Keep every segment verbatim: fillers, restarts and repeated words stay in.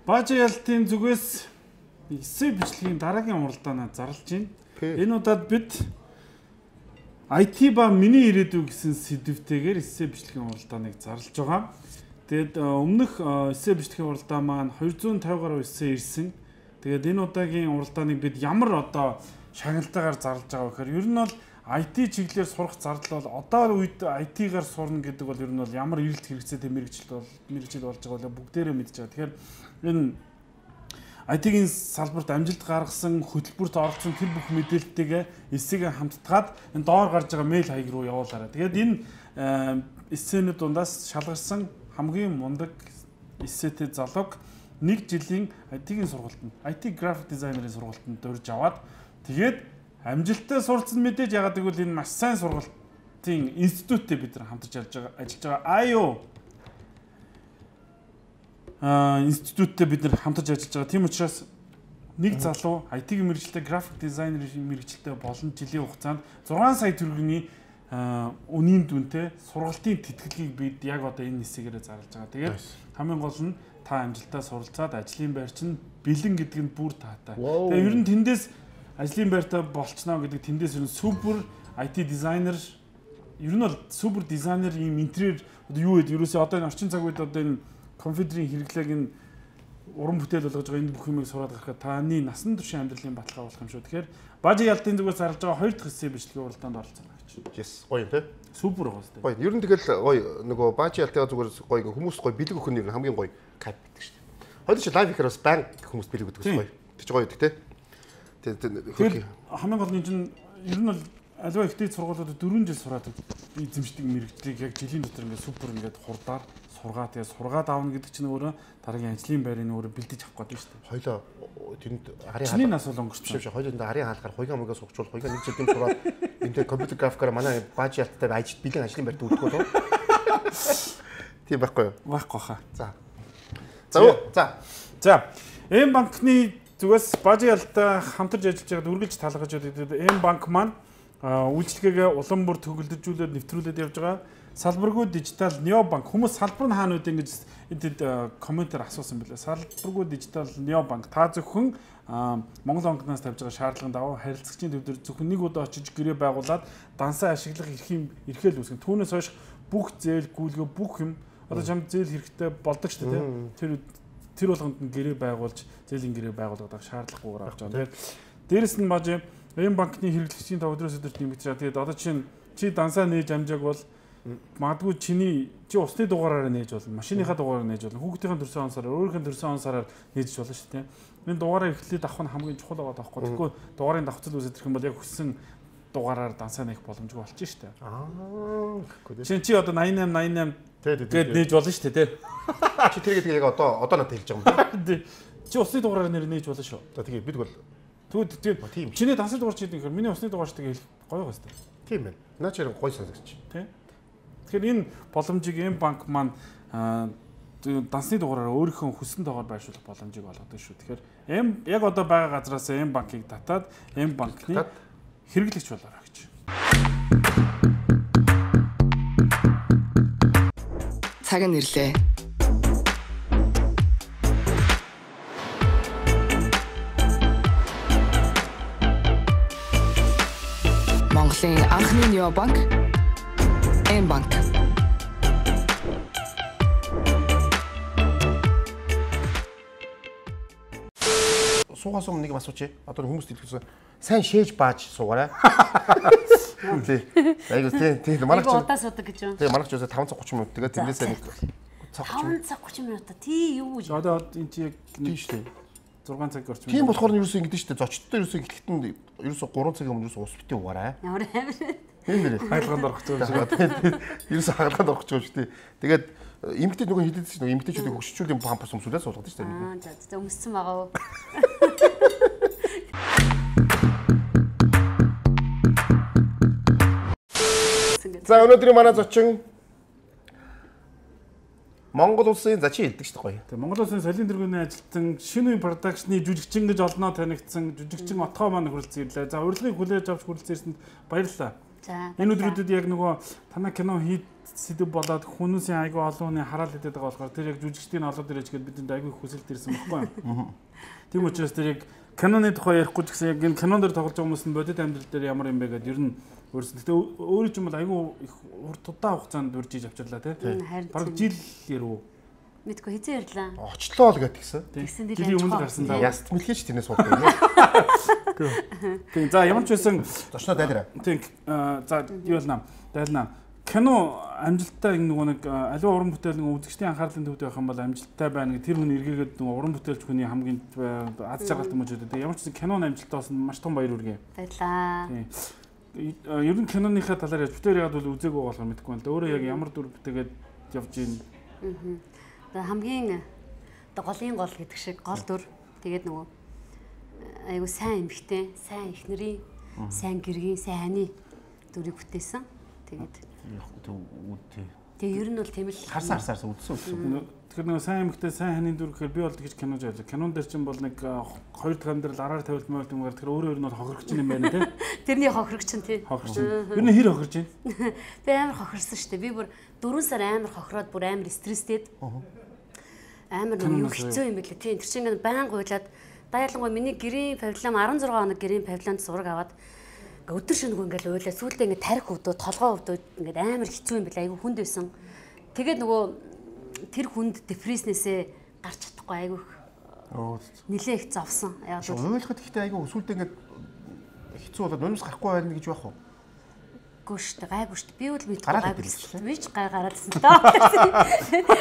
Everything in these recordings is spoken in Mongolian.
Баажи ялтын зүгээс эссе бичлэгийн дараагийн уралдаанаа зарлж байна. Энэ удаад бид ай ти ба миний ирээдүй гэсэн сэдвтэйгээр эссе бичлэгийн уралдааныг зарлж байгаа. Тэгээд өмнөх эссе бичлэгийн уралдаан маань хоёр зуун тавь гаруй эссе ирсэн. Тэгээд энэ удаагийн уралдааныг бид ямар одоо шагналтайгаар зарлж байгаа вэ гэхээр ер нь бол ай ти чиглэлээр сурах зардал бол одоо үед ай ти-гаар сурна гэдэг бол ер нь бол ямар эрэлт хэрэгцээтэй мэрэгжил бол мэрэгжил болж байгаа бол бүгдээрээ мэдж байгаа. Тэгэхээр энэ ай ти-гийн салбарт амжилт гаргасан хөтөлбөрт оролцсон тэр бүх мэдээлэлтэйгээ эссегээ хамтдаад энэ доор гарч байгаа мэйл хаяг руу явуулаарай. Тэгээд энэ эссенүүд дундаас шалгарсан хамгийн мундаг эссетэй залууг нэг жилийн ай ти-гийн сургалтанд ай ти график дизайнерын сургалтанд дурж аваад тэгээд амжилттай суралцсан мэдээж ягаад гэвэл энэ маш сайн сургалтын институттэй бид нар хамтарч ажиллаж байгаа ажиллаж байгаа ай юу а институттэй бид нар хамтарч ажиллаж байгаа. Тийм учраас нэг залуу ай ти-ийн мэргэжилтэй график дизайнерын мэргэжилтэй болон жилийн хугацаанд зургаан сая төгрөгийн үнийн дүнтэй сургалтын тэтгэлгийг бид яг одоо энэ хэсгээрээ зарлаж байгаа. Тэгээд хамгийн гол нь та амжилттай суралцаад ажлын байр чинь бэлэн гэдэг нь бүр таатай. Тэгээд ер нь тэндээс ажлын байртаа болчихно гэдэг тэндээс ер нь супер ай ти дизайнер ер нь бол супер дизайнер юм интерьер юу гэдэг ерөөсөө одоо энэ орчин цаг үед одоо энэ компьютерийн хэрэглээг энэ уран бүтээл болгож байгаа энэ бүх юмыг сураад гарахад таны насан туршийн амьдралын баталгаа болох юм шүү. Тэгэхээр Баажи ялтын зүгээс зарлж байгаа хоёр дахь хэсгийн бичлэгийн уралдаанд оролцсон гэж. Yes, гоё тий. Супер гоё тий. Гоё. Ер нь тэгэл гоё нөгөө Баажи ялтын зүгээр гоё хүмүүс гоё бэлэг өгөх нь хамгийн гоё кайп гэдэг шүү дээ. Хоёул чи лайв ихэр бас банк хүмүүс бэлэг өгдөг гоё. Тэг чи гоё гэдэг тий. Тэгээд хамгийн гол нь чинь ер нь бол аливаа ихтэй сургуулиудад дөрвөн жил сураад эзэмшдэг мэрэгжлийг яг жилийн дотор ингээд супер ингээд хурдаар сургаа тэгээ сургаад аавна гэдэг чинь өөрөө дараагийн ажлын байрны өөрөө бэлдэж авах гэдэг шүү дээ. Хоёлоо тэнд арын хаалга нас бол өнгөрч биш. Хоёлоо тэнд арын хаалгаар хуйгаа мөгөөс суугчвал хуйгаа нэг жилийн сураад энэ компьютер графикаар манай Баажи ялттай ажил бэлэн ажлын байрт үлдэх үү? Тийм байхгүй юу? Байхгүй хаа. За. За. За. За. Эм банкны зүгээс Баажи ялттай хамтарч ажиллаж байгаад үргэлж талгаж байдаг. Эм банк маань үйлчлэгээ улам бүр төгөлдөжүүлээд нэвтрүүлээд явж байгаа. Салбаргүй дижитал Нео банк хүмүүс салбар нь хаана үдэ ингэж энд комментээр асуусан байлаа. Салбаргүй дижитал Нео банк та зөвхөн Монгол банкнаас тавьж байгаа шаардлагын дагуу харилцагчийн төв дээр зөвхөн нэг удаа очиж гэрээ байгуулад дансаа ашиглах эрхийн эрхэл үүсгэн. Түүнээс хойш бүх зээл гүйлгээ бүх юм одоо чамд зээл хэрэгтэй болдог шүү дээ. Тэр тэр болгонд нь гэрээ байгуулж зээлийн гэрээ байгуулдаг шаардлагагүйгээр авч байгаа. Тэгээд дээрэс нь Баажи Эм банкны хэрэглэгчийн тав өдрөөс өдөрт нэмэгдэж байгаа. Тэгээд одоо чинь чи дансаа нээж амжааг бол магадгүй чиний чи усны дугаараар нээж болно, машиныхаа дугаараар нээж болно, хүүхдийн төрсөн онсороор, өөрийнхөө төрсөн онсороор нээж болно шүү дээ. Энэ дугаараа эхлээд авах нь хамгийн чухал байгаа даахгүй. Тэгэхгүй дугаарын давхцал үүсэх юм бол яг хүссэн дугаараар дансаа нээх боломжгүй болчих шүү дээ. Аа, гэхгүй. Чи чи одоо восемь восемь восемь гээд нээж болно шүү дээ, тий. Чи тэргээд яг одоо одоо надад хэлж байгаа юм байна. Чи усны дугаараар нэр нээж болно шүү. За тэгээ бид бол Тэгвэл тийм. Чиний дансны дугаар чи гэдэг юм. Миний усны дугаар шиг хэлэх гоё байна. Тийм байна. Наа чи гоё сонсогч. Тий. Тэгэхээр энэ боломжийг эм банк маань дансны дугаараар өөрийнхөө хүссэн дугаар байршуулах боломжийг олгодог шүү. Тэгэхээр эм яг одоо байгаа газраас эм банкыг татаад эм банкны хэрэглэгч болоорой гэж. Цаг нь ирлээ. Монголын анхны Нео банк Эм банк. Суугаас өмнө нэг юм асуучих. Одоо хүмүүс дэлгэсэн сайн шээж бааж суугаарай. Тий. Айгу тий. Тий манайх ч удаа суудаг гэж байна. Тий манайх ч өсө таван цаг тридцать минут тэгээд тэндээсээ нэг таван цаг тридцать минут тий юу гэж. Одоо энэ чи яг тий шүү дээ. зургаан цаг орчим. Тийм болохоор нь ерөөсөө ингэдэж шүү дээ. Зочдтой ерөөсөө эхлэхэд нь ерөөсөө гурван цагийн өмнө ерөөсөө ус битээ угаарай. Ямар амир. Тийм нэр. Хаалганд орох гэж байна. Ерөөсөө хаалганд орох гэж шүү дээ. Тэгээд эмгтээ нөгөө хэлээд шүү дээ. Эмгтээчүүдийг хөшчүүлийн памперс өмсүүлээд суулгадаг шүү дээ. Аа за за өмссөн байгаа уу? За өнөөдрийн манай зочин Монгол улсын за чи хэлдэг шүү дээ гоё. Тэгээ Монгол улсын солин тэргүүний ажилтан шинэ үе продакшны жүжигчин гэж олноо танигдсан жүжигчин отгоо маань хүрэлцэн ирлээ. За урилгыг хүлээж авч хүрэлцэн ирсэнд баярлалаа. За. Энэ өдрүүдэд яг нөгөө танай кино хийд сэдв болоод хүмүүсийн айгүй олонны хараал хэдэд байгаа болохоор тэр яг жүжигчдийн олоод ирэж гээд бидэнд айгүй хүсэлт ирсэн байхгүй юу? Тийм учраас тэр яг киноны тухай ярихгүй ч гэсэн яг энэ кинон дээр тоглож байгаа хүмүүс нь бодит амьдрал дээр ямар юм бэ гэдээ ер нь өөрсдөө гэтээ өөрөө ч юм бол айгүй их урт удаа хугацаанд урьж иж авчирлаа тий. Бараг жил яруу. Мэдгүй хэзээ ярьлаа. Очлоо л гэтгсэн. Тэгсэн дээр жилийн өмнө гарсан даа. Яст мэлхээч тэрнээс сууд байна. Тийм за ямар ч байсан зочноо дайлраа. Тийм за юу болно? Дайлнаа. Кино амжилттай нөгөө нэг аливаа уран бүтээл нөгөө үзэгчдийн анхаарлын төвд байх юм бол амжилттай байна гэх тэр хүн эргээгээд нөгөө уран бүтээлч хүний хамгийн аз жаргалтай юм шүү дээ. Ямар ч гэсэн киноны амжилттай болсон маш том баяр хүргэе. Баярлаа. Ер нь киноныхаа талаар яаж бүтээр яагаад бол үзээгүй болохоор мэдэхгүй байна. Өөрөө яг ямар дүр бүтээгээд явж гин. Аа. Хамгийн оо голын гол гэдэг шиг гол дүр тэгээд нөгөө айгу сайн эмхтэй, сайн эхнэрийн, сайн гэргийн, сайн ханы дүрийг бүтээсэн. Тэгээд Тэгээ ер нь бол тийм л харсан харсаар үдсэн үдсэн. Тэгэхээр нэг сайн эмэгтэй сайн ханийн дүр гэхээр би бол тэгж кинож байлаа. Кинон дээр чинь бол нэг хоёр дахь амьдрал араар тавилт маяг юм гардаг. Тэгэхээр өөрөө ер нь хохирогч юм байна тий. Тэрний хохирогч нь тий. Хохирч. Ер нь хэр хохирч байна? Би амар хохирсон шүү дээ. Би бүр дөрвөн сар амар хохироод бүр амар стресстэд. Амар нэг хэцүү юм билээ тий. Тэр чинь ингээд байнга уйлаад даяалангуй миний гэрийн павильон арван зургаан хоног гэрийн павильонд зураг аваад өдөр шөнөгүй ингээл уйлаа сүүлдээ ингээд тарих өвдөө толгоо өвдөө ингээд амар хэцүү юм бэл айгүй хүнд байсан. Тэгээд нөгөө тэр хүнд депресснээсээ гарч чадахгүй айгүй нилээ их зовсон. Яг л уйлахад ихтэй айгүй сүүлдээ ингээд хэцүү болоод нунус гарахгүй байна гэж байх уу? Гүшт гайгүй шүү дээ. Би бол мэдгүй гайгүй. Би ч гай гараадсан тоо.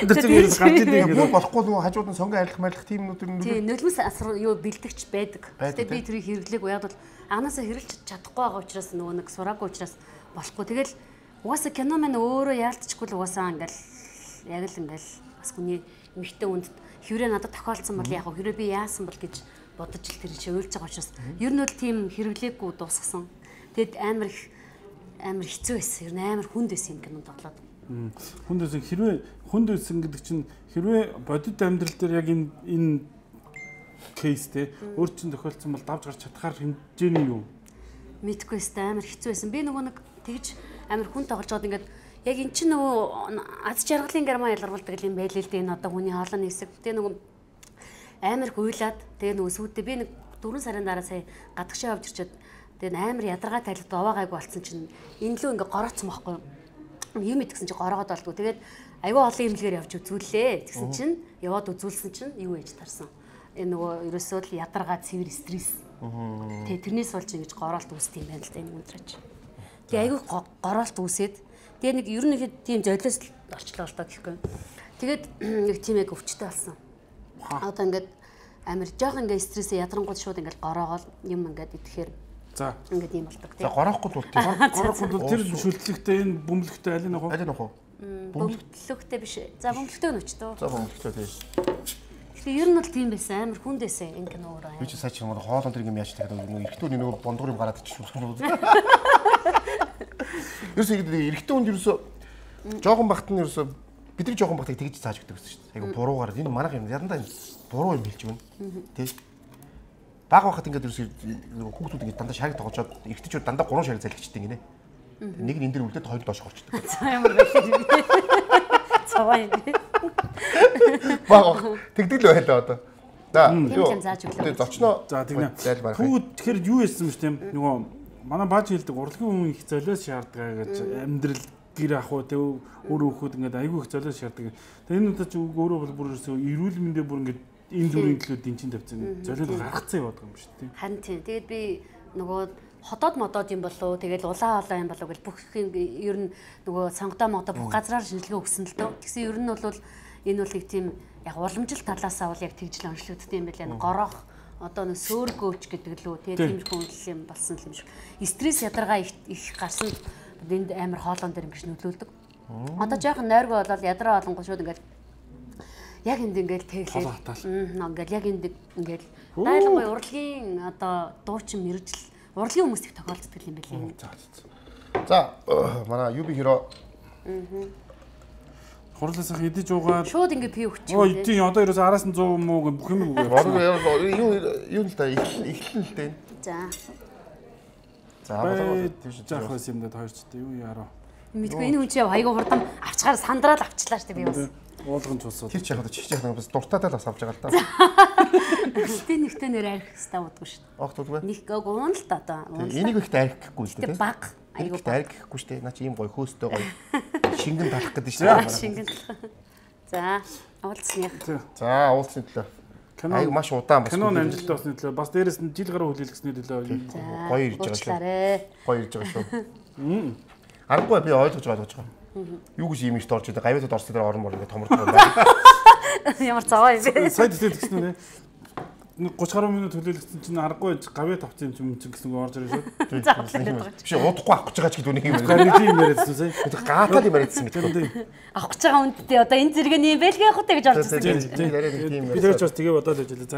Тэр чинь ерөөс гарч идэг юм болохгүй нөгөө хажууд нь сонгон арилах марлах тийм нүд нь. Тийм нулимс асар юу бэлдэгч байдаг. Гэтэ би тэрийг хэрэглээг яг бол анасаа хэрэглэж чадахгүй байгаа учраас нөгөө нэг сураагүй учраас болохгүй. Тэгэл угаасаа кино маань өөрөө яалтчгүй л угаасаа ингээл яг л ингээл бас хүний эмхтэй үнд хэврээ надад тохиолдсон бол яг хэврээ би яасан бол гэж бодож л тэр чинь уйлж байгаа учраас ер нь бол тийм хэрэглээгүй дуусгасан. Тэгэд амар их амар хэцүү байсан. Ер нь амар хүнд байсан юм кинонд тоглоод. Хүнд байсан хэрвээ хүнд байсан гэдэг чинь хэрвээ бодит амьдрал дээр яг энэ энэ кейстэй өөр чинь тохиолдсон бол давж гарч чадхаар хэмжээний юу? Мэдгүй өстэй амар хэцүү байсан. Би нөгөө нэг тэгж амар хүн тоглож байгаад ингээд яг эн чинь нөгөө аз жаргалын гармаа ялгарвалдаг юм байл л дээ. Энэ одоо хүний хоолойны хэсэг. Тэгээ нөгөө амар гуйлаад тэгээ нөгөө сүйдээ би нэг дөрвөн сарын дараа сая гадагшаа авч ирчээд тэгээ амар ядаргаа тайлбар оваагайг болсон чинь энэ лөө ингээ гороцсон байхгүй юу? Юм идгсэн чинь гороод болдгоо. Тэгээд аюу олон имлэгээр явж үзүүлээ. Тэгсэн чинь яваад үзүүлсэн чинь юу ээж тарсан. Энэ нөгөө ерөөсөө л ядаргаа цэвэр стресс. Тэгээ тэрнээс болж ингэж гороолт үүсдэг юм байна л да энэ өндрөж. Тэгээ аюу гороолт үүсээд тэгээ нэг ер нь нэг тийм золиос олчлоо л доо гэхгүй. Тэгээд нэг тийм яг өвчтэй болсон. Одоо ингээд амар жоох ингээ стрессээ ядрангууд шууд ингээд гороогоол юм ингээд идэхээр за ингээд юм болдог тийм. За горохгүй тул тийм. Горохгүй тул тэр шүлтлэгтэй энэ бөмбөлөгтэй аль нэг уу? Аль нэг уу? Бөмбөлөгтэй биш. За бөмбөлөгтэй нь өчтөө. За бөмбөлөгтэй тийм. Тэгэхээр ер нь бол тийм байсан амар хүнд байсан энэ кино өөрөө. Би ч сая чи нөгөө хоолон тэр юм яаж tagad нөгөө эрэгтүүний нөгөө бондгор юм гараад иччихсэн. Ерөөсөө эрэгтэй хүнд ерөөсөө жоохон багт нь ерөөсөө бидний жоохон багтыг тэгж зааж өгдөг гэсэн шүү дээ. Айгу буруугаар энэ манайх юм ядандаа буруу юм хэлж байна. Тэ. Баг байхад ингээд ерөөсөө хүүхдүүд ингээд дандаа шарыг тоглоод эрэгтэйчүүд дандаа гурван шарыг залгичдаг гинэ. Нэг нь энэ дэр үлдээд хоёр доош горчдөг. За ямар байх юм. Цаваа юм. Баг тэгдэг л байлаа одоо. За тийм зааж өглөө. Тэгээ зочноо. За тэгнэ. Түүд тэгэхээр юу яасан юм тийм нөгөө манай бааж хэлдэг урлагийн хүн их золиос шаарддаг гэж амьдрал гэр ах уу тэг өөр хүүхэд ингээд айгүй их золиос шаарддаг. Тэгээ энэ удаа чи өөрөө бол бүр ерөөсөө эрүүл мэндэ бүр ингээд энэ зүрийн төлөө дэнчин тавьсан. Золиос гаргацсан яваад байгаа юм шүү дээ. Харин тийм. Тэгээд би нөгөө хотоод модоод юм болов тэгэл улаан олоо юм болов гэл бүх юм ер нь нөгөө сонгодоо модоо бүх газраар шинжилгээ өгсөн л дөө. Тэгсэн ер нь бол энэ бол их тийм яг уламжлалт талаасаа бол яг тэгжл онцлогдсон юм байна. Горох одоо нэг сөөргөөч гэдэг лөө тийм хүнлэл юм болсон юм шиг. Стресс ядаргаа их гарсан энд амар хоолон дээр ингэж нөлөөлдөг. Одоо жоохон нойргоо болоод ядраа болонгоо шууд ингээд яг энд ингээд тэглээ. Ингээд яг энд ингээд дайлангуй урлагийн одоо дуучин мэрэгжил урлагийн хүмүүс их тохиолддог юм байна лээ. За манай юби хиро хурлаас их идэж уугаад шууд ингээд пи өгч юм. Ой тийм одоо ерөөс араас нь сто муу бүх юм үгүй. Юу юу л та эхлэн л дээ. За. За болоо тийш заах байсан юм даа хоёр ч дээ юу яруу. Мэдгүй энэ хүн чи айгуу хурдан авчгаар сандраад авчлаа штэ би бас. Уулган ч усууд. Тэр ч яг чи яг бас дуртаатай л бас авч байгаа л да. Гэтэ нэгтэй нэр арих хэвээр удгүй штэ. Огт үгүй. Нэг уун л та одоо. Энийг ихт арих гэхгүй л дээ. Баг. Айгуу арих гэхгүй штэ. Наа чи ийм гоё хөөстэй гоё. Шингэн талах гэдэг штэ. Шингэн талах. За, уулзсных. За, уулзсны төлөө. Айгуу маш удаан бас. Кинон амжилттай болсны төлөө бас дээрэс нь жил гаруй хүлээлгэсний төлөө гоё ирж байгаа шүү. Гоё ирж байгаа шүү. Аргагүй би ойлгож байгаа гэж байгаа. Юу гэж ийм ихт орж идэв. Гавьяатад орсон дээр орон мор ингэ томорч байгаа. Ямар цаваа юм бэ? Сайд итгэл гэсэн үү? гуйч гаруй минут хүлээлгэсэн чинь аргагүй гавьяа тавцсан юм чинь гэсэн орж ирээ шүү. Биш удахгүй авах гэж байгаа ч гэдэг үнийг юм. Гарны юм яриадсан сая. Гаатал юм яриадсан мэт. Авах гэж байгаа үндтэй одоо энэ зэрэг нь юм байлгүй явах үү гэж орж ирсэн. Би тэрч бас тэгээ бодоод байж лээ.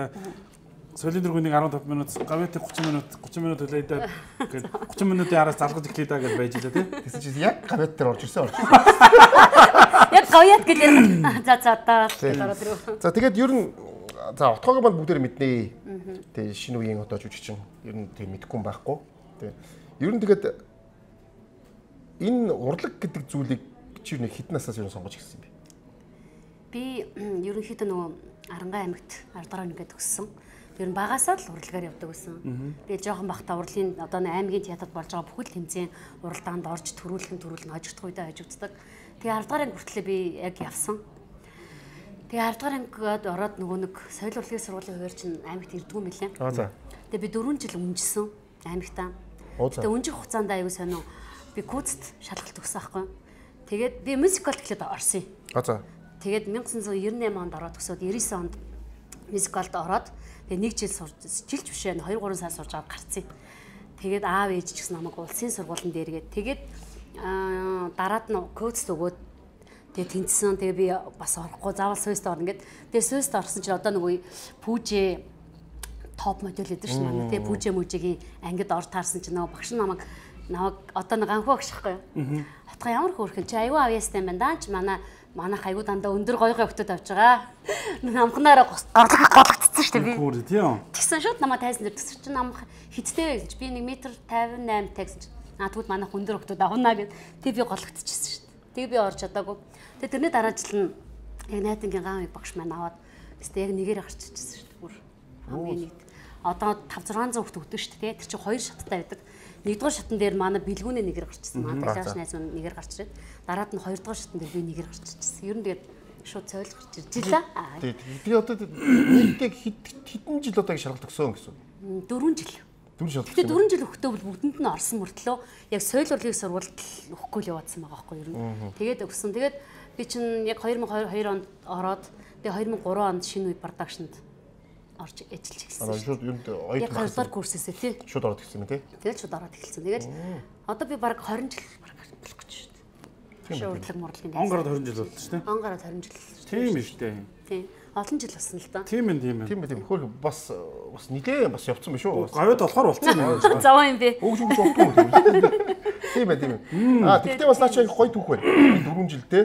За солийн дөрвөнийг арван таван минут, гавьяатыг гучин минут, гучин минут хүлээдээ гээд гучин минутын араас залгаж эхлэе даа гэж байж лээ тий. Тэсэн чинь яг гавьяат дээр орж ирсэн орж. Яг гавьяат гэлээ. За за одоо ороод ирв. За тэгээд ер нь за отгоогийн банд бүгдээр мэднэ. Тэгээ шинэ үеийн одоо жүжигчин ер нь тэг мэдгүй юм байхгүй. Тэг. Ер нь тэгээд энэ урлаг гэдэг зүйлийг чи нэг хитэн насаас ер нь сонгож ирсэн юм бэ? Би ерөнхийдөө нөгөө Арангаа аймагт ардгаар ингээд өссөн. Ер нь багасаа л урлагаар явдаг байсан. Тэгээд жоохон бахта урлагийн одоо аймгийн театрт болж байгаа бүхэл тэмцээн уралдаанд орж төрүүлхэн төрүүлэн хожигдох үедээ хожигддаг. Тэгээ ардгаар анги хүртлээр би яг явсан. Тэгээ ардгаар ангид ороод нөгөө нэг соёл урлагийн сургуулийн хувьд чинь аймагт ирдгүү юм билээ. Аа за. Тэгээ би дөрвөн жил үнжсэн аймагтаа. Тэгээ үнжих хугацаанд аюу сонио би куцт шалгалт өгсөн аахгүй. Тэгээд би мюзикл гэхлээр орсон. Аа за. Тэгээд 천구၉девяносто онд ороод төгсөөд девяносто девять онд мюзиклд ороод тэгээ нэг жил сурч жилч бишээ хоёр гурван сар сурж аваад гарцсан. Тэгээд аав ээж ч гэсэн намайг улсын сургуулийн дээргээд тэгээд дараад нь коуч өгөөд тэгээ тэнцсэн. Тэгээ би бас орохгүй заавал Суйст орно гэд. Тэгээ Суйст орсон чинь одоо нөгөө пүүжээ топ модель гэдэг шин манай тэгээ пүүжээ мүжигийн ангид орж таарсан чинь нөгөө багш намайг намайг одоо нэг анхуу багш байхгүй юу. Хотгоо ямар хөөрхөн чи аюу авьяастай юм байна даа чи манай манайх аюу дандаа өндөр гоё гоё хөтөд авч байгаа. Намхнаараа голгдсон шүү дээ би. Хөөр тийм. Тэгсэн шууд намайг тайсан дээр тгсэр чи намх хиттэй гэж би нэг метр пятьдесят восемь тагсан чи аа тэгвэл манайх өндөр хөтөд авна гэд тэг би голгдчихсэн шүү дээ. Тэг би орж чадаагүй. Тэг тэрний дараа жил нь яг найдангийн ган багш маань аваад тест яг нэгээр гарч ирчихсэн шүү дээ. Бүр хамгийн нэг одоо five six hundred хүүхд өгдөг шүү дээ. Тэр чинь хоёр шаттай байдаг. Нэгдүгээр шатн дээр манай бэлгүүнээ нэгээр гарчсан. Манай цааш найз маань нэгээр гарч ирээд дараад нь хоёрдугаар шатн дээр би нэгээр гарч ирчихсэн. Ер нь тэгээд шууд цойл гарч ирж илаа. Би одоо нийтдээ хэдэн жил одоо шалгалт өгсөн гэсэн. Дөрвөн жил. Дөрвөн жил. Тэгээд дөрвөн жил өгтөө бол бүгдэнд нь орсон мөртлөө яг соёл урлагийн сургуульд өгөхгүй л яваадсан байгаа байхгүй юу ер нь. Тэгээд өгсөн. Тэгээд би чинь яг two thousand two онд ороод тэгээд two thousand three онд шинэ үе продакшнд орж ажиллаж эхэлсэн. Аа шууд юунд оёд яг хоёрдугаар курсээсээ тий. Шууд ороод эхэлсэн юм тий. Тэгээд шууд ороод эхэлсэн. Тэгээд одоо би баг twenty жил баг болох гэж шүү дээ. Шуурлаг мурлагийн. Он гараад twenty жил боллоо шүү дээ. Он гараад twenty жил. Тийм ээ шүү дээ. Тийм. Олон жил болсон л доо. Тийм ээ, тийм ээ. Тийм ээ, тийм. Хөрх бас бас нилээ бас явцсан байх шүү. Гавьяд болохоор болцсон юм байна. Заваа юм бэ. Өгч өгч болтгүй юм. Тийм ээ, тийм ээ. Аа тэгтээ бас наач гоё түүх байна. дөрвөн жил тий.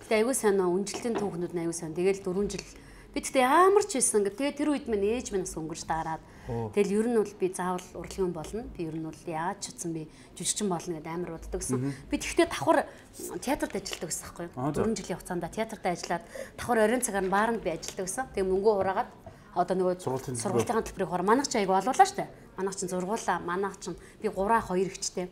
Тэгээ аягүй сайн үнжилтийн түүхнүүд нь аягүй сайн. Тэгээл дөрвөн жил би тэгтээ ямар ч байсан ингээ тэгээ тэр үед минь ээж минь бас өнгөрч дараад тэгэл ер нь бол би заавал урлагийн болно. Би ер нь бол яаж ч утсан би жүжигчин болно гэдээ амар боддогсэн. Би тэгтээ давхар театрт ажилладаг гэсэн байхгүй юу? дөрвөн жилийн хугацаанд театрт ажиллаад давхар оройн цагаар бааранд би ажилладаг гэсэн. Тэгээ мөнгөө хураагаад одоо нөгөө сургуулийн төлбөрийг хураа манайх ч аягүй олуулаа штэ. Манайх ч зургуулаа, манайх ч би three two ихчтэй.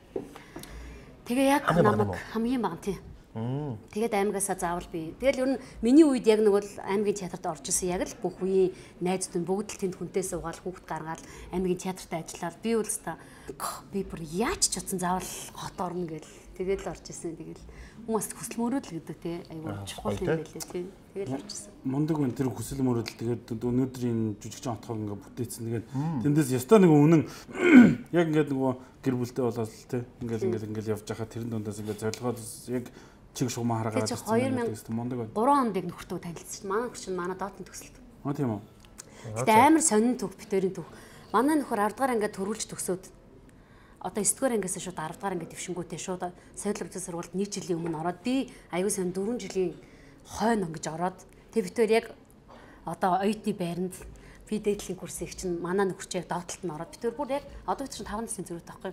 Тэгээ яг намайг хамгийн бага тий. Тэгээд аймагасаа заавал би. Тэгэл ер нь миний үед яг нэг бол аймгийн театрт орж исэн яг л бүх үеийн найзууд нь бүгд л тэнд хүнтэй суугаал хүүхд гаргаад аймгийн театрт ажиллаад би бол та би бүр яаж ч утсан заавал хот орно гэл тэгэл орж исэн. Тэгэл хүмүүс хүсэл мөрөөдөл гэдэг тий айгүй чухал юм байлээ тий. Тэгэл орж исэн. Мундаг байна тэр хүсэл мөрөөдөл тэгээд өнөөдрийн жүжигчин отгоо ингээ бүтээсэн. Тэгээд тэндээс ястаа нэг үнэн яг ингээд нөгөө гэр бүлтэй болоод тий ингээл ингээл ингээл явж байхад тэрэн дундаас ингээ зорилгоод яг чиг шугам хараагаад ирсэн мундаг байна. three онд нөхөртөө танилцсан. Манай нөхөр чинь манай доотны төгсөлт. Аа тийм үү. Гэтэ амар сонин төв битэрийн төв. Манай нөхөр ten дугаар ангиад төрүүлж төгсөөд одоо nine дугаар ангиас шууд ten дугаар ангиад дэвшингүүтэй шууд соёл урлагийн сургуульд нэг жилийн өмнө ороод би аюу сан four жилийн хойно ингэж ороод тэг битэр яг одоо оюутны байранд фидейтлийн курс их чинь манай нөхөрч яг давталт нь ороод битүүр бүр яг одоо бид чинь таван насны зэрэг таахгүй.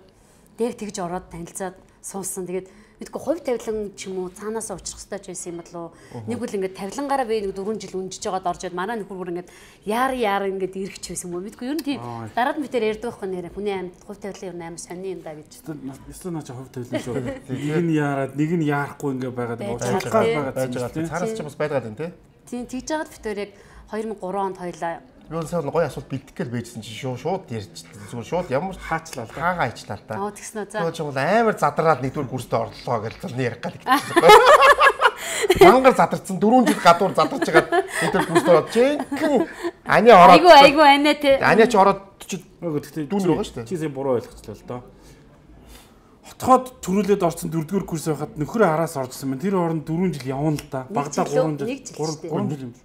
Тэг тэгж ороод танилцаад суусан. Тэгээд мэдгүй хувь тавилан ч юм уу цаанаасаа уучрах хэрэгтэй ч байсан юм болов уу. Нэг үл ингээд тавилангаараа би нэг дөрвөн жил үнжиж байгаад орж ирээд манай нөхөр бүр ингээд яар яар ингээд ирэх ч байсан юм уу. Мэдгүй ер нь тийм дараад бид тэр ярьдаг байхгүй нэрэ хүний амьд хувь тавилан ер нь амар сони юм да гэж. Эсвэл наач хувь тавилан шүү. Нэг нь яарад нэг нь яарахгүй ингээд байгаад уулзгаа байгаад байж байгаа тийм. Цаараас ч бас байдаг юм тий. Тийм тэгж байгаад бид тэр яг two thousand three онд хоёлаа юу сайн гоё асуулт бэлдэх гээл байжсэн чи шууд шууд ярьж зүгээр шууд ямар хаачлаа хаагаа ичлаа та. оо тэгснэ за. Тэгээд ч юм бол амар задраад нэгдүгээр курст орлоо гэж зөв ярих гал гэсэн. Мангар задарсан дөрвөн жил гадуур задарч байгаа нэгдүгээр курст ороод жинхэнэ ани ороод. Айгу айгу анаа те. Ани ч ороод чи гэхдээ дүүн байгаа шүү дээ. Чи сая буруу ойлгочлаа л доо. Хотгоод төрүүлээд орсон дөрөвдүгээр курс байхад нөхөр араас оржсэн байна. Тэр хооронд дөрвөн жил явна л да. Багада гурван жил гурван жил юм.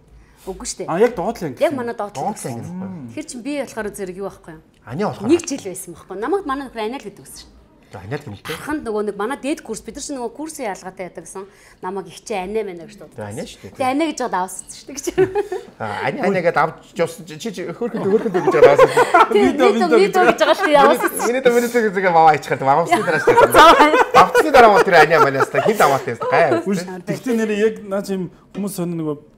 Үгүй шүү дээ. А яг доотлаа ингэ. Яг манай доотлаа доотлаа ингэ байхгүй. Тэгэхээр чи би болохоор зэрэг юу байхгүй юу? Ани болохоор нэг жил байсан байхгүй. Намайг манай нөхөр аниал гэдэг үсэн шүү. Аниал гэмтэй. Хараханд нөгөө нэг манай дээд курс бид нар чинь нөгөө курсын ялгаатай байдаг гэсэн. Намайг ихчээ анаа мэнэ гэж дуудсан. Аниа шүү дээ. Тэгээ анаа гэж жоод авсан шүү дээ гэж. Ани аниагээд авч явсан чи чи хөөрхөнд хөөрхөнд гэж байгаа авсан. Видео видео гэж байгаа шүү дээ авсан. Миний дэ миний дэ зэгээ аваа ичхад аваасны дараа шүү дээ. Авцны дараа мөн тэр аниа манаас та хэд аваатай гай. Тэгтээ нэр яг наач юм хүмүүс сонь нөгөө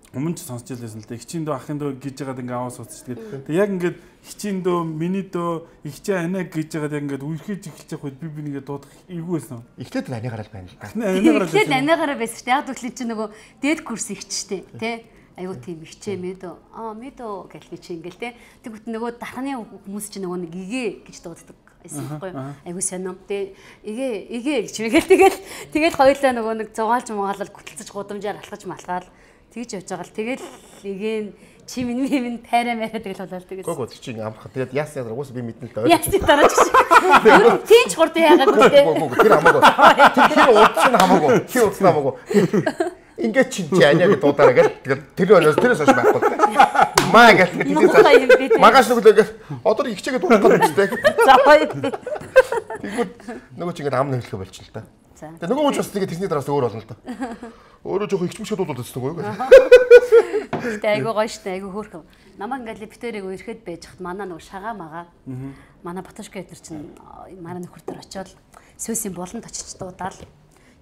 өмнө ч сонсч байлсэн л да. Хичийн дөө ахын дөө гэж яагаад ингээ аваас ууц ч тэгээд тэг яг ингээд хичийн дөө миний дөө ихчээ анаа гэж яагаад яг ингээд үерхэж эхэлж явах үед би би нэгэ дуудах эйгүү байсан. Ихтэй л аниагараа байна л та. Аниагараа Тэгэхээр анаагаараа байсан шүү дээ. Яг төслийн чинь нөгөө дээд курс ихчтэй тий. Айгуу тийм ихчээ мэдөө. Аа мэдөө гэл би чи ингээл тий. Тэгвэл нөгөө дархны хүмүүс чинь нөгөө нэг игээ гэж дууддаг. Айсахгүй айгуу сонио. Тэгээ игээ игээ гэж мэгэл тэгэл тэгэл хоёулаа нөгөө нэг зугаалж мгаалал гүтэлцэж гудамжаар алхаж малгаал тэгж явж байгаа л тэгэл игээ чи минь минь тайраа мэрэ тэгэл болоо тэгэл. Гоо гоо чи амарх тэгээд яасан уус би мэднэ л дээ. Яасан дараа чи. Тинч хурд яагаад гэдэг. Гоо гоо тэр хамаагүй. Тэр удсан хамаагүй. Тэр удсан хамаагүй. Ингээд чи чи аниа гэдэг дуудаараа гэл тэгэл тэр өнөөс тэрээс хойш байхгүй. Маа гэл тэгээд магаш нүглээ одоо ихчээгээ дуудах гэдэг үстэй. За гоё. Тэгвэл нөгөө чи ингээд ам нөхлөхө болчихно л та. Тэгээ нөгөө ч бас тэгээд тэрний дараас өөр болно л та. Өөрөө жоох ихчмэшээ дуудаад байсан нөгөө юу. Тэ айгуу гоё штэ айгуу хөөрхөн. Намаа ингээд лифтэрийг үерхэд байж хат манай нөгөө шагаа магаа. Манай Батушка эдэр чинь манай нөхөр төр очиод сүүсийн болонд очиж дуудаал.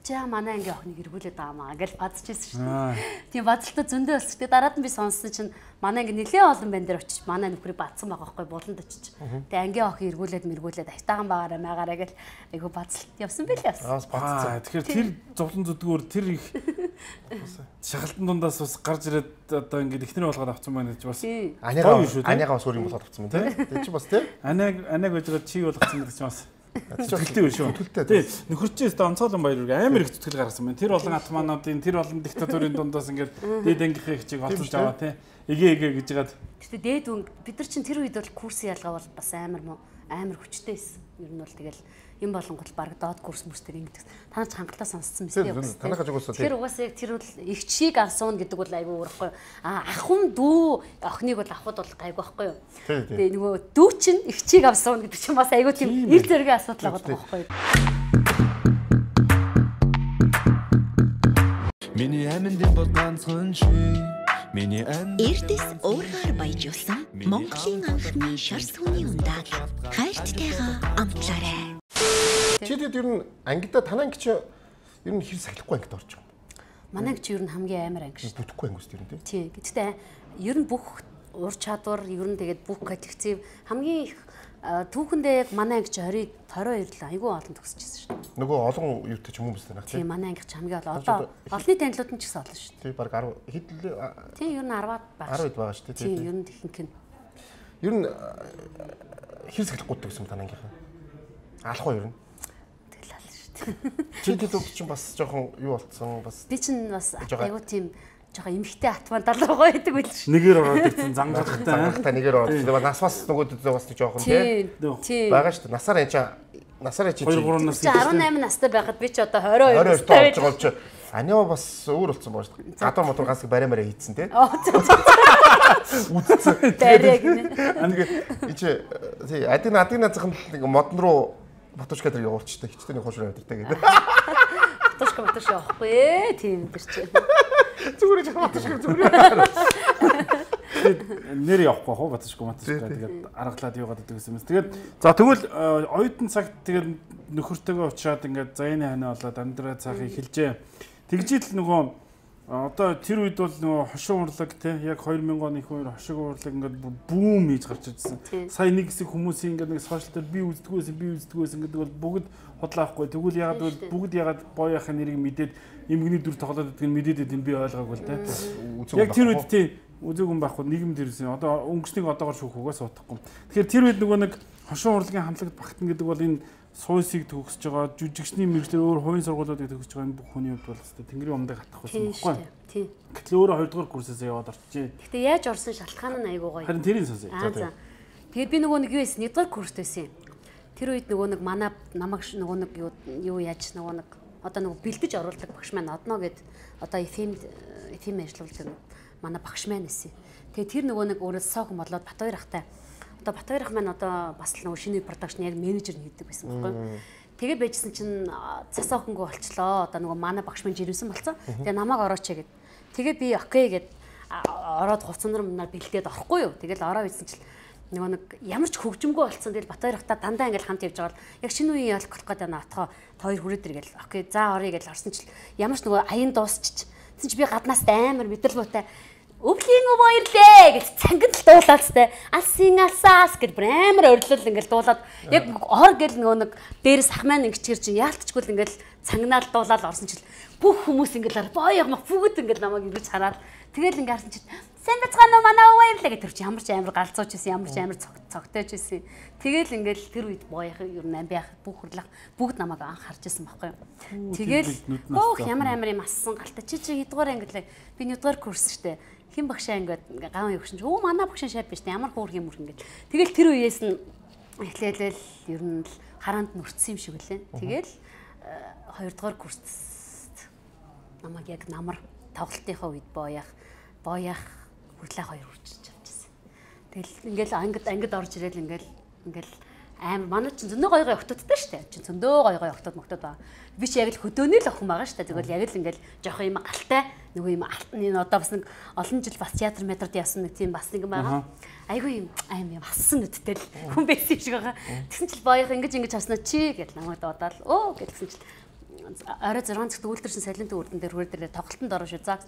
За манай ангийн охиныг эргүүлээд байгаамаа гэж бадчихсэн шүү дээ. Тийм бадалтаа зөндөө болсон. Тэгээ дараад нь би сонссон чинь манай анги нэлээ олон банд дээр очиж манай нөхрийг бадсан байгаа байхгүй болонд очиж. Тэгээ ангийн охин эргүүлээд мэргүүлээд айтаахан байгаараа маагаараа гэл айгу бадалт явсан байлээ явсан. Аа тэгэхээр тэр зовлон зүдгүүр тэр их шахалтан дундаас бас гарч ирээд одоо ингээд ихнэр болгоод авсан байна гэж бас. Аниагаа аниагаа бас өөр юм болгоод авсан байна тий. Тэр чи бас тий. Аниаг аниаг гэж чи болгоцсон гэдэг чи бас. Тэлтэй биш шүү. Тий. Нөхөрчөөс онцгойлон баяр амар их зүтгэл гаргасан байна. Тэр олон атмануудын тэр олон диктатурын дундаас ингээд дээд ангийнхын хичээг олцож аваа тий. Эгэ эгэ гэж яагаад. Гэтэ дээд үн бид нар чинь тэр үед бол курсын ялгаа бол бас амар мó амар хүчтэй байсан. Ер нь бол тэгэл юм болонгот баг доод курс мөстөр ингэдэг. Та нар ч хангалттай сонсцсон мэт юм. Танайхаж угаасаа тэр угаасаа яг тэр бол ихчийг авсан гэдэг бол айгүй өөрөхгүй. А ахын дүү охиныг бол авахд бол гайгүй байхгүй юу. Тэгээ нөгөө дүү чинь ихчийг авсан гэдэг чинь бас айгүй тийм ир зэргийн асуудал байгаа байхгүй юу. Миний аминдын бод ганцхан чи миний ам Эрдэс уургаар баяжуулсан Монголын анхны шар сүний ундааг хайрттайгаа амтлаарай. Чи тэгэд ер нь ангидаа танаа анги чи ер нь хэр сахилахгүй ангид орж байгаа юм. Манай анги чи ер нь хамгийн амар анги шүү. Бүтэхгүй анги үст ер нь тий. Тий. Гэхдээ ер нь бүх ур чадвар ер нь тэгээд бүх коллектив хамгийн их түүхэндээ яг манай анги чи twenty twenty-two л айгүй олон төгсчихсэн шүү. Нөгөө олон юутай ч юм уу биз дээ нах тий. Тий манай анги чи хамгийн одоо олонний танилуд нь ч гэсэн олон шүү. Тий баг ten хэд л тий ер нь ten байгаа. ten байгаа шүү тий. Тий ер нь ихэнх нь. Ер нь хэр сахилахгүй гэсэн танаа ангийнхаа. Алахгүй ер нь. Чи тэд чинь бас жоохон юу болцсон бас. Би чинь бас айгуу тийм жоохон эмхтэй атман далуу байдаг байл ш. Нэгээр ороод ирсэн зангарахтай. Зангарахтай нэгээр ороод. Тэгээ нас бас нөгөөд бас жоохон тий. Бага шүү дээ. Насаар энэ чи насаар чи two three нас eighteen настай байхад би ч одоо twenty-two настай болж байгаа бол чи аниа бас өөр болцсон баа шүү дээ. Гадар мотор гасыг барай барай хийцэн тий. Үдцэн. Тэрэг нэ. Аниг чи тий адин адин назхан модон руу Батушка дээр явуулчихтай хичтээний хуушраа өдөртэй гэдэг. Батушка батушка явахгүй ээ тийм дэр чи. Зүгээр ч Батушка зүгээр. Тэгээд нэр явахгүй хоо батшгүй матшгүй тэгээд аргалаад яваад байдаг гэсэн юм. Тэгээд за тэгвэл оюутан цагт тэгээд нөхөртөөгөө уулзаад ингээд за энэ ханаа болоод амьдраа цаахыг хэлжээ. Тэгжил нөгөө одоо тэр үед бол нөгөө хошин урлаг те яг хоёр мянган оны их хоёр хошин урлаг ингээд бүүм хийж гарч ирсэн. Сая нэг хэсэг хүмүүсийн ингээд нэг сошиал дээр би үздэггүйсэн би үздэггүйсэн гэдэг бол бүгд хотлаахгүй. Тэгвэл ягаад бол бүгд ягаад боёохын нэрийг мэдээд эмгэгний дүр тоглоод байдгийг мэдээд байд би ойлгоогүй л те. Яг тэр үед тий үзээгүй байхгүй нийгэмд ирсэн. Одоо өнгөснийг одоогоор шүүхгүйгээ суудахгүй. Тэгэхээр тэр үед нөгөө нэг хошин урлагийн хамтлагт багтана гэдэг бол энэ суйсыг төгсөж байгаа жүжигчний мэргэжлэр өөр хувийн сургуулиудыг төгсөж байгаа энэ бүх хүний хувьд бол хэвээр тэнгэрийн умдыг хатах байсан байхгүй. Тийм. Гэтэл өөрөө хоёрдугаар курсээс яваад орчихжээ. Гэхдээ яаж орсон шалтгаан нь айгүй гоё. Харин тэрийг сонсъё. За. Тэгээд би нөгөө нэг юу байсан? Нэгдүгээр курст байсан. Тэр үед нөгөө нэг манай намайг нөгөө нэг юу яаж нөгөө нэг одоо нөгөө бэлдэж оруулдаг багш маань одно гэд одоо эфэм эфэм ажиллуулдаг манай багш маань эсэ. Тэгээд тэр нөгөө нэг өөрөө сохом болоод Батбаяр ахтай. Одоо Батбаяр ах маань одоо бас нөгөө шинэ продакшн яг менежер хийдэг байсан байхгүй. Тэгээ байжсэн чинь цас охингоо болчлоо. Одоо нөгөө манай багш маань жирэмсэн болцсон. Тэгээ намайг орооч гэд. Тэгээ би окей гэд ороод хувцандар мунаар бэлдээд орохгүй юу. Тэгэл ороо ийсэн чинь нөгөө нэг ямар ч хөгжимгүй болцсон. Тэгэл Батбаяр ахтай дандаа ингээл хамт явж байгаа бол яг шинэ үеийн ялах болох гэдэг наатахаа хоёр хүрээд иргээл окей за орё гэж орсон чинь ямар ч нөгөө аян дуусчих. Тэгсэн чи би гаднаас амар мэдрэл буутай өвлийн өв баярлээ гэж цангид л дуулаад сте алсын алсаас гэж амар орилол ингээл дуулаад яг ор гэл нөгөө нэг дээрээс ах маань ингэчгэр чи яалтчгүй л ингээл цангнаал дуулаад орсон чил бүх хүмүүс ингээл боёо мах бүгд ингээл намайг ингэж хараад тэгэл ингээ харсан чи сайн бацгаана уу манай өв баярлаа гэж тэр чи ямар ч амар галзууч байсан ямар ч амар цогтойч байсан тэгэл ингээл тэр үед боёох юу нэм байх бүх хурлах бүгд намайг анх харж байсан байхгүй тэгэл өөх ямар амар юм ассан галта чи чи хэдгээр ингээл би нэгдүгээр курс штэ хин багшаа ингээд гаван явагшин өө манай багшаа шав биш ямар хөөрх юм үргэн гэл. Тэгэл тэр үеэс нь эхлээлэл ер нь л хараанд нүрцсэн юм шиг үлээ. Тэгэл хоёрдугаар курст намайг яг намар тоглолтынхаа үед боёах боёах хүрлээ хоёр үрчиж авчихсан. Тэгэл ингээл ангид ангид орж ирэл ингээл ингээл амар манай чинь зөндөө гой гой охтодтой штэ. Чинь зөндөө гой гой охтод мохтод байгаа. Би чи яг л хөдөөний л охин байгаа штэ. Тэгвэл яг л ингээл жоох юм галтай нөгөө юм алтны одоо бас нэг олон жил бас театр метрод явсан нэг тийм бас нэг юм байгаа. Айгүй юм аим юм хассан нүдтэй л хүн байсан шиг байгаа. Тэгсэн чил боёх ингэж ингэж хаснаа чи гэж намайг дуудаал өө гэдгсэн чил орой зургаан цагт үйлдвэрсэн салентын үрдэн дээр хүрээ дээр тоглолтод орно шүү. За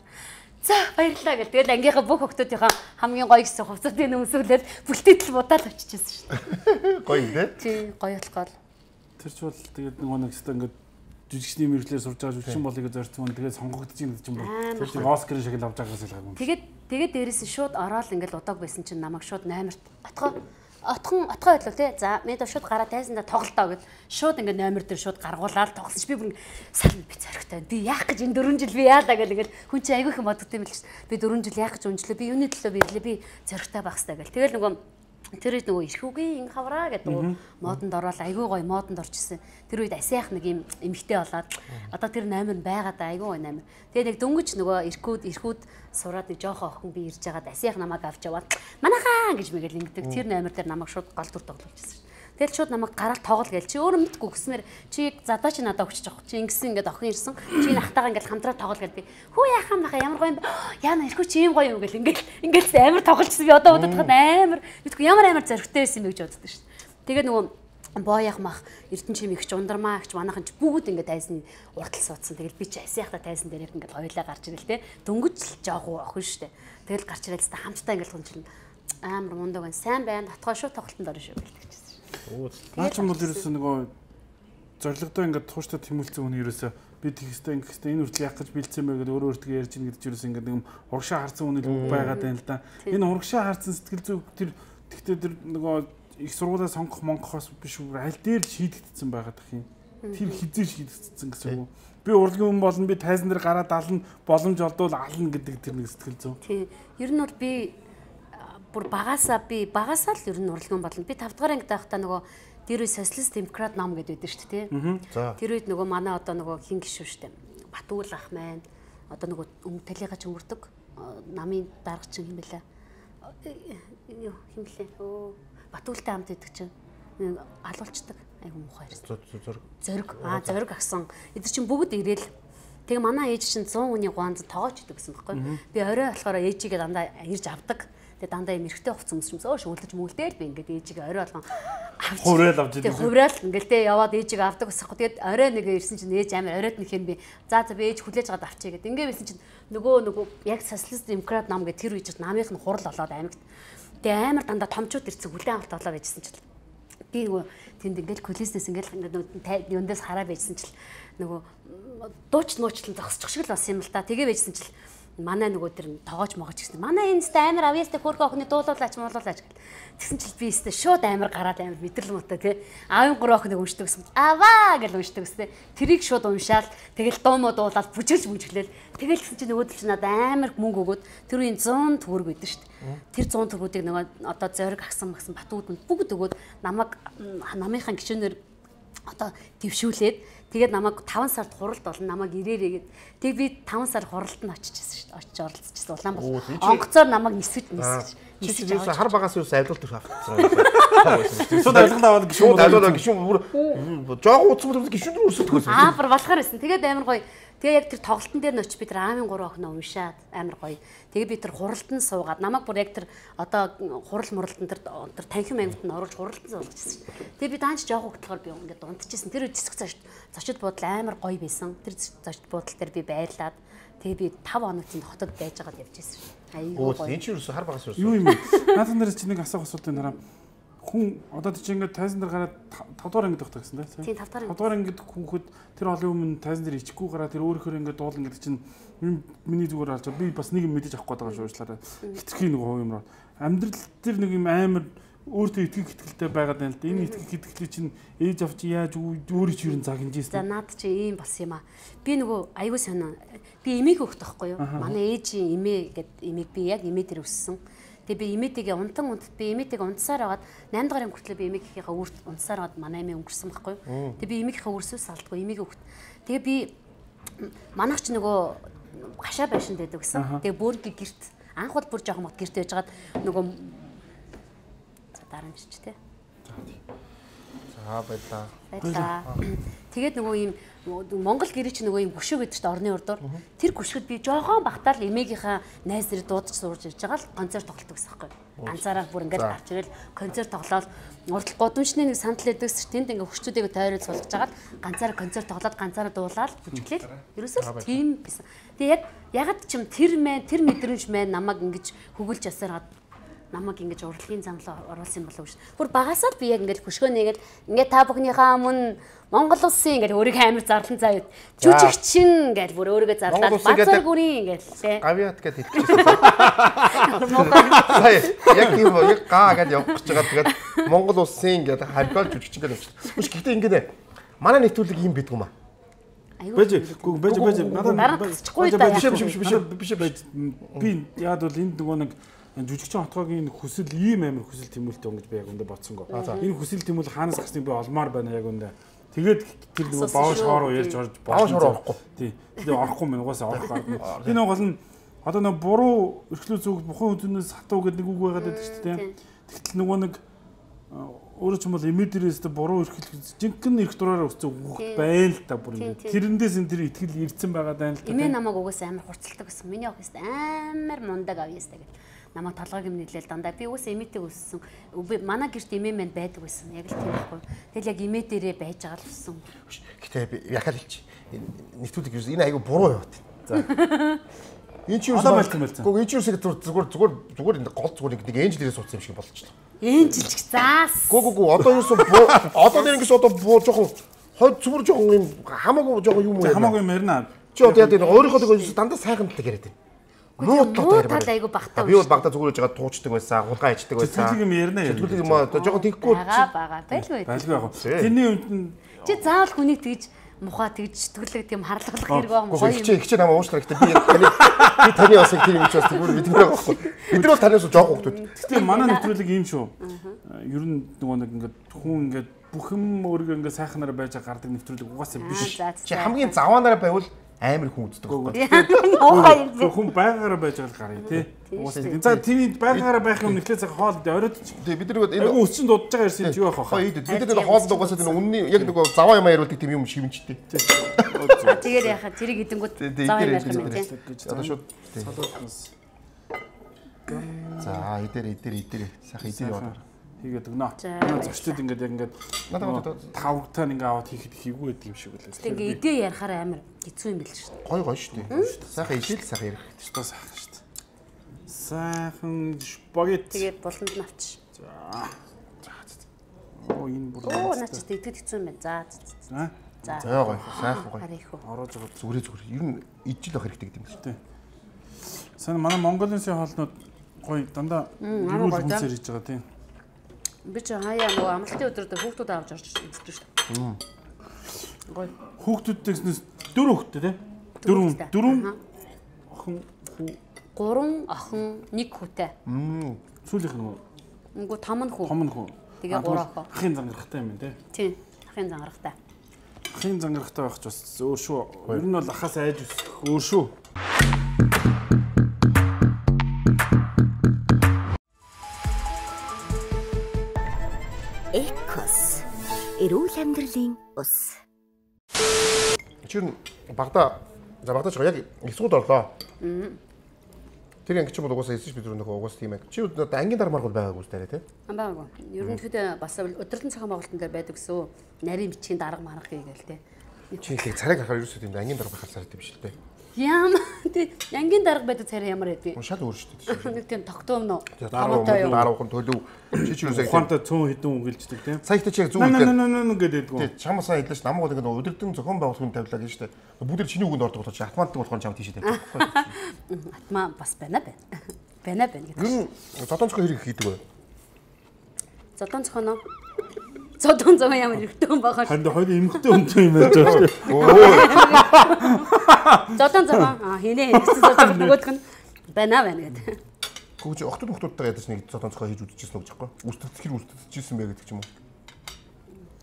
за баярлалаа гэл. Тэгэл ангийнхаа бүх хүмүүсийнхаа хамгийн гоё гэсэн хувцсуудын өмсөөлөл бүлтээтэл будаад очижсэн шүү. Гоё нэ? Тий, гоё болохоо. Тэр ч бол тэгээд нөгөө нэг хэвээр ингээд жүжигчний мэрэгчлэр сурж байгаа жүжигчин болыг зорьсон хүн тэгээд сонгогдож ийн гэж юм байна. Тэр чинь Оскарын шиг л авч байгаас л юм. Тэгээд тэгээд дээрээс нь шууд ороод ингээд удааг байсан чинь намайг шууд номерт отгоо отхон отгоо байлаа тий. За мэд шууд гараа тайсандаа тоглолтоо гэд шууд ингээд номер дээр шууд гаргуулаад тоглосон чи би бүр сална би зоригтой. Би яах гэж энэ дөрвөн жил би яалаа гэл ингээд хүн чи айгүй их боддог юм л ш. Би дөрвөн жил яах гэж унжлаа. Би юуны төлөө бирлээ. Би зоригтой байх хэрэгтэй гэл. Тэгэл нөгөө тэр үед нөгөө ирхүүгийн хавраа гэдэг модонд ороод айгүй гоё модонд орчихсон. Тэр үед асиах нэг юм эмхтэй болоод одоо тэр номер байгаа да айгүй гоё номер. Тэгээ нэг дөнгөж нөгөө ирхүүд ирхүүд сураад нэг жоохон охин би ирж байгаад асиах намайг авч яваад манайхаа гэж мэгэл ингэдэг. Тэр номер дээр намайг шууд гол дүр тоглуулчихсан. Тэгэл шууд намайг гараад тоглол гээл чи өөрөө мэдгүй гэснээр чи задаа чи надад өгч байгаа. Чи ингэсэн ингээд охин ирсэн. Чи нахтаага ингээд хамтраа тоглол гээл би. Хүү яхаа маха ямар гоё юм бэ? Яна ирхүү чи юм гоё юм гээл ингээд ингээд амар тоглолцсон би одоо удаад хаад амар мэдгүй ямар амар зоригтой байсан юм гэж боддог шүү дээ. Тэгээ нөгөө боёх мах эрдэн чим ихч ундармаа ихч манайхан ч бүгд ингээд тайзны уртал суудсан. Тэгэл би чи асиахта тайзан дээр яг ингээд хоёлаа гарч ирэл те. Дөнгөж л жоох охин шүү дээ. Тэгэл гарч ирэл та хамтдаа ингээд гончлон амар мундаг байна. Сайн байна. Татгаа шүү тоглолтонд орно шүү гэлдэг. Наа ч юм бол ерөөсөө нөгөө зоригтой ингээд тууштай тэмүүлсэн хүн ерөөсөө би тэгстэй ингэхтэй энэ үртэл яах гэж бэлдсэн бэ гэдэг өөрөө өөртөө ярьж ийн гэдэг чинь ерөөсөө ингээд нэг урагшаа харсан хүн л байгаад байна л да. Энэ урагшаа харсан сэтгэл зүй тэр тэгтээ тэр нөгөө их сургуулаа сонгох монгохоос биш үү аль дээр шийдэгдсэн байгаад ах юм. Тэр хизээ шийдэгдсэн гэсэн үг. Би урлагийн хүн болно би тайзан дээр гараад ална боломж олдвол ална гэдэг тэр нэг сэтгэл зүй. Тийм. Ер нь бол би бүр багасаа би багасаа л ер нь урлагийн болно. Би тав дахь ангид байхдаа нөгөө тэр үе социалист демократ ном гэдэг байдаг шүү дээ тий. Тэр үед нөгөө манай одоо нөгөө хин гişүү шүү дээ. Батүүл ах маань одоо нөгөө өмг талигач өнгөрдөг намын даргач юм бэлээ. Юу хин блэ? Өө Батүүлтэй хамт идэг чинь алуулцдаг. Айгу муухай ирсэн. Зориг. Зориг. Аа зориг агсан. Эдгээр чинь бүгд ирээл. Тэгээ манай ээж чинь цуун хүний гуанз тоогооч идэг гэсэн байхгүй. Би орой болохоор ээжигээ дандаа ирж авдаг. Тэгээ дандаа юм эргэтэй хувц өмсөмсөө шүүлдэж мүлдээл би ингээд ээжигээ орой болгон авч хувраал авч тэгээ хувраал ингээл тэ яваад ээжигээ авдаг усахгүй тэгээд орой нэг ирсэн чинь ээж амар оройд нэхэн би за за би ээж хүлээж аваад авчиг гэдэг ингээд байсан чинь нөгөө нөгөө яг социалист демократ нам гэх тэр үеж намынх нь хурал болоод аймагт тэгээ амар дандаа томчууд ирсэн хүлээн авалт болоод байжсэн чинь би нөгөө тэнд ингээл кулиснес ингээл ингээд юундаас хараа байжсэн чинь нөгөө дууч нуучлан зогсчих шиг л бас юм л та тэгээ байжсэн чинь манай нөгөө тэр тоогооч могооч гэсэн. Манай энэ сте амар авьяастай хөрхөө охины дуулуулаач муулуулаач гэл. Тэгсэн чил би сте шууд амар гараад амар мэдрэл муутай тий. Аавын гурав охиныг уншдаг гэсэн. Аваа гэл уншдаг гэсэн. Тэрийг шууд уншаал тэгэл дуумуу дуулаад бүжиглж бүжиглээл. Тэгэл гэсэн чинь нөгөөдөл чинь надад амар мөнгө өгөөд тэр үеийн цон төгрөг өгдөн шүү дээ. Тэр цон төгрөгүүдийг нөгөө одоо зориг агсан магсан Батүгд бүгд өгөөд намайг намынхаа гишүүнээр одоо твшүүлээд тэгээд намайг таван сард хуралд болно намайг ирээрээ гэд. Тэг би таван сар хуралд нь очижсэн шүү дээ. Очиж оролцчихсан Улаанбаатар. Онгоцоор намайг нисвэж нисвэж. Чи ч юусе хар багаас юусе авилт авчихсан. Шууд авилгал аваад гişүүн авилгал гişүүн бүр жоох уцмал гişүүн өсөлтгөөс. Аа бүр болохоор байсан. Тэгээд амар гоё. Тэгээ яг тэр тоглолтын дээр нөч би тэр аавын гурав охиноо уншаад амар гоё. Тэгээ би тэр хуралдан суугаад намайг бүр яг тэр одоо хурал муралтан тэр тэр танхим ангид нь оруулж хуралдан суулгажсэн. Тэгээ би даанч жоох хөтлөхөр би ингээд унтчихсэн. Тэр зэсэг цааш зочид буудал амар гоё байсан. Тэр зочид буудал дээр би байрлаад тэгээ би тавь хоногт хотод байж байгаад явж байсан. Айгуу гоё. Энэ чи юу хар багаас юу? Юу юм бэ? Наадхан дээрс чи нэг асуух асуултын дараа хүн одоо тийч ингээд тайзан дээр гараад тавд дугаар ангид багтаа гэсэн тийм. Тийм тавд тавд дугаар ангид хүнхэд тэр олон өмнө тайзан дээр ичихгүй гараад тэр өөрөөр ингээд дуулан гэдэг чинь миний зүгээр алж би бас нэг юм мэдэж авах гээд байгаа шүү уучлаарай. Хитрхи нэг хувь юмроо амьдрал дээр нэг юм амар өөртөө итгэх итгэлтэй байгаад байна л да. Энэ итгэх итгэлийг чинь ээж авч яаж өөрөө ч юу загнажсэн. За наад чи ийм бас юм аа. Би нөгөө аюу санаа би эмээг өгөх тахгүй юу? Манай ээжийн эмээ гэдэг эмээг би яг эмээ дээр өссөн. Тэгээ би эмээтэйгээ унтан унт би эмээтэйгээ унтсаар агаад наймд гарын хүртэл би эмээгийнхээ үрт унтсаар агаад манай эмээ өнгөрсөн байхгүй юу. Тэгээ би эмээгийнхээ үрсээс алдгүй эмээг өгт. Тэгээ би манайч нөгөө гашаа байшин дэдэг гэсэн. Тэгээ бүргийн герт анх бол бүр жоохон мод герт яжгаад нөгөө дараа нь ч тий. За байлаа. Байлаа. Тэгээд нөгөө ийм Монгол гэрээ чи нөгөө юм гүшиг гэдэг чинь орны урдуур. Тэр гүшгэд би жоохон багтаал эмээгийнхаа найз нэр дуудаж сурж ирж байгаа л концерт тоглолт гэсэн байхгүй. Ганцаараа бүр ингээд гарч ирэл концерт тоглоод урдл гудамжны нэг сандал эдэгс тэнд ингээд хүчтүүдийг тойрол суулгаж агаад ганцаараа концерт тоглоод ганцаараа дуулаад бүжиглээл. Ерөөсөө тийм байсан. Тэгээ яг ягд чим тэр мэн тэр мэдрэмж мэн намайг ингэж хөгөлж ясараад намайг ингэж урлагийн замлаа оруулсан болов шүү. Бүр багасаа би яг ингэж хөшгөөнийгэл ингээд та бүхнийхээ өмнө Монгол улсын ингээд өөрийгөө амар зарлан заяа. Жүжигчин гэж бүр өөрийгөө зарлаад бацар гүрийн ингээд тий. Гавьяат гэж хэлчихсэн. Сая яг тийм яг гаа гэж явах гэж байгаа. Тэгээд Монгол улсын ингээд харьцаал жүжигчин гэж явчихсан. Үгүй гэхдээ ингээд манай нэвтрүүлэг юм бидг юм аа. Бэж гүг бэж бэж надад гарчихгүй да. Биш биш биш биш биш би яад бол энд нөгөө нэг жүжигчин хотгоогийн хүсэл ийм амар хүсэл тэмүүлэлтэй юм гэж би яг өндө бодсонго. Энэ хүсэл тэмүүлэл хаанаас гарсныг би олмоор байна яг өндө. Тэгээд тэр нөгөө бааш хоороо ярьж орж бааш хоороо орохгүй. Тий. Тэгээд орохгүй мэн угаасаа орох гарна. Би нөгөө гол нь одоо нөгөө буруу эрхлөө зүг бухан үзүүнээс хатуу гэдэг нэг үг байгаад байдаг шүү дээ. Тэгтэл нөгөө нэг өөрөө ч юм бол эмэдэрээс буруу эрхлэх жинхэнэ эрх дураараа өссөн үг байна л та бүр ингэ. Тэрэндээс энэ тэр итгэл ирсэн байгаа даа л та. Эмээ намайг угаасаа амар хурцлдаг гэсэн. Миний охин өстэй амар мундаг авьяастай гэл. Намайг толгойг юм нийлээл дандаа би уус эмээтэй өссөн. Манай гэрт эмээ мэн байдаг байсан. Яг л тийм байхгүй. Тэгэл яг эмээ дээрээ байж байгаа л өссөн. Гэтэ би яхаа хэлчих. Нэвтрүүлэг юу энэ айгу буруу яваад. За. Энэ чи юу байсан. Гүг энэ чи юу зүгээр зүгээр зүгээр энэ гол зүгээр нэг энжлэрээ суудсан юм шиг болчихлоо. Энжилч заас. Гүг гүг одоо юусэн одоо нэг ингээс одоо буу жоохон хойд цүмэр жоохон юм хамаагүй жоохон юм уу. Хамаагүй юм ярина. Чи одоо яа гэдэг өөрийнхөө дандаа сайхан тал яриад байна. Муу тал айгу багтаа. Би бол багтаа зүгээр жагаад туучдаг байсан, хулгай хийдэг байсан. Тэтгэл юм ярина яа. Тэтгэл юм одоо жоохон тэггүй. Бага бага байлгүй. Байлгүй яг. Тэрний үед чи заавал хүнийг тэгж мухаа тэгж сэтгэлэг тийм харлаглах хэрэг байгаа юм гоё юм. Чи ихчээ намайг уушлаа гэхдээ би таны би таны бас их тийм юм чи бас тэгвэл бид нар байхгүй. Бид нар бол танаас жоох хүмүүс. Гэхдээ манай нэвтрүүлэг ийм шүү. Ер нь нөгөө нэг ингээд хүн ингээд бүх юм өөрийгөө ингээд сайхнараа байж гардаг нэвтрүүлэг угаасаа биш. Чи хамгийн заваанаараа байвал амар хүн үздэг байхгүй. Хүн байгаараа байж байгаа гарыг тий. Угаасаа за тийм байгаараа байх юм нэхлээ цаг хоол оройд тий бид нар энэ өсчин дуудаж байгаа юм чи юу байх вэ? Бид нар хоол угаасаа энэ үнний яг нэг заваа юм яриулдаг тийм юм шивэнчтэй. Тэгээд яхаа тэрийг идэнгүүт заваа юм байх юм тий. Одоо шууд салуутнаас За эдэр эдэр эдэр сайхан эдэр яваад. хийгээд өгнө. Манай зочдод ингээд яг ингээд тавгтаа ингээ аваад хийхэд хийгүү гэдэг юм шиг үлээ. Тэг ингээ идэ ярахаар амар хэцүү юм биш шүү дээ. Гой гой шүү дээ. Сайхан идэл сайхан ярих хэрэгтэй. Тоо сайхан шүү дээ. Сайхан спагетти. Тэгээд буланд нь авч. За. Оо энэ бүр. Оо наа чи идэхэд хэцүү юм байна. За. За. За гой сайхан гой. Харих уу. Ороож байгаа зүгрээ зүгрээ. Ер нь ижил байх хэрэгтэй гэдэг юм шүү дээ. Сайн манай Монголын сэн хоолнууд гой дандаа гэрүүл хүнсээр хийж байгаа тийм. Би ч хаяа нөгөө амралтын өдрөд хүүхдүүд авч орж ирсэн шүү дээ. Гой. Хүүхдүүдтэйгснээс дөрөв хүүхдтэй тийм. Дөрөв дөрөв охин гурван охин нэг хүүтэй. Сүүлийнх нь Нөгөө том нь хүү. том нь хүү. Тэгээ гурав охин. Ахын зангарахтай юм тийм. Тийм. Ахын зангарахтай. Ахын зангарахтай байх ч бас өөр шүү. Ер нь бол ахаас айж өсөх өөр шүү. Экос. Эрүүл амьдралын ус. Чи багада за багадаж яг их сууд орлоо. Тэр анги чи бол угаасаа эсэж бид нөгөө угаасаа тийм яг. Чи одоо ангийн дармаар бол байгаагүй үстэй тий. Амбаагүй. Ерөнхийдөө бас өдөртөн цагаан байгуулалтан дээр байдаг гэсэн нарийн бичгийн дарга марга хийгээл тий. Чи их царайг харахаар ерөөсөө тийм ангийн дарга байхаар царайд юм шиг тий. Яам тий ангийн дарга байдаг царай ямар байдгийг. Шал өөр шүү дээ. Нэг тийм тогтоом нөө. Томоотой юу? Дараахан төлөв. Чи ч ерөөсөө Ухаантай цөөн хідэн үгэлждэг тийм. Сая ихтэй чи яг зүг үү. гэдэг гоо. Тий чамасаа хэлж намгууд ингээд өдөртөн зохион байгуулалтын тавилаа гэж штэ. Бүгд чиний үгэнд ордог болоо чи автоматик болохоор чам тийшээ тавьчих. Атмаа бас байна байна. Байна байна гэдэг. Юу зодонцгоо хэрэг хийдэг вэ? Зодон цохоно. Зодон зохоо ямар хэрэгтэй юм баха. Ханд хоёр эмхтэй өнтэй юм яаж байгаа шүү. Зодон зохоо аа хийнэ гэсэн зодон нөгөөх нь байна байна гэдэг. Гүж охтод охтодтойгоо ядаж нэг зодонцгоо хийж үзчихсэн үг жаахгүй. Үстэгдэх хэр үстэгдэжсэн бэ гэдэг ч юм уу.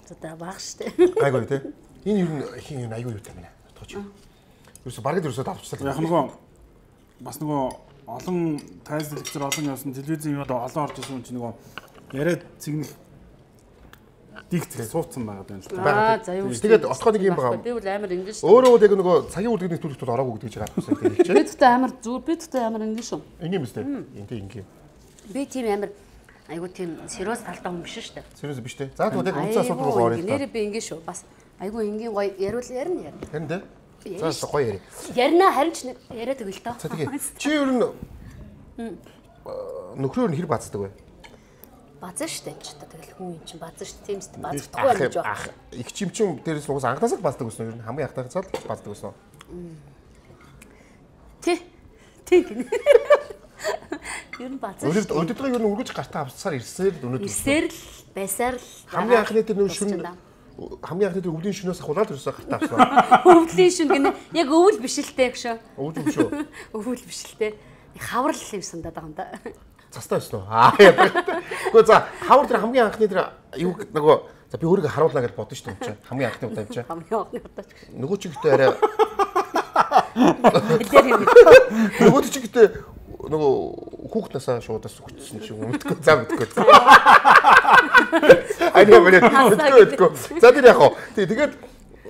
За баг штэ. Айгүй тий. Энэ юу хин айгүй юу та минь. Тооч. Ерөөсө бараг ерөөсө давчсан. Яг нөгөө бас нөгөө олон тайлбар лекцэр олон явсан телевизийн юмд олон орж ирсэн чинь нөгөө яриад цэгнэх дикт суудсан байгаа юм л Аа та. за юу. Тэгээд отгоо нэг юм байгаа. Би бол амар ингэж шүү. Өөрөө яг нөгөө цагийн үлдгэний төлөвчд ороогүй гэдэг чигээр авчихсан тийм Би тэгтээ амар зүр би тэгтээ амар ингэж шүү. Ингийн мэт. Энд ингийн. Би тийм амар айгу тийм сериус талтай хүн биш шүү дээ. Сериус биш те. За тэгвэл яг үнцэн асуудал руу орё. Нэрээ би ингэж шүү. Бас айгу энгийн гоё яриул ярина ярина. Харин те. За гоё яри. Ярина харин ч яриад өгөл тоо. За тэгээ. Чи ер нь нөхрөөр нь хэр бацдаг вэ? Базар штэ энэ ч тэгэл хүн юм чинь базар штэ тийм штэ базардахгүй байна гэж байна. Их чимчин дээрээс угаас анхнаасаа бацдаг гэсэн юм. Хамгийн ахтайцаад бацдаг гэсэн. Тэ. Тэ гинэ. Ер нь базар. Өөрөөр өдөртөө ер нь үргэж гартаа авцсаар ирсээр л өнөөдөр. Ирсээр л байсаар л хамгийн анхны тэр нөө шүн хамгийн анхны тэр өвлийн шүнээс ахуулаад ерөөсөө гартаа авсан. Өвлийн шүн гинэ яг өвөл биш л дээ гэж. Өвөл юм шүү. Өвөл биш л дээ. Хаврал юм сандаад байгаа юм да. Цастаа өснө. Аа яа. Гэхдээ за хавар тэр хамгийн анхны тэр юу нөгөө за би өөрийгөө харуулна гэж бодсон шүү дээ. Хамгийн анхны удаа юм чи. Хамгийн анхны удаа ч. Нөгөө ч ихтэй арай Хэлээр юм. нөгөө ч ихтэй нөгөө хүүхднасаа шуудаас өгчсөн шиг юм мэдгүй. За мэдгүй. Айгаа мөрөд мэдгүй. За тэр яг хоо. Тэгээд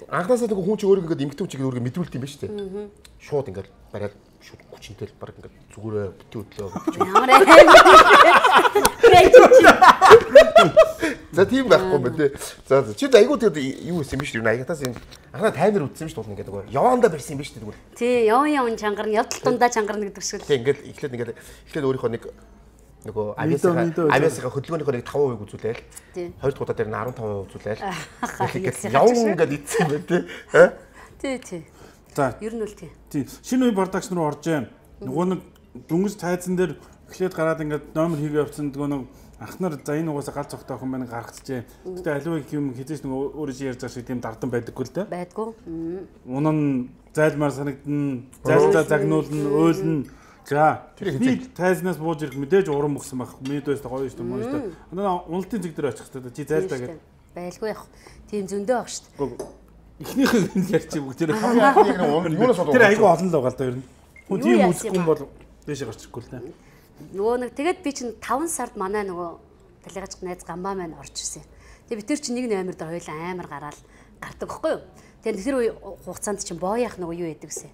анхнаасаа нөгөө хүн чи өөрийгөө ингээд эмгтэн чигээр өөрийгөө мэдрүүлт юм ба шүү дээ. Шууд ингээд бариад шууд хүчнтэй л баг ингээд зүгээрээ бити хөдлөө гэж. Ямар аа. За тийм байхгүй мэ тий. За чи айгуу тэгээд юу хийсэн биш үү? Аягатаас энэ анхаа таймер үтсэн биш тул ингээд нөгөө яваандаа барьсан юм биш үү тэгвэл. Тий, яван яван чангарна, явдал дундаа чангарна гэдэг шиг л. Тий ингээд эхлээд ингээд эхлээд өөрийнхөө нэг нөгөө авиасаа авиасаа хөдөлгөөнийхөө нэг таван хувийг үзүүлээл. Хоёр дахь удаа дээр нь арван таван хувийг үзүүлээл. Тэгэхээр яван ингээд ийдсэн юм тий. Тий, тий. За. Ер нь үл тий. Тий. Шинэ үе продакшн руу орж байна. Нөгөө нэг дүнгийн тайзан дээр эхлээд гараад ингээд номер хийгээ явцсан нөгөө нэг ахнаар за энэ угаасаа гал цогтой хүн байна гаргацжээ. Гэтэ аливаа юм хизээч нөгөө өөрөө чи ярьж байгаа шиг тийм дардан байдаггүй л дээ. Байдгүй. Унан зайлмаар санагдана, зайлтаа загнуулна, уйлна. За би тайзнаас бууж ирэх мэдээж уран мөксөн байх. Мэдээс гоё шүү дээ, мөн шүү дээ. Манай уналтын зэг дээр очих хэрэгтэй. Чи зайлтаа гэдэг. Байлгүй яах. Тийм зөндөө баг шүү дээ. Эхнийх нь ярьчих бүгд тэр юунаас болов. Тэр айгүй олон л байгаа л да ер нь. Хүн тийм үзэхгүй бол дээшээ гарч ирэхгүй л дээ. Нөгөө нэг тэгээд би чинь таван сард манай нөгөө талигаж найз гамбаа маань орж ирсэн. Тэгээд бид тэр чинь нэг номер дээр хоёулаа амар гараал гардаг байхгүй юу? Тэгээд тэр үе хугацаанд чинь боояах нөгөө юу яадаг гэсэн.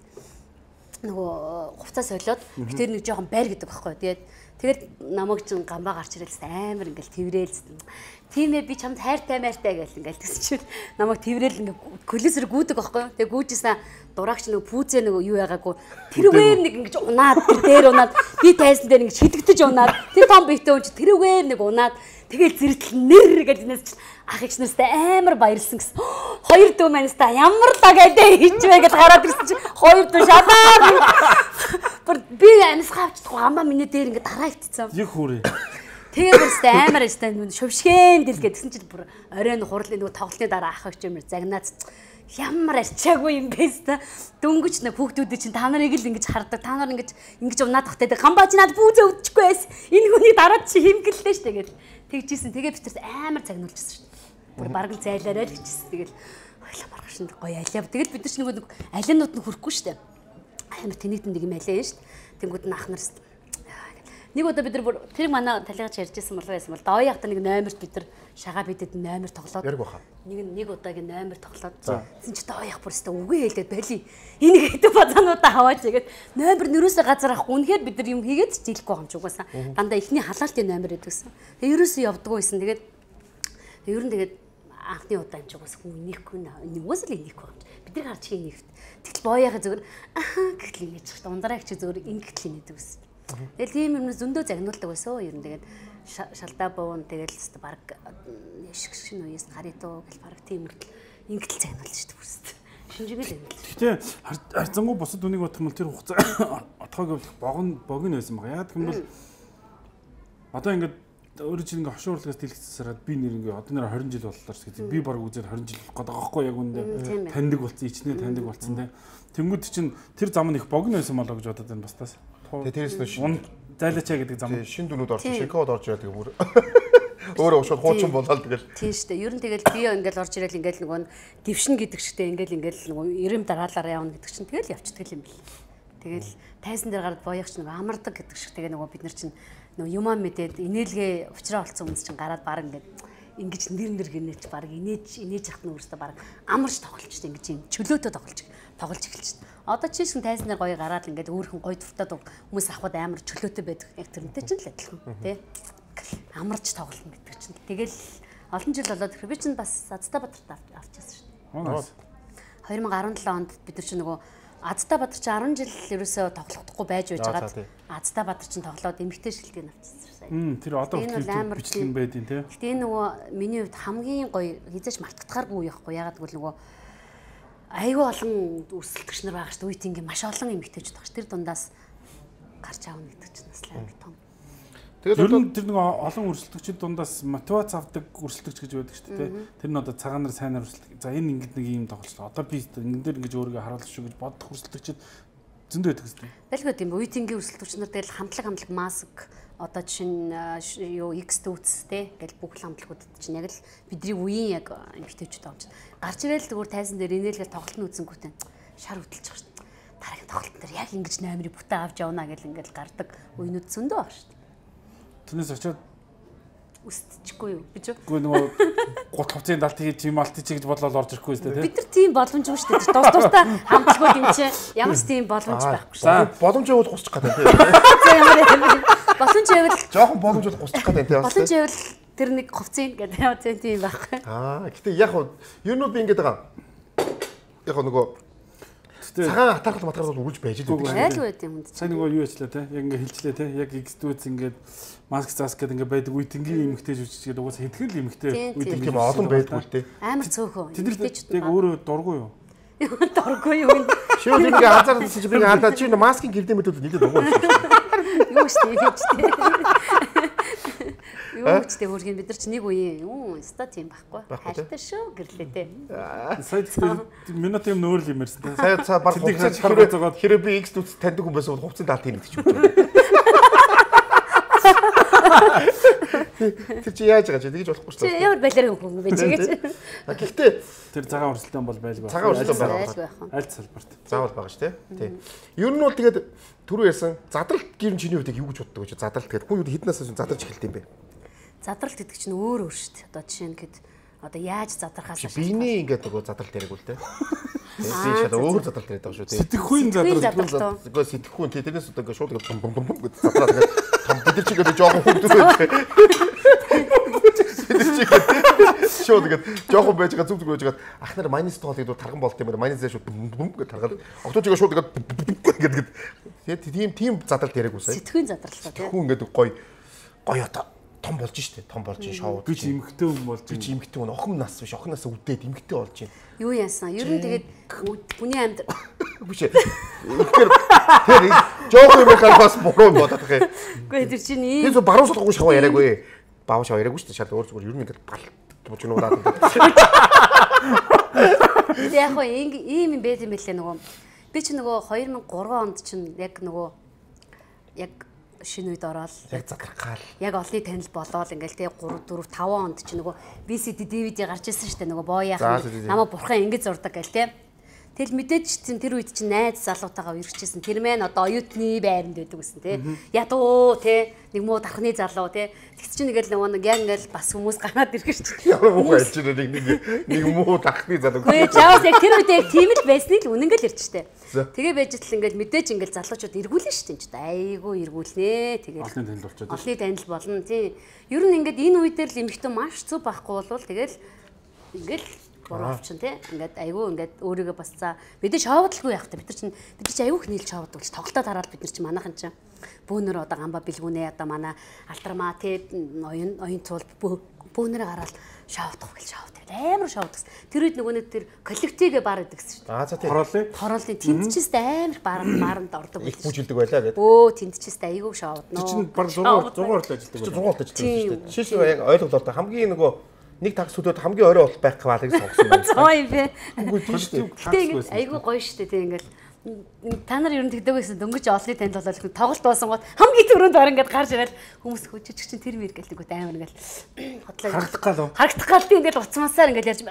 Нөгөө хувцас солиод бид тэр нэг жоохон байр гэдэг байхгүй юу? Тэгээд Тэгээд намайг чинь гамбаа гарч ирэлсэн амар ингээл тэврээлсэн. Тийм ээ би чамд хайртай майртай гэл ингээл тэгсчил намайг тэврээл ингээ колесэр гүйдэг аахгүй. Тэгээ гүйжсэн дураагч нөгөө пүүзээ нөгөө юу яагаагүй тэрүүгээр нэг ингэж унаад дээр унаад би тайсан дээр ингэж хидэгдэж унаад тэр том биетээ унж тэрүүгээр нэг унаад тэгэл зэрэгтэл нэр гэж нээс чинь ах эгч нартай амар баярлсан гэсэн. Хоёр дүү маньста ямар дагаад хийчвэ гэж гараад ирсэн чинь хоёр дүү шалаа. Би амьсгаа авчихгүй амаа миний дээр ингэ тараа итцсэн. Их хүрээ. Тэгээ бүрстэй амар ажтай шөвшгэн дэлгээд гэсэн чинь бүр оройн хурлын нөгөө тоглолтын дараа ах эгч юмэр загнаад ямар арчаагүй юм бэ ста. Дөнгөж нэг хүүхдүүд чинь та нарыг л ингэж хардаг. Та нар ингэж ингэж унаад тахтай. Гамбаа чи надад бүүзээ өгдөхгүй байс. Энэ хүний дараад чи химгэллээ ш тэгээд тэгжсэн. Тэгээ бид тэр амар цагнуулчихсан ш. Бүр бараг л зайлаарай л гэжсэн. Тэгэл хойлоо маргашин гоё алиав. Тэгэл бид нар ч нэг алианууд нь хүрхгүй ш. Амар тэнэгтэн нэг юм алиа ш. Тэнгүүд нь ах нараас нэг удаа бид нар тэр манай талигаж ярьжсэн бол байсан бол доо яхта нэг номерт бид нар шагаа бидэд номер тоглоод яриг баха. Нэг нэг удаагийн номер тоглоод зин ч доо ях бүрстэ үгүй хэлээд байли. Энийг хэдэн базаануудаа хаваач гэгээд номер нөрөөсөө газар авахгүй. Үнэхээр бид нар юм хийгээд ч дийлэхгүй юм ч угаасаа. Дандаа ихний халаалтын номер гэдгсэн. Тэгээ ерөөсөө явдггүй байсан. Тэгээд ер нь тэгээд анхны удаа юм ч угаасаа хүн инехгүй нэ. Угаасаа л инехгүй юм. Бид нар гарч хийнэ. Тэгтэл боо яхаа зүгээр аа гэхэл инеж чад. Ундраагч зүгээр ингэхэл инедэг гэсэн. Тэгэл тийм юм зөндөө загнуулдаг байсан. Ер нь тэгээд шалдаа буун тэгэл өстө баг шиг шин үеэс гаритуу гэл баг тийм ингэл загнуулж шүү дээ бүрст. Шинжигэл юм л. Гэхдээ харцангуй бусад үнийг бодох юм бол тэр хугацаа отгоог богн богн байсан байгаа. Яг гэвэл одоо ингээд өөрөө чинь ингээ хошуурлагаас дэлгэцсараад би нэр ингээ одоо нэр хорин жил боллоо ч гэдэг. Би баг үзээд хорин жил болох гэдэг аахгүй яг үндэ таньдаг болсон, ичнээ таньдаг болсон те. Тэнгүүд чинь тэр зам нь их богн байсан болоо гэж бодоод байна бастаас. Тэгээ тэрээс нь шин зайлачаа гэдэг зам. Шин дүнүүд орж шинкод орж ирээд тэгээ бүр өөрөө ушууд хуучин болоод тэгэл. Тийм шүү дээ. Ер нь тэгэл би ингээл орж ирэл ингээл нөгөө гівшин гэдэг чигтээ ингээл ингээл нөгөө ирэм дараалаараа явна гэдэг чинь тэгэл явчихдаг юм бэл. Тэгэл тайсан дээр гараад боёгч нөгөө амардаг гэдэг шиг тэгээ нөгөө бид нар чинь нөгөө юмаа мэдээд инээлгээ уучраа олцсон хүмүүс чинь гараад баг ингээд ингэж нэр нэр гинэж баг инээж инээж явах нь өөрөөсөө баг амарч тоглолчтой ингэж юм чөлөөтэй тоглож тоглож эхэлчихсэн. Одоо чи шин тайсан дээр гоё гараад ингээд өөрхөн гоё дуртаад хүмүүс авахд амар чөлөөтэй байдаг. Яг тэрнтэй ч л адилхан тий. Амарч тоглоно гэдэг чинь. Тэгэл олон жил болоод би чинь бас Азтай Бадарт авчихсан шүү дээ. хоёр мың и десет онд бид нар чинь нөгөө Азтай Бадар чинь арван жил ерөөсөө тоглохдохгүй байж байж байгаад Азтай Бадар чинь тоглоод эмэгтэй шилдэг авчихсан. Хм тэр одоо хүртэл бичлэг байдیں۔ Тэ. Гэтэ энэ нөгөө миний хувьд хамгийн гоё хизээч мартагдахааргүй яахгүй. Ягаад гэвэл нөгөө айгүй олон өрсөлдөгч нар байгаа шүү дээ. Үеийнгийн маш олон эмэгтэйчүүд байгаа шүү. Тэр дундаас гарч аавна гэдэг чинь бас амар том. Тэгээд одоо тэр нэг олон өрсөлдөгчид дундаас мотивац авдаг өрсөлдөгч гэж байдаг шүү дээ. Тэр нь одоо цагаанаар сайнаар өрсөлдөг. За энэ ингэдэг нэг юм тоглолт. Одоо би энэ дээр ингэж өөрийгөө харуулах шүү гэж бодох өрсөлдөгчид зөндөө байдаг шүү дээ. Байлгүй тийм үеийнгийн өрсөлдөгч нар тэгэл хамтлаг хамтлаг маск одоо чинь юу X дүүц те гэл бүх хамтлагуудад чинь яг л бидний үеийн яг эмэгтэйчүүд байгаа юм чинь. Гарч ирэл зүгээр тайсан дээр инээлгээл тоглолт нь үзэнгүүтээ шар хөдөлж байгаа шүү дээ. Дараагийн тоглолт дээр яг ингэж номерыг бүтээ авч явна гэл ингээл гардаг үеинүүд зөндөө байгаа шүү дээ. Тэрнээс очиод үстчихгүй юу гэж үү? Үгүй нөгөө гут хувцын далт хийж тийм алт хийж гэж бодлоо орж ирэхгүй шүү дээ. Бид нар тийм боломжгүй шүү дээ. Дус дустай хамтлагууд юм чи ямар ч тийм боломж байхгүй шүү. За боломжгүй гусчих гэдэг тийм. За ямар юм. Боломж байвал жоохон боломжгүй гусчих гэдэг тийм. Боломж байвал тэр нэг хувцын гэдэг яа тийм байхгүй. Аа гэтээ яг нь ер нь би ингэж байгаа. Яг нөгөө цагаан хатархал матархал бол үрж байж л байдаг. Айл байд юм. Сайн нөгөө юу ячлаа те? Яг ингээ хэлчлээ те? Яг X дүүц ингээд маск заас гэдэг ингээ байдаг үеийнгийн эмэгтэй жүжигчгээд угаасаа хэдхэн л эмэгтэй үеийнг тийм олон байдгүй л те. Амар цөөхөн. Тэд яг өөрөө дургүй юу? Дургүй юу? Шууд ингээ анзаарсан чи би хандаа чи маскын гэрдээ мэдүүд нийлээд дургүй шүү. Юу ч тийм ч тийм. Юу ч тийм хөргөн бид нар ч нэг үе юу ста тийм байхгүй. Хальтаа шүү гэрлээ те. Сая минут юм нөөр л юм ярьсан те. Сая цаа баг хувцас хэрэг би X дүүц таньдаг хүн байсан бол хувцсын даалт юм гэж бодож байна. Тэр чи яаж байгаа чи тэгж болохгүй шүү дээ. Ямар балер хүн бэ чи гэж. Гэхдээ тэр цагаан өрсөлдөөн бол байлгүй. Цагаан өрсөлдөөн байгаа. Аль салбарт. Заавал байгаа шүү дээ. Тий. Ер нь бол тэгээд түрүү ярьсан задралт гэр чиний үед юу гэж боддог вэ? Задралт гэдэг хүн юу хэднээс задарч эхэлт юм бэ? Задралт гэдэг чинь өөр өөр шүү дээ. Одоо жишээ нь гээд одоо яаж задрахаас биений ингээд нөгөө задралт яриаг үл тээ. Би шал өөр задралт яриад байгаа шүү дээ. Сэтгэхүйн задралт. Үгүй сэтгэхүйн тэрнээс одоо ингээд шууд ингээд бум бум бум гэж задраад ингээд том бид нар чигээр жоохон хөвдөж байдаг. Шууд ингээд жоохон байж байгаа зүг зүг байж байгаа ах нар майонез тоолыг дуу тарган болт юм байна. Майонезээ шууд бум бум гэж таргаад октоо чигээр шууд ингээд ингээд тийм тийм задралт яриаг үсэ. Сэтгэхүйн задралт тий. Сэтгэхүйн ингээд гоё гоё одоо том болж штэ том болж шоуд би ч эмхтэй хүн болж би ч эмхтэй хүн охин нас биш охин нас үдээд эмхтэй болж байна. Юу яасан? Ер нь тэгээд хүний амьд биш ээ. Тэгэхээр тэр жоохон юм халбас буруу бодох юм. Үгүй тэр чинь ийм тэр баруун сулгуу шаваа яриаггүй. Баав шаваа яриаггүй штэ шал өөр зүгээр ер нь ингээд бал болж нуудаад. Яг гоо ийм юм байт юм бэлээ нөгөө би чи нөгөө two thousand three онд чинь яг нөгөө яг шинэ үед ороод яг задрахгаал яг олны танил болоод ингээл тий three four five онд чи нөгөө ви си ди ди ви ди гарч ирсэн шүү дээ нөгөө боояах намаа бурхан ингэж зурдаг гэл тий. Тэгэл мэдээж чинь тэр үед чинь найз залуутайгаа үргэжсэн тэр мэн одоо оюутны байранд байдаг гэсэн тий. Ядуу тий нэг муу дархны залуу тий. Тэгс чинь нэгэл нөгөө нэг яг ингээл бас хүмүүс гараад ирэх шүү дээ. Ямар муу альч нэг нэг нэг муу дархны залуу. Үгүй чаавс яг тэр үед яг тийм л байсныг л үнэн гэл ярьж штэ. Тэгээ байж тал ингээл мэдээж ингээл залуучууд эргүүлнэ штэ энэ ч айгүй эргүүлнэ. Тэгээ олны танил болчиход. Олны танил болно тий. Ер нь ингээд энэ үед л эмхтэн маш зүв байхгүй болвол тэгэл ингээл боровчин тий ингээд айгүй ингээд өөрийгөө бас за мэдээж шоудлгүй явах та бид нар чинь бид чинь айгүй хнийл шоуд болж тоглолтод хараад бид нар чинь манайхан чинь бөөнөр одоо гамба бэлгүнээ одоо манай алдармаа тий оюун оюун цуул бөөнөрөө гараад шоудах гэж шоуд амар шоуд гэсэн тэр үед нөгөө нэг тэр коллективгээ бар гэдэг шүү дээ. Аа за тий хороолын хороолын тэнцчээстэй амар баранд баранд ордог их бүжилдэг байлаа гэдэг. Өө тэнцчээстэй айгүй шоуд нөө чинь баг зугаар зугаар л ажилладаг. Чи зугаалт ажилладаг шүү дээ. Жишээ нь яг ойлголоо та хамгийн нөгөө нэг тагс сүлээд хамгийн орой болох байх квалыг сонгосон байна. Зоо юм бэ. Үгүй тийм шүү дээ. Гэтэ ингээд айгүй гоё шүү дээ тийм ингээд та нар ер нь тэгдэг байсан дөнгөж олны танд болол тоглолт боосон гот хамгийн түрүүнд ор ингээд гарч ирэл хүмүүс хөжиж чинь тэр мэр гэлдэг үү амар ингээд хотлоо харагдах гал уу харагдах гал тийм ингээд уцмасаар ингээд ярьж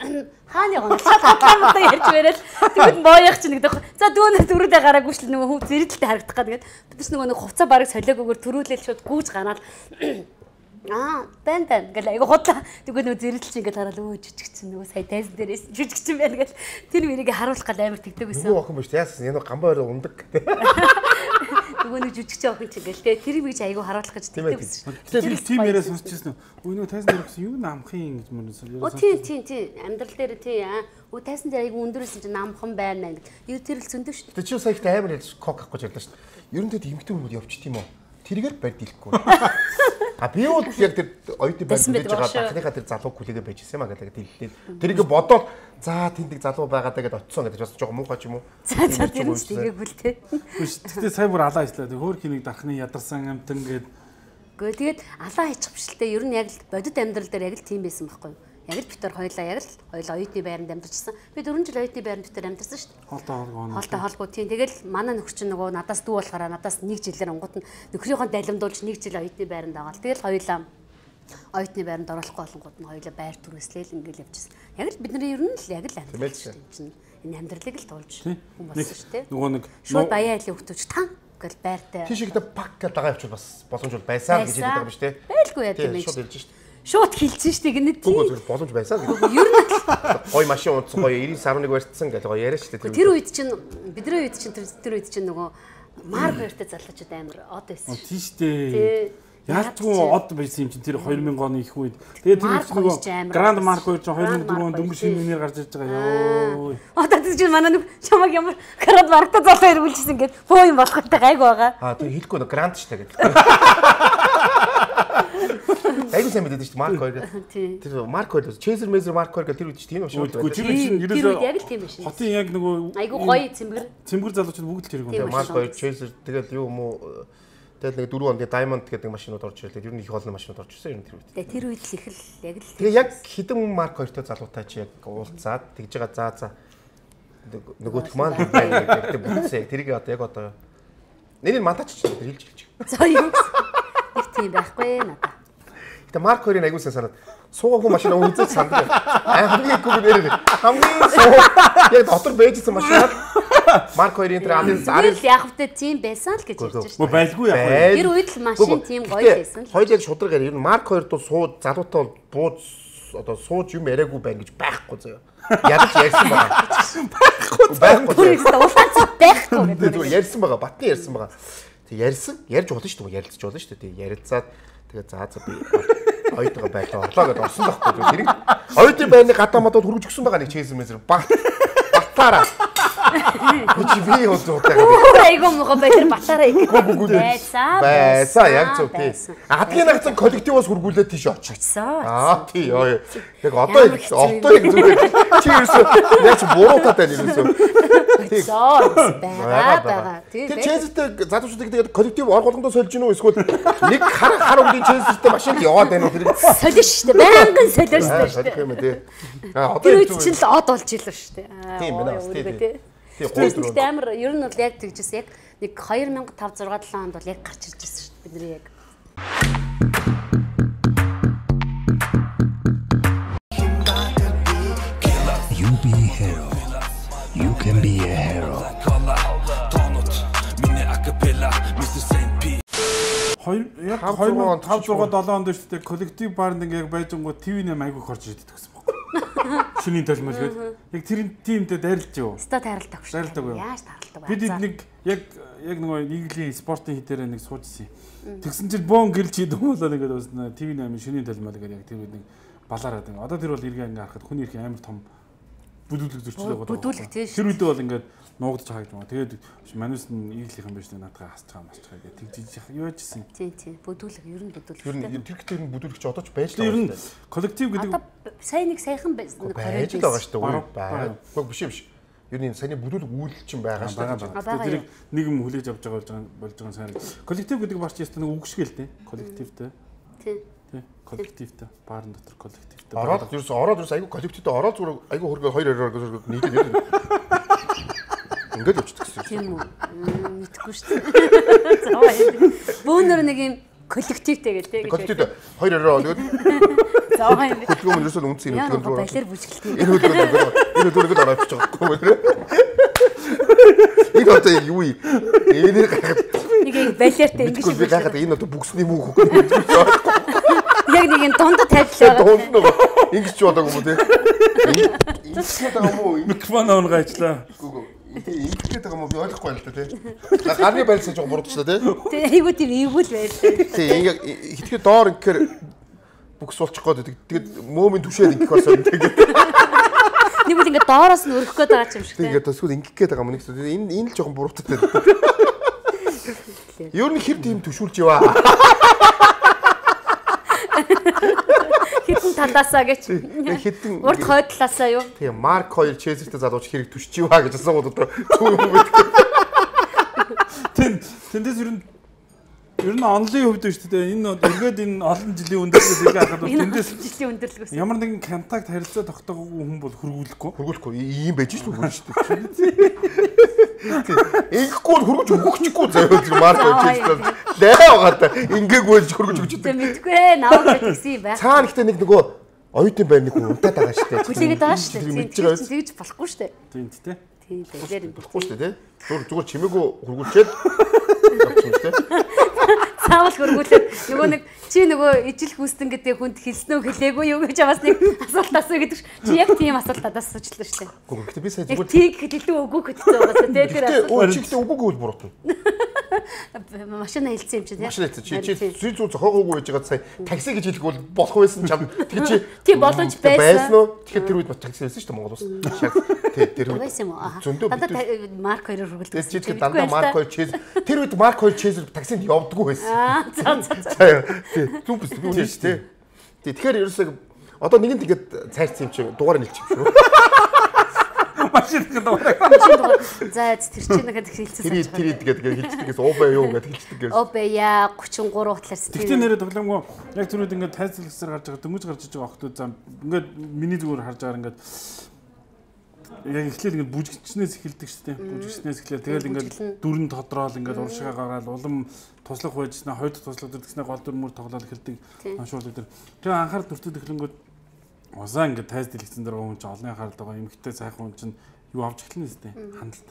хааны гоо хотлоо ярьж мэрэл тэгвэл бооёх чинь гэдэг за дүүнээ түрүүдээ гараагүй шл нөгөө хөв зэрэгтэй харагдах гал ингээд бид ч нөгөө нэг хувцас бараг солиогоор төрүүлэл шууд гүүж ганаад Аа, бэн бэн гэл айгу хотлоо. Тэгвэл нөгөө зэрэлч ингээд хараад өө жижигчсэн нөгөө сая тайзан дээрээс жижигчсэн байна гэл тэр мэрийг харуулах гал амар тэгдэг байсан. Нөгөө охин биш яасан энэ гамбай орой ундаг. Нөгөө нэг жижигч охин ч гэл тэ тэр мэрийг айгу харуулах гэж тэгдэг байсан. Тэгэхээр би тим яриа сонсчихсон. Өө нөгөө тайзан дээр гэсэн юу намхын гэж мөрөөсөө. Оо тий тий тий амьдрал дээр тий аа. Өө тайзан дээр айгу өндөрөөс чинь намхан байна гэх. Юу тэр л зөндөв шүү дээ. Тэг чи сая ихтэй амар ярьж кок авах гэж ярьлаа шүү дээ. Ер нь тэд эмхтэн хүмүүс явчих тийм үү? Тэргээр барьд илэхгүй. А би бол яг тэр оюутны байр хийж байгаа дахныхаа тэр залуу хүлээгээ байж ирсэн юм а гэдэг дэллээд. Тэрийг бодоод за тэндэг залуу байгаад тэгээд очсон гэдэг бас жоохон муухай ч юм уу. За за тэр нь тийгээгүй л те. Гэхдээ сая бүр алаа ажиллаа. Хөөр хинийг дархны ядарсан амтан гээд. Гэхдээ тэгээд алаа хийчих биш л те. Ер нь яг л бодит амьдрал дээр яг л тийм байсан байхгүй юу? Яг л битэр хоёлаа яг л хоёул оюутны байранд амьдарчсан. Би дөрвөн жил оюутны байранд битэр амьдарсан шүү дээ. Хоолтой хоолгоо. Хоолтой хоолгоо тийм. Тэгэл манай нөхөр чинь нөгөө надаас дүү болохоор надаас нэг жилээр онгот нь нөхрийнхөө далимдуулж нэг жил оюутны байранд байгаа л. Тэгэл хоёулаа оюутны байранд оруулахгүй болонгууд нь хоёулаа байр түрээслээл ингээл явчихсан. Яг л бидний ер нь л яг л амьдарч чинь энэ амьдралыг л туулж хүн болсон шүү дээ. Нөгөө нэг шууд баяа айлын хөвтөж тан гэл байртай. Тийш ихтэй пак гэдэг дагаа явуул бас боломжтой байсан гэж хэлдэг юм биш үү? Байлгүй яа тийм ээ. Шууд хэлж шүү дээ. Шууд хэлсэн шүү дээ гинэ тийм. Бүгд боломж байсан гэдэг. Ер нь гой машин унтсан гоё ninety нine барьцсан гэж гоё яриа шүү дээ. Тэр үед чинь бидний үед чинь тэр үед чинь нөгөө марк хоёртой залуучууд амар од байсан. Тийм шүү дээ. Яалтгүй од байсан юм чинь тэр two thousand оны их үед. Тэгээд тэр нөгөө Гранд Марк хоёр чинь two thousand four онд дөнгөж шинэ мөнээр гарч ирж байгаа ёо. Одоо тэр чинь манай нэг чамаг ямар Гранд Марктай залуу ирүүлжсэн гээд боо юм болох гэдэг гайг байгаа. Аа тэр хэлэхгүй нэ Гранд шүү дээ гэдэг. Айгуу сайн мэдээд шүү дээ Марк хоёр гэдэг. Тэр Марк хоёр Чейзер Мейзер Марк хоёр гэдэг тэр үед чинь тийм шүү дээ. Тэр чинь ерөөсөө яг л тийм биш. Хотын яг нөгөө айгуу гоё цэмбэр. Цэмбэр залуучууд бүгд л тэрийг юм. Марк хоёр Чейзер тэгээд юу юм уу тэгээд нэг four онд Diamond гэдэг машинууд орж ирлээ. Ер нь их олон машинууд орж ирсэн ер нь тэр үед. Тэгээд тэр үед л их л яг л. Тэгээ яг хідэн Марк хоёртой залуутай чи яг уулзаад тэгж байгаа заа заа нөгөөх маань байна гэдэг бүтсээ. Тэрийг одоо яг одоо нэрийг мантаач ч хэлж хэлж. За юу. Их тийм байхгүй надаа. Гэтэ Марк хоёрын аягуулсан санаад суугаагүй машина үзэж санддаг. Аа хамгийн гүг нэр хамгийн суу яг дотор бэжсэн машинаар Марк хоёрын тэр амын Зүгээр л яг хөтэ тийм байсан л гэж ярьж Мө шүү дээ. байлгүй яг. Тэр үед л машин тийм гоё байсан л. Хоёул яг шударгаар ер нь Марк хоёр дуу сууд залуутай бол бууз одоо сууж юм яриаггүй байна гэж байхгүй заяа. Ядаж ярьсан байгаа. Байхгүй. Тэр их дуулаач байхгүй. Зүгээр ярьсан байгаа. Батны ярьсан байгаа. Тэг ярьсан. Ярьж болно шүү дээ. Ярилцж болно шүү дээ. Тэг ярилцаад тэгээ заа за би ойтойгоо байлаа орлоо гэдээ орсон байхгүй. Тэр ойтын байрны гадаа мадад хүргэж өгсөн байгаа нэг чейсэн мэсэр бат батаараа. Чи би хөөсөө Айгуу муухай байтар батаараа их. Байсаа. Байсаа яг зөв тий. Адгийн нагцан коллективоос хүргүүлээд тийш очсон. Аа тий ёо. Яг одоо одоо яг зүгээр чи ерөөсөө яг ч буруу татаа нэрээсөө. Зоо байгаа байгаа. Тэр чейзтэй залуучуудыг тэгээд коллектив оргуулгандоо сольж гинөө эсвэл нэг хар хар өнгийн чейзтэй машинд яваад байна уу тэр. Солио шүү дээ. Байнгын солио шүү дээ. Тийм үү тий. Аа одоо тэр үед чинь л од болж илээ шүү дээ. Тийм байна бас тий. Тэгээд амар ер нь бол яг тэгжсэн яг нэг two thousand five six seven онд бол яг гарч ирж байсан шүү дээ бидний яг. You be a hero. You can be a hero. Хоёр яг two thousand five six seven онд шүү дээ коллектив баарнд ингээ яг байжангууд ти ви найман айгүй хорж ирдэг гэсэн баг. Шүний толмол гээд яг тэр тимтэй дайрлаж юу? Ста тайралдаг шүү. Дайралдаг юу? Яаж тааралдаг вэ? Бид нэг яг яг нөгөө нийглийн спортын хитээр нэг суужсэн юм. Тэгсэн чинь бөөн гэрэл чийд болоо ингээд бас ти ви найман шүний толмол гээд яг тэр үед нэг балаараад ингээ. Одоо тэр бол иргэн ингээ харахад хүний ирэх амар том бүдүүлэг зөрчлөө байгаа. Бүдүүлэг тийм шүү. Тэр үед бол ингээд нуугдж байгаа гэж байна. Тэгээд манайс нь иглийнхэн байж наадгаа хасчихаа масчихаа гэдэг тэгжиж юу яжсэн. Тийм тийм бүдүүлэг ер нь бүдүүлэг. Ер нь тэр ихтэй бүдүүлэгч одоо ч байж байгаа. Ер нь коллектив гэдэг одоо сайн нэг сайхан байсан. Байж л байгаа шүү дээ. Баа. Гүг биш юм биш. Ер нь саяны бүдүүлэг үйлч юм байгаа шүү дээ. Тэр нэг юм хүлээж авч байгаа болж байгаа сайн. Коллектив гэдэг барч ястаа нэг үгшгэл дээ. Коллективтэй. Тийм. Тийм. Коллективтэй. Баарын дотор коллективтэй. Ороод ерөөс ороод ерөөс айгүй коллективтэй ороод зүгээр айгүй хөргөө хоёр хоёроор нийлээд ингээд явчихдаг гэсэн. Тийм үү. Мэдхгүй шүү дээ. Заа. Бөөнөр нэг юм коллективтэй гэдэг тийм. Коллективтэй хоёр хоёроо тэгээд заа юм. хөдөлгөөн нь ерөөсөө үнцэн хөдөлгөөн рүү. Балер бүжгэлт. Энэ хөдөлгөөн энэ хөдөлгөөд ороод явчих байхгүй юу? Энэ одоо юу юм? Энэ гахад нэг юм балертай ингэ шиг гахад энэ одоо бүгсний мүү хөх. Яг нэг юм дунд тавьлаа. Дунд нэг ингэж ч бодоогүй юм тий. Ингэж байгаа юм уу? Микрофон оон гайчлаа. Ингэж байгаа юм уу? Би ойлгохгүй л та тий. Гарны байлсаж жоо буруудчлаа тий. Тий, айгуу тийм эвгүй л байлаа. Тий, ингээ хитгэр доор ингээр бүкс болчих гээд тэгээд мөөмийн түшээд ингэх болсон тэгээд. Нэг үл ингээ доороос нь өргөх гээд байгаа юм шиг тий. Тэгээд төсвөл ингэх гээд байгаа юм нэг энэ энэ л жоохон бурууттай. Юу нэг хэр тийм түшүүлж яваа. Хитэн талаасаа гэж. Хитэн урд хойдлаасаа юу? Тийм, Марк хоёр Чезертэй залууч хэрэг түшиж юугаа гэж асуугаад одоо түүх юм гэдэг. Тэн тэндээс ер нь ер нь онлын хөвд шүү дээ. Энэ эргээд энэ олон жилийн өндөрлөөс ингээ харахад тэндээс жилийн өндөрлөгөөс ямар нэгэн контакт харилцаа тогтоогүй хүн бол хөргүүлэхгүй. Хөргүүлэхгүй ийм байж шүү дээ шүү дээ. Ингэхгүй хөргөж өгөхгүй заяа зүг Марк Чезер лээ байгаа та ингээгүй л хөргөж өгч дээ. Мэдгүй ээ наваа гэсэн юм байна. Цаана ихтэй нэг нөгөө оюутан байр нэг хүн унтаад байгаа шүү дээ. Хүлээгээд байгаа шүү дээ. Тэгж болохгүй шүү дээ. Тийм тий. Тийм байлэр юм болохгүй шүү дээ. Зүгээр зүгээр чимээгүй хөргүүлчихэд явчихсан шүү дээ. Цаавал хөргүүлээд нөгөө нэг чи нөгөө ижил хүүстэн гэдэг хүнд хэлснөө хэлээгүй юу гэж бас нэг асуулт асуу гэдэг чи яг тийм асуулт асуучлаа шүү дээ. Гэхдээ би сая зүгээр тийг хэлээ үгүй гэдэг байгаа тий тэр асуулт. Өө чигтээ үгүй үл буруутна. Машина хэлсэн юм чи тий. Машина хэлсэн чи чи зүй зүү зохиогоогүй байж байгаа сая такси гэж хэлэх бол болох байсан чам. Тэгээ чи тий боломж байсан уу? Тэгэхээр тэр үед бас такси хэлсэн шүү дээ Монгол ус. Тий тэр үед байсан юм уу? Дандаа Марк хоёр хөргөлтэй. Тэр чи дандаа Марк хоёр Чезер тэр үед Марк хоёр Чезер таксинд явдггүй байсан. Аа за за. Тий зүг биш үү тий. Тий тэгэхээр ерөөсөө одоо нэг нь тэгээд цайрцсан юм чи дугаар нэлчих юм шүү. Машин дугаар. За тэр чинь нэг хэлсэн. Тэр тэр тэгээд хэлчихдэгээс ОБ юу гэдэг хэлчихдэгээс. ОБ-я thirty-three талаас. Тэгтээ нэрээ тоглоомгоо яг тэр үед ингээд тайзлагсаар гарч байгаа дөнгөж гарч иж байгаа охтууд зам ингээд миний зүгээр харж байгаа ингээд яг эхлээл ингээд бүжигчнээс эхэлдэг шүү дээ. Бүжигчнээс эхлээл тэгэл ингээд дүрэн тодроол ингээд уршигаа гараад улам туслах байжснаа хоёр дахь туслах дэргэснээ гол дүрмөр тоглоод эхэлдэг аншуулдаг тэр. Тэгээ анхаарал төртөд эхлэнгүүд усаа ингээд тайз дэлгэцэн дээр хүн чинь олонний анхаарал байгаа эмхтэй сайхан хүн чинь юу авч эхэлнэ сте хандлт.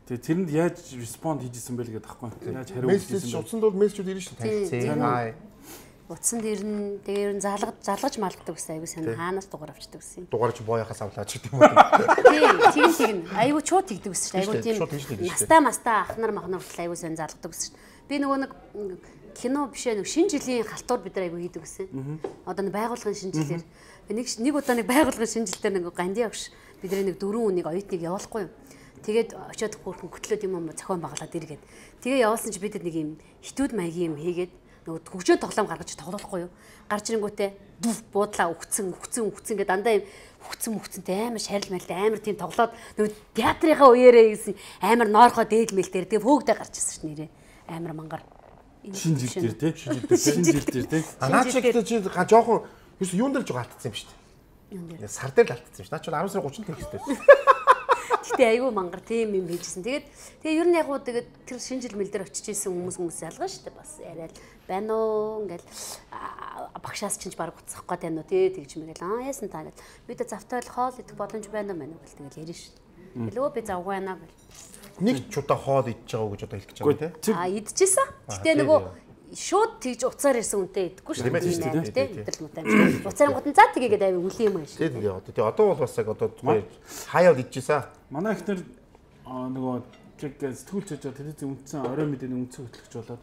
Тэгээ тэрэнд яаж респонд хийжсэн бэ гэдэг таахгүй. Яаж хариу Мессеж утсанд бол мессежүүд ирнэ шүү дээ. Хай. Утсанд ирнэ. Тэгээ ер нь залгаж залгаж малгадаг гэсэн айгуу сайн хаанаас дугаар авчдаг гэсэн. Дугаар чи боояхаас авлаач гэдэг юм уу? Тийм, тийм тийм. Айгуу чууд тэгдэг гэсэн. Айгуу тийм. Настаа мастаа ахнар махнар хүртэл айгуу сайн залгадаг гэсэн. Би нөгөө нэг кино бишээ нэг шинэ жилийн халтур бид нар айгуу хийдэг гэсэн. Одоо нэг байгууллагын шинэ жилээр нэг нэг удаа нэг байгууллагын шинэ жилээр нэг ганди агш бидний нэг дөрвөн үнийг оюутныг явуулахгүй юм. Тэгээд очиод хөөрхөн хөтлөөд юм зохион байгуулад иргээд. Тэгээ явуулсан чи бид нэг юм хитүүд маягийн юм хийгээд нөгөө хөгжөө тоглоом гаргаж тоглохгүй юу. Гарч ирэнгүүтээ дүв буудлаа өгцөн өгцөн өгцөн гэдэг дандаа юм өгцөн өгцөнтэй амар шарил мэлтэй амар тийм тоглоод нөгөө театрынхаа үеэрээ гэсэн амар ноорхоо дээлмэлтэр тэгээ хөөгдөө гарч ирсэн ш нэрээ. Амар мангар. Шинэ жил дээр тий. Шинэ жил дээр тий. Наа чи гэдэг чи жоохон юунд дээр жоо алдсан юм шүү дээ. Юунд дээр? Сар дээр л алдсан шүү. Наа чи арван сарын гуравчнд хийх хэрэгтэй. Гэтэ айгүй мангар тийм юм хийжсэн. Тэгээд тэгээ ер нь яг уу тэгээд тэр шинэ жил мэл дээр очиж исэн хүмүүс хүмүүс ялгаа шүү дээ. Бас яриад байна уу ингээл багшаас ч баг уцсах гээд байна уу тий тэгж мэгэл аа яасан та гэж бид завтай хоол идэх боломж байна уу мэн үү гэл тэгэл ярина шүү дээ. Хэлөө би завгүй байна гэл. Нэг ч удаа хоол идэж байгааг гэж одоо хэлчих байгаа тий. Аа идчихсэн. Гэтэ нөгөө шууд тэгж уцаар ирсэн үнтэй идэхгүй шүү дээ тий. Идэл муутай юм. Уцаар гот нь за тгийгээд авиг үлийн юм ааш. Тий тий одоо тий одоо бол бас яг одоо хаяад идчихсэн. Манай ихнэр нөгөө яг сэтгүүл чиж телевизэн үнцэн орой мэдээний үнцэн хөтлөгч болоод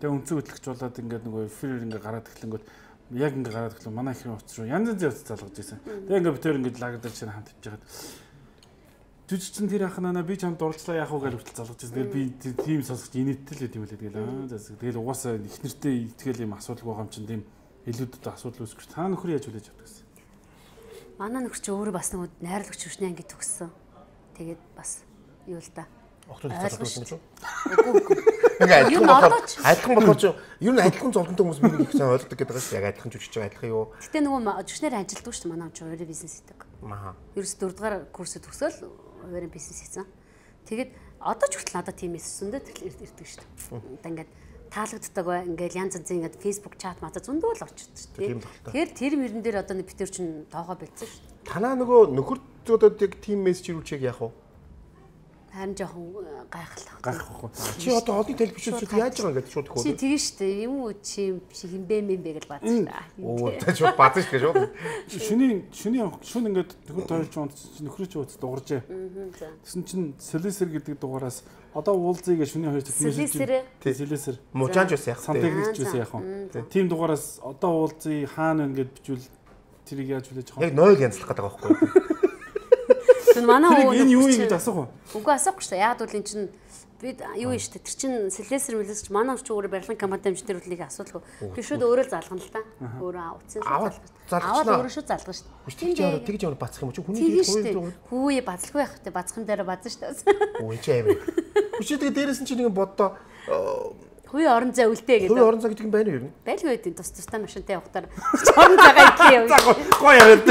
тэгээ үнцэн хөтлөгч болоод ингээд нөгөө эфирээр ингээд гараад эхлэнгүүт яг ингээд гараад эхлэн манай ихний утас руу янз янзын утас залгаж ирсэн. Тэгээ ингээд битээр ингээд лагдаг чинь хамт ивж хагаад жүжигчин тэр анханаа би чамд дурдлаа яах уу гэж хүртэл залгаж ирсэн. Тэгээ би тийм сонсож инээдтэй л юм лээ тэгэл аа тэгэл угаасаа ихнэртэй итгэл юм асуудал байгаа юм чинь тийм илүүдэд асуудал үүсгэж та нөхөр яаж хүлээж авдаг гэсэн. Манай нөхөр чи өөрөө бас нөгөө найрлагч хүчний анги төгссөн. Тэгээд бас юу л да. Октод залгуулсан ч үү? Үгүй үгүй. Ингээ адилхан болохоор ч ер нь адилхан зовлонтой хүмүүс миний их сайн ойлгодог гэдэг байгаа шүү. Яг адилхан жүжигч байгаа адилхан юу? Гэтэ нөгөө жүжигчнэр ажилддаг шүү дээ манай ч өөрөө бизнес хийдэг. Аа. Ерөөс дөрөв дугаар курсэд төгсөөл өөрөө бизнес хийсэн. Тэгээд одоо ч хүртэл надад тийм эсвэсэндээ ирдэг шүү дээ. Одоо ингээд таалагддаг бай ингээл янз янзын ингээд фейсбુક чат мата зөндөө л очиж тийм. Тэгэхээр тэр мөрөн дээр одоо нэг битэр чинь тоогоо бэлдсэн шүү дээ. Танаа нөгөө нөхөрт одоо яг тим мессеж ирүүлчих яах вэ? Харин жоохон гайхалтай. Гайхахгүй. Чи одоо олон телевизчүүд яаж байгаа гэдэг шууд хөө. Чи тийм шүү дээ. Юм уу чи хинбэ мэмбэ гэж баасан шүү дээ. Оо тэ шууд баасан шүү шууд. Шүний шүний шүн ингээд төгөр тойрч унт нөхрөө чи ууц дууржээ. Тэсэн чин солисер гэдэг дугаараас одоо уулзъя гэж шүний хоёр технологи. Тий солисер. Мужаанч ус яах вэ? Сантехникч ус яах вэ? Тийм дугаараас одоо уулзъя хаана ингээд бичвэл тэрийг яаж хүлээж авах вэ? Яг ноёг янзлах гэдэг байгаа байхгүй юу? Манай өвөө энэ юу юм гэж асуух уу? Үгүй асуухгүй шүү дээ. Яг бол эн чинь би юу юм шүү дээ. Тэр чинь Сэлэсэр мэлэсч манай ч өөрөө барилгын компани амжилттай үлийг асуудалгүй. Би шууд өөрөө залгана л та. Өөрөө утсын залгана. Аваад өөрөө шууд залгана шүү дээ. Тэгж яваа тэгж яваа бацах юм чи хүний хүү хүү бацлахгүй байх хэрэгтэй. Бацхан дээр базна шүү дээ. Өө чи амир. Хүчээ тэгээ дээрээс нь чи нэг боддоо Хүй орон зай үлдээ гэдэг. Хүй орон зай гэдэг юм байна юу? Байлгүй байдیں۔ Тус тустай машинтай явахтаар орон цагаа идэе. Гоё яваад.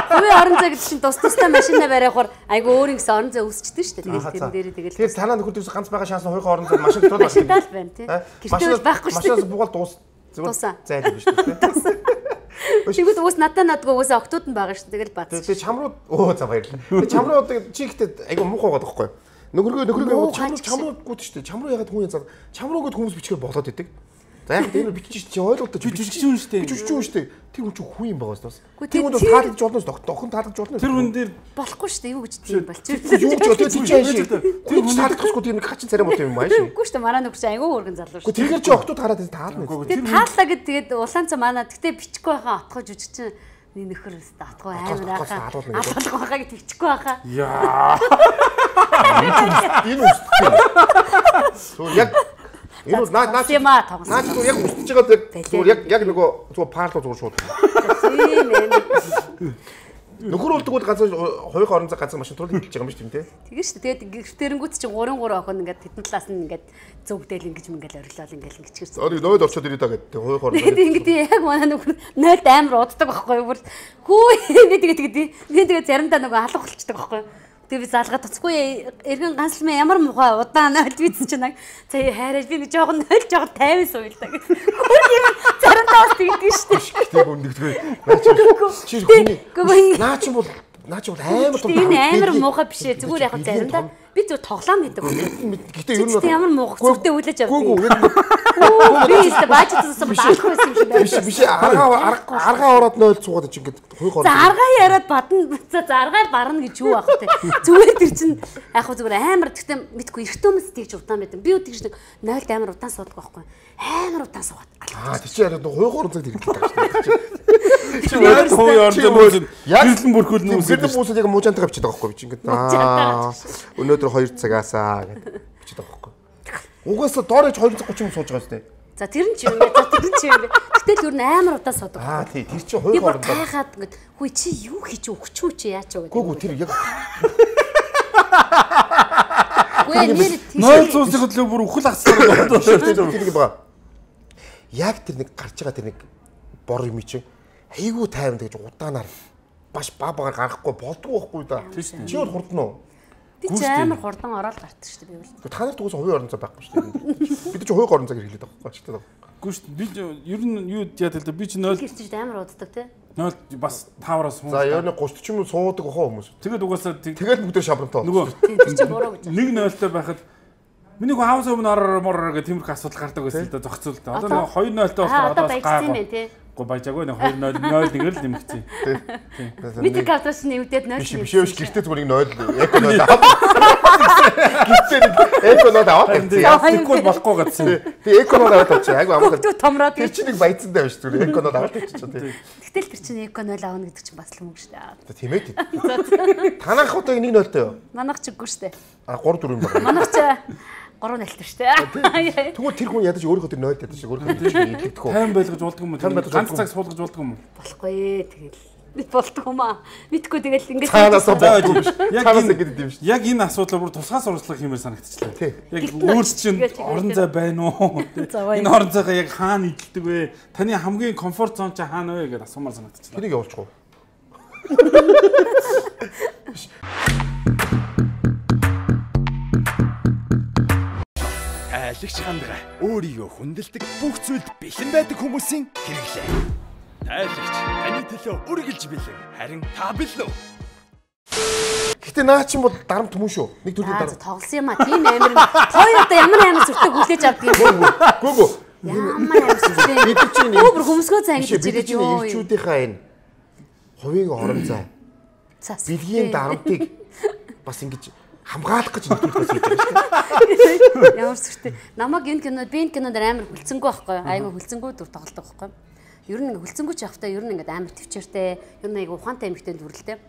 Хүй орон зай гэдэг чинь тус тустай машинаа бариахаар айгу өөр ингэсэн орон зай үүсчихдээ шүү дээ. Тэгээд тэр дээр тэгээд тэгээд танаа нөхөр дээрс ганц байгаа шанс хойхоо орон зай машин тул машин тал байна тий. Гэртээ байхгүй шүү дээ. Машинаас бугаал дуус. Зүгээр зайлгүй шүү дээ. Тэгвэл уус надаа надгүй уусаа октод нь байгаа шүү. Тэгэл бац. Тэгээд чамруу өө за баярлалаа. Тэгээд чамруу чи ихтэй айгу муухай байгаа байхгүй юу? Нөхрөө нөхрөө чамруу чамруугууд шүү дээ. Чамруу ягаад хүн заа. Чамруугууд хүмүүс бичгээр болоод идэг. За яг энэ бичиж чи ойлгоод чи бичиж юм шүү дээ. Бичиж юм шүү дээ. Тэр хүн чи хүн юм байгаа бас. Тэр хүн таалагдж болно шүү. Охин таалагдж болно. Тэр хүн дээр болохгүй шүү дээ. Юу гэж тийм болчих. Юу гэж одоо чи яаш. Тэр хүн таалагдахгүй тийм нэг хачин царай муу юм ааш. Үгүй шүү дээ. Манай нөхөр чи айгүй өргөн залуу шүү. Тэгэхээр чи охтууд хараад таална. Тэгээд тааллаа гэд тэгээд улаан цаа манай гэтээ бичихгүй байхаа отгоо жүжигчин нэг нөхөр өстө атгүй амар байхаа. Алгалах байхаа гэж бичихгүй байхаа. Яа. Энэ үстэй. Суу яг энэ наа наа наа чи яг үсэж байгаа зүгээр яг яг нөгөө зүгээр парло зүгээр шууд. Тийм ээ. Нөхөр үлдэг бол ганц хоёр орон зай ганц машин турлыг хэлж байгаа юм шүү дээ. Тэгээ шүү дээ. Тэгээд гэртэрэнгүүт чинь гурван гурван охин ингээд тэдэн талаас нь ингээд зүгдэл ингэж мэнгээл орилол ингээд ингэчихсэн. Ори ноёд орчод ирээ та гэдэг хоёр орон зай. Тэгээд ингээд яг манай нөхөр ноёд амар уддаг байхгүй юу? Хүү би тэгээд тэгээд би тэгээд заримдаа нөгөө алга болчихдаг байхгүй юу? Тэгээ би залгаад тоцгүй эргэн ганцлмаа ямар мухай удаан нойлд бийсэн чинь яг за хайраж би нэг жоохон нойлж жоохон тайван суйлаа гэх. Заримдаа бас тэгдэг шүү дээ. Тэг үндэгдгүй. Наа чи чи хүний наа чи бол наа чи бол амар том. Энэ амар муухай биш ээ. Зүгээр яг заримдаа би зөв тоглоом хийдэг. Гэтэ ер нь ямар муухай зүгтээ үлээж авдаг. Гүү гүү. Би өөртөө баажтсан даах байсан юм шиг байна. Биш биш аргаа аргаа ороод нойл цуугаад чи ингээд хуйг ороо. За аргаа яриад бадна. За аргаа барна гэж юу аах вэ? Зүгээр тэр чин яг хөө зүгээр амар гэхдээ мэдгүй эрт хүмүүс тийж удаан байдаг. Би тэгж нэг нойлд амар удаан суудаг байхгүй. Амар удаан суугаад. Аа тий чи яриад хуйг орон цаг хэрэглэдэг шүү. Чи яг хуу орон мөсөн гэрлэн бүрхүүл нүүс. Гэрлэн бүсэд яг мужаантайгаа бичиж байгаа байхгүй би чи ингээд аа өнөөдөр хоёр цагаасаа гэдэг бичиж байгаа байхгүй. Угаасаа доорож хоёр цаг гучин сууж байгаа сте. За тэр нь ч юм бэ. За тэр нь ч юм бэ. Гэтэл ер нь амар удаан суудаг. Аа тий тэр чи хуйг орон цаг. Тахаад ингээд хүй чи юу хийж өгч үү чи яач вэ гэдэг. Гүү гүү тэр яг Гүй нэр нойл цуусыг хөдлөө бүр үхэл асар болоод тэр нэг байгаа. Яг тэр нэг гарч байгаа тэр нэг бор юм чи айгуу тайван гэж удаанаар баш ба багаар гарахгүй болдгоо байхгүй да. Чи бол хурдан уу? би ч амар хурдан ороод гардаг шүү дээ би бол. Та нарт угсаа хувийн орон зай байхгүй шүү дээ. Бид ч хувийн орон зай хэрэглээд байгаа байхгүй шүү дээ. Гүн шүү дээ. Би ер нь юу яа тэл би ч нойл гэрчиж амар уддаг тий. нойл бас тавараас суу. За ер нь гуйч юм суудаг хоо хүмүүс. Тэгээд угаасаа тэгэл бүгд шабрантаа. Нөгөө тэр чинь буруу гэж. нэг нойлтой байхад миний гоо хаус өмнө орор морор гэх тиймэрхүү асуудал гардаг байсан л да зохицуул да. Одоо нөгөө хоёр нойлтой болохоор одоо гаагүй. Го баяжаагүй нэг хоёр нойл нойл нэгэр л нэмэгцээ. Тийм. Мэдээ кавтас нэвдээд нойл. Биш биш биш гэртээ зүгээр нэг нойл эко нойл аваад. Гэртээ нэг эко нойл аваад. Тэгвэл болохгүй гэсэн. Тэгээ эко нойл аваад очив. Айгу амархан. Бүгд томроод тэр чинь нэг баяцсан даа биш зүгээр эко нойл аваад очив тийм. Гэтэл тэр чинь эко нойл аавна гэдэг чинь бас л мөнгө шүү дээ. Тийм ээ. Танах одоо нэг нойлтой юу? Манайх ч үгүй шүү дээ. А гур дөрөв юм байна. Манайх ч гурван нэлтэр шүү дээ. Тэгвэл тэр хүн ядаж өөрийнхөө тэр нойлд ядаж өөрийнхөө тэр чинь илэгдэх үү? Тайм байлгаж болдго юм уу? Ганц цаг суулгаж болдго юм уу? Болохгүй ээ тэгэл. Бид болдго юм аа. Мэдгүй тэгэл ингэж цаанаас яг ингэдэг юм шүү. Яг энэ асуудлыг бүр тусгай сурчлага хиймээр санагдчихлаа. Яг Гэртэн өөрс чинь очиж орон зай байна уу? Энэ орон зайгаа яг хаана идэлдэг вэ? Таны хамгийн комфорт зон чи хаана вэ гэдээ асуумаар санагдчихлаа. Тэрийг явуулчих уу? Айлгч хандгаа өөрийгөө хүндэлдэг бүх зүйлд бэлэн байдаг хүмүүсийн хэрэглээ. Айлгч таны төлөө үргэлж бэлэн. Харин та бэлэн үү? Гэтэ наа чинь бол дарамт хүмүүс шүү. Нэг төрлийн Аа дарамт. тоглосон юм а. Тийм амир. Хоёр одоо ямар амир зүртэг хүлээж авдаг юм. Гүү гүү. Ямар амир зүртэг. Бид чинь Өө бүр хөмсгөө цай ингэж бид ирээд чинь ёо. ирчүүдийнхаа энэ хувийн орон зай Цас. бэлгийн дарамтыг бас ингэж хамгаалах гэж нэвтрүүлэх хийж байгаа шүү дээ. Ямар зүртэг. Намаг энэ кинод би энэ кинод амар хүлцэнгүй байхгүй. Айгу хүлцэнгүй дүр тоглодог байхгүй. Ер нь хүлцэнгүй ч явахтаа ер нь ингээд амар төвчээртэй, ер нь айгу ухаантай эмэгтэй дүрлэлтэй.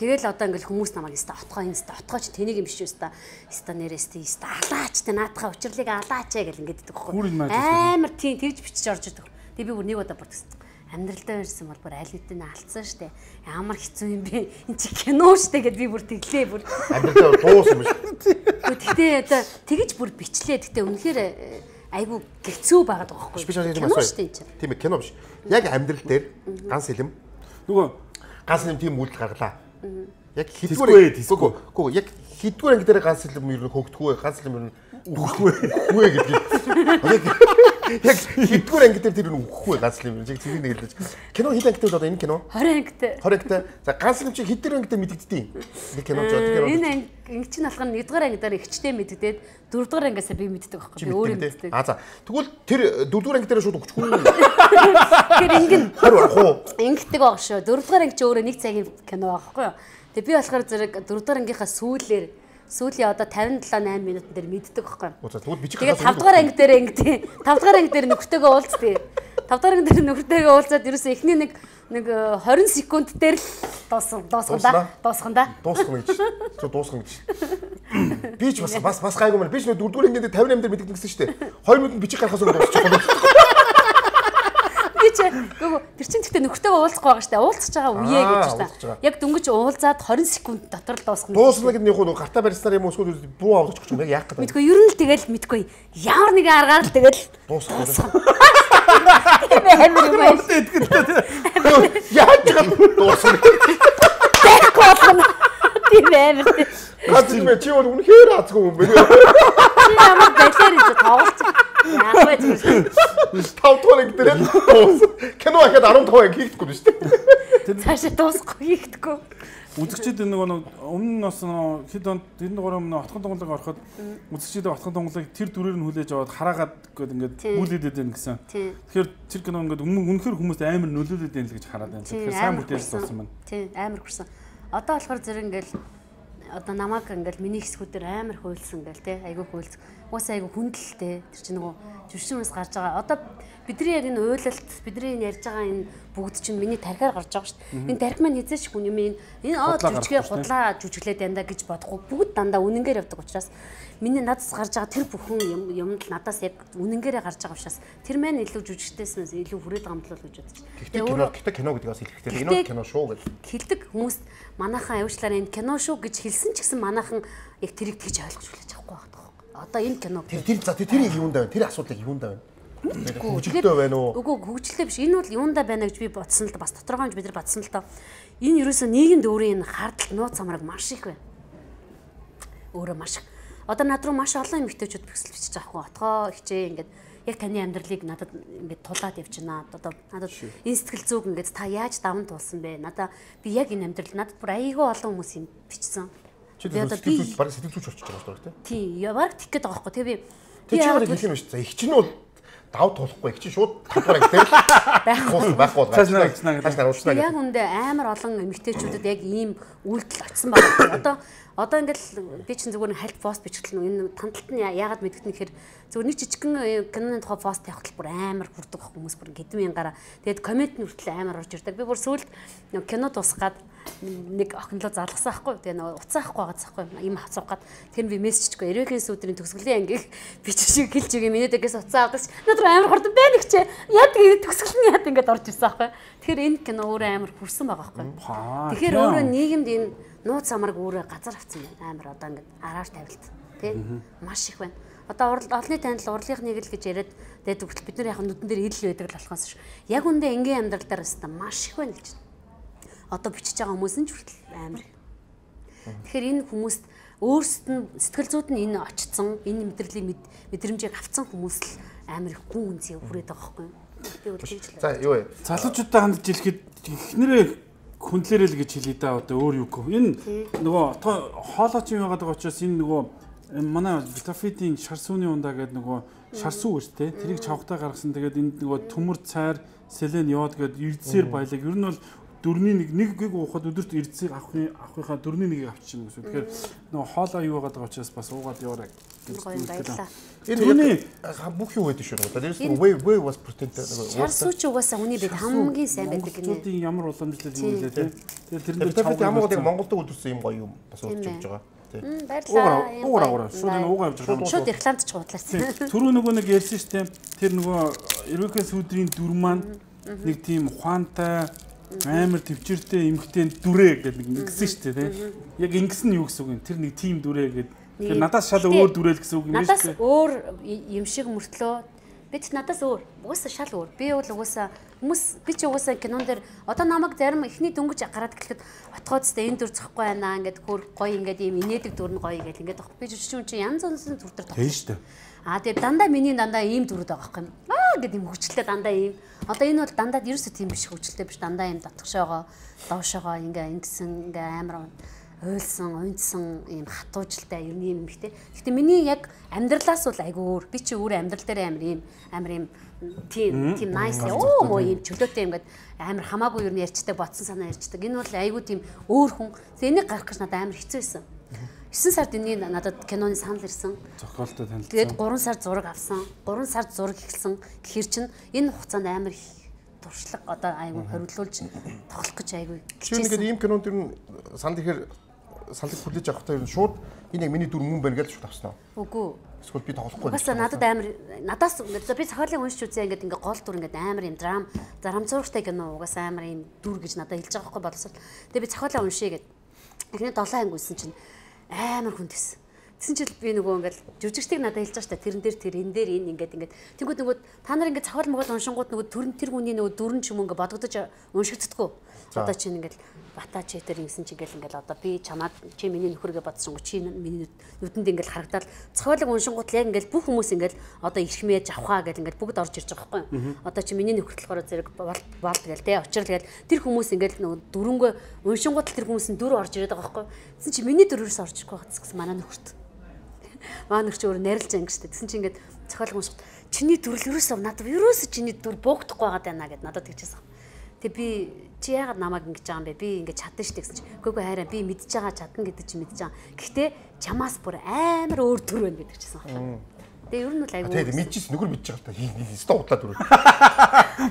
Тэгэл одоо ингээл хүмүүс намайг өстө отгоо энэ өстө отгооч тэнийг юм биш өстө өстө нэрээс тий өстө алаач тэ наадхаа учрлыг алаач гэл ингээд иддэг байхгүй. Амар тий тэгж бичиж орж идэг. Тэгээ би бүр нэг удаа бодсон. Амьдралдаа ирсэн бол бүр аль хэдийн алдсан штэ. Ямар хэцүү юм бэ? Энд чи кино штэ гэд би бүр тэглээ бүр. Амьдралдаа дуус юм шүү. Гэхдээ одоо тэгж бүр бичлээ. Гэхдээ үнэхээр айгу хэцүү байгаад байгаа байхгүй. Би чамд кино штэ энэ. Тийм ээ кино биш. Яг амьдрал дээр ганц хэлэм. Нөгөө Ганц хэлэм тийм үйлдэл гаргалаа. Яг Тэсгүй, тэсгүй. Гүү яг хэдгээр анги дээр ганц хэлэм ер нь хөгтгөө, ганц хэлэм ер нь үхэхгүй үхвэ гэдэг. Яг хэдгээр анги дээр тэр нь үхэхгүй ганц хэлэм. Яг тэрийг нэг хэлж. Кино хэд анги дээр одоо энэ кино? хорин ангитай. хорин ангитай. За ганц хэлэм чи хэдгээр анги дээр мэдэгддэг. Нэг кино жоо тэр кино. Энэ анги чинь алах нь нэгдүгээр ангидаар ихчтэй мэддээд дөрөвдүгээр ангиасаа би мэддэг байхгүй. Би өөрөө мэддэг. А за тэгвэл тэр дөрөвдүгээр анги дээр шууд өгчихгүй. Тэр ингэн Харин арах уу? ингэдэг байгаа шүү. Дөрөвдүгээр анги чи өөрөө нэг цагийн кино байхгүй юу? Тэгээ би болохоор зэрэг дөрөвдүгээр ангийнхаа сүүлээр сүүлийн одоо тавин долоо найман минутын дээр мэддэг байхгүй юу? За тэгвэл би чи Тэгээ тавдугаар анги дээр ингэдэг. тавдугаар анги дээр нөхөртөөгөө уулздаг. тавдугаар анги дээр нөхөртөөгөө уулзаад ерөөсөө эхний нэг нэг хорин секунд дээр л дуусган дуусгандаа дуусгандаа дуусгах гэж. Чи дуусгах гэж. Би ч бас бас бас гайгүй мэн. Би ч дөрөвдүгээр анги дээр тавин амдэр мэддэг гэсэн шүү дээ. хоёр минут бичиг гарахаас өмнө дуусчих юм. чи гоо тэр чин гэхдээ нөхөртөөгөө уулзах байгаа штэ уулзах байгаа үе гэж штэ. Яг дөнгөж уулзаад хорин секунд дотор л дуусгана. Дуусна гэдэг нь яг нь гартаа барьснаар юм уу эсвэл буу авдаг ч юм яг яах гэдэг. Мэдгүй ер нь л тэгэл мэдгүй ямар нэгэн аргаар л тэгэл дуусгах. Тийм амар юм байна. Яаж ч дуусна. Тэгэхгүй байна. Тийм амар. Гацгүй мэ чи бол үнэхээр азгүй юм бэ. Чи ямар байлаар гэж тоглож. Яах вэ? тавдугаар анги дээр кино ахад арван таван анги хийхгүй шүү дээ. цаашаа дуусахгүй хийхдэггүй. Үзэгчид нэг өмнө нь бас хэд онд энэ дугаар өмнө отхон тунгалаг ороход үзэгчид отхон тунгалагыг тэр дүрээр нь хүлээж аваад хараагаад гээд ингээд бүлээдээд байна гэсэн. Тэгэхээр тэр кино ингээд үнэхээр хүмүүс амар нөлөөлөд байна л гэж хараад байна. Тэгэхээр сайн бүтээлс болсон байна. Тийм амар хүрсэн. Одоо болохоор зэрэг ингээд одоо намайг ингээл миний хэсгүүдээр амар хуйлсан ингээл те айгүй хуйлц. Уус айгүй хүндэлтэй. Тэр чинь нөгөө жүшүүнээс гарч байгаа. Одоо бидний яг энэ уйлалт бидний энэ ярьж байгаа энэ бүгд чинь миний тархиар гарч байгаа шүү дээ. Энэ тархи маань хязгаарч хүн юм энэ энэ аа жүжигээ худлаа жүжиглээд дандаа гэж бодохгүй бүгд дандаа үнэнгээр явдаг учраас миний надаас гарч байгаа тэр бүхэн юм юмд надаас яг үнэнгээрээ гарч байгаа учраас тэр маань илүү жүжигчдээс илүү хүрээд байгаа юм л гэж бодчих. Гэхдээ кино гэхдээ кино гэдэг бас хэлэхдээ энэ кино шүү гэж хэлдэг хүмүүс манайхан аюучлаараа энэ кино шүү гэж хэлсэн ч гэсэн манайхан яг тэрийг тэгж ойлгож хүлээж авахгүй байгаа. Одоо энэ кино тэр тэр за тэр юунд байна? Тэр асуудлыг юунд байна? Хөгжилтэй байна уу? Үгүй хөгжилтэй биш. Энэ бол юундаа байна гэж би бодсон л да бас тодорхойж бид нар бодсон л да. Энэ ерөөсөө нийгэмд өөрийн хардтал нууц амраг маш их байна. Өөрөө маш их. Одоо над руу маш олон эмэгтэйчүүд бэлсэл бичиж байгаа хгүй. Отгоо хичээ ингээд яг таны амьдралыг надад ингээд тулаад явчихна. Одоо надад энэ сэтгэл зүг ингээд та яаж даван туулсан бэ? Надаа би яг энэ амьдрал надад бүр айгүй олон хүмүүс юм бичсэн. Чи сэтгэл зүг баг сэтгэл зүг болчихж байгаа шүү дээ. Тий, яг tik гээд байгаа хгүй. Тэгээ би тэр чигээр хэлэх юм шүү дээ. Их чинь бол давд тулахгүй их чинь шууд татвараа гэдэг байхгүй байхгүй цаашнаа цаашнаа яг үндэ амар олон эмэгтэйчүүдэд яг ийм үйлдэл очсон байгаа. Одоо одоо ингээл би чинь зүгээр хальт пост бичихлээ энэ танталт нь яагаад мэдгэх нь гэхээр зүгээр нэг жижигхэн киноны тухай пост явахтал бүр амар хүрдэг хүмүүс бүр гэдэг мянгаараа тэгээд коммент нь хүртэл амар орж ирдэг. Би бүр сүүлд кино дуусгаад нэг охинлоо залгасан ахгүй тэгээ нөгөө уцаахгүй байгааз ахгүй юм хацуугаад тэр би мессежчгүй эрээхээс өдрийн төгсгөлийн ангийг бичиж хэлж өгье миний дэгээс уцаа авдагч надад амар хурдан байна их ч яд төгсгөлний яд ингээд орж ирсэн ахгүй тэгэхээр энэ кино өөрөө амар хүрсэн байгаа ахгүй тэгэхээр өөрөө нийгэмд энэ нууц амарг өөрөө газар авсан байна амар одоо ингээд араар тавилт тий маш их байна одоо олонний танил урлагийнх нэг л гэж яриад тэгээд өгтөл бид нар яг нүдэн дээр ил байдаг л болохоос ш яг үндэ энгийн амьдрал дээр өстө маш их байна гэж одоо бичиж байгаа хүмүүс нь ч хүртэл амар. Тэгэхээр энэ хүмүүст өөрсдөд нь сэтгэл зүйд нь энэ очсон, энэ мэдрэлийн мэдрэмжийг авсан хүмүүс л амар их гүн үнцээ хүрээд байгаа байхгүй юу? Би бол тэгж л. За юу вэ? Залуучуудаа хандж хэлэхэд эхнэрээ хүндлэрээ л гэж хэлээ да одоо өөр юу гэх. Энэ нөгөө хоолойч юм яагаад байгаа учраас энэ нөгөө манай Витафидийн шар сүүний ундаа гэдэг нөгөө шар сүү гэж тэ тэрийг чавхтаа гаргасан. Тэгээд энэ нөгөө төмөр цайр, селен йод гэдэг эрдсээр баялаг. Ер нь бол дөрний нэг нэг гиг уухад өдөрт эрдсийг авахны авахынхаа дөрний нэгийг авчихна гэсэн. Тэгэхээр нөгөө хоолоо юу байгаа учраас бас уугаад яваарай гэж хэлсэн. Энэ бүх юу гэдэг шүү дээ. Дээрээс нь way way was protected. Шарсууч угаасаа хүний бид хамгийн сайн байдаг гинэ. Монголчуудын ямар уламжлал юм бэ те. Тэгэхээр тэр дээр ямар нэг Монголд өдөрсөн юм гоё юм бас урж өгж байгаа. Баярлалаа. Уугаа уугаа. Шууд энэ уугаа явж байгаа. Шууд рекламч худлаасан. Түрүү нөгөө нэг ярьсан шүү дээ. Тэр нөгөө Эрвэкэс өдрийн дүр маань нэг тийм ухаантай амар төвчөртэй эмхтэй дүрээ гэдэг нэг ингэсэн шүү дээ тийм. Яг ингэсэн нь юу гэсэн үг юм? Тэр нэг тим дүрээ гэдэг. Тэгэхээр надаас шал өөр дүрээл гэсэн үг юм шүү дээ. Надаас өөр юм шиг мөртлөө бид надаас өөр. Угаасаа шал өөр. Би бол угаасаа хүмүүс би ч угаасаа кинон дээр одоо намайг зарим ихний дөнгөж гараад гэлэхэд отгооцтой энэ дүр зөхгүй байна ингээд хөр гоё ингээд ийм инээдэг дүр нь гоё гэл ингээд авах. Би жишүүн чи янз янзын дүр төр тийм шүү дээ. Аа тэгээ дандаа миний дандаа ийм дүрүүд байгаа юм. Аа гэдэг юм хөвчлээ дандаа ийм. Одоо энэ бол дандаа ерөөсөө тийм биш хөвчлээ биш дандаа ийм татгшоогоо доошоогоо ингээ ингэсэн ингээ амар ойлсон, унтсан ийм хатуужилтай ер нь юм ихтэй. Гэхдээ миний яг амьдралаас бол айгүй өөр. Би чи өөрөө амьдрал дээр амар ийм амар ийм тийм тийм nice оо моо ийм чөлөөтэй ингээд амар хамаагүй ер нь ярьцдаг бодсон санаа ярьцдаг. Энэ бол айгүй тийм өөр хүн. Энийг гарах гэж надад амар хэцүү байсан. есөн сард энэ надад киноны санал ирсэн. Зохиолтой танилцсан. Тэгээд гурван сар зураг авсан. гурван сар зураг эхэлсэн. Гэхэр чинь энэ хугацаанд амар их туршлага одоо айгүй хориглуулж тоглох гэж айгүй. Чи нэгэд ийм кинонд ер нь санал ихээр санал хүлээж авахтаа ер нь шууд энэ яг миний дүр мөн байна гэж шууд авсан уу? Үгүй. Эсвэл би тоглохгүй. Басаа надад амар надаас би цохиолын уншиж үзье ингээд ингээ гол дүр ингээд амар юм драм зарам зурагтай кино угаасаа амар юм дүр гэж надад хэлж байгаа байхгүй боловсрол. Тэгээ би цохиолоо уншия гэд. Эхний долоо анги үзсэн чинь амар хүндэс. Тэгсэн чил би нөгөө ингээд жүжигчдийг надад хэлж байгаа шүү дээ. Тэрэн дээр тэр энэ дээр энэ ингээд ингээд. Тэнгүүд нөгөө та нар ингээд цавал могол уншингууд нөгөө төрн тэр хүний нөгөө дүрэн ч юм ингээд бодогдож уншигддаггүй. Одоо чинь ингээд бата чи тэр юмсан чи ингээл ингээл одоо би чамаад чи миний нөхөргээ бодсон чи миний нүдэнд ингээл харагдаад цохиолог уншингууд яг ингээл бүх хүмүүс ингээл одоо ирхмээж авхаа гэл ингээл бүгд орж ирж байгаа байхгүй. Одоо чи миний нөхөр болохоор зэрэг болд гээл те очрол гээл тэр хүмүүс ингээл нөгөө дөрөнгөө уншингууд тэр хүмүүсийн дүр орж ирээд байгаа байхгүй. Тэгсэн чи миний дүрээс орж ирэхгүй байгаа гэсэн манай нөхөрт. Манай нөхөр чи өөр нарилж ангиж штэ. Тэгсэн чи ингээд цохиолог унших чиний дүрл ерөөсөө надад ерөөсөө чиний дүр буухдахгүй байгаа даа гэд надад тэгчихсэн. Тэг би чи яагаад намайг ингэж байгаа юм бэ? Би ингэж чадна шүү дээ гэсэн чи. Үгүй ээ хайраа би мэдж байгаа чадна гэдэг чи мэдж байгаа. Гэхдээ чамаас бүр амар өөр төр байна гэдэг чийсэн байна. Тэгээ ер нь бол айгүй. Тэгээ мэдчихсэн нөхөр мэдж байгаа л та. Хэвээ удлаад дүр.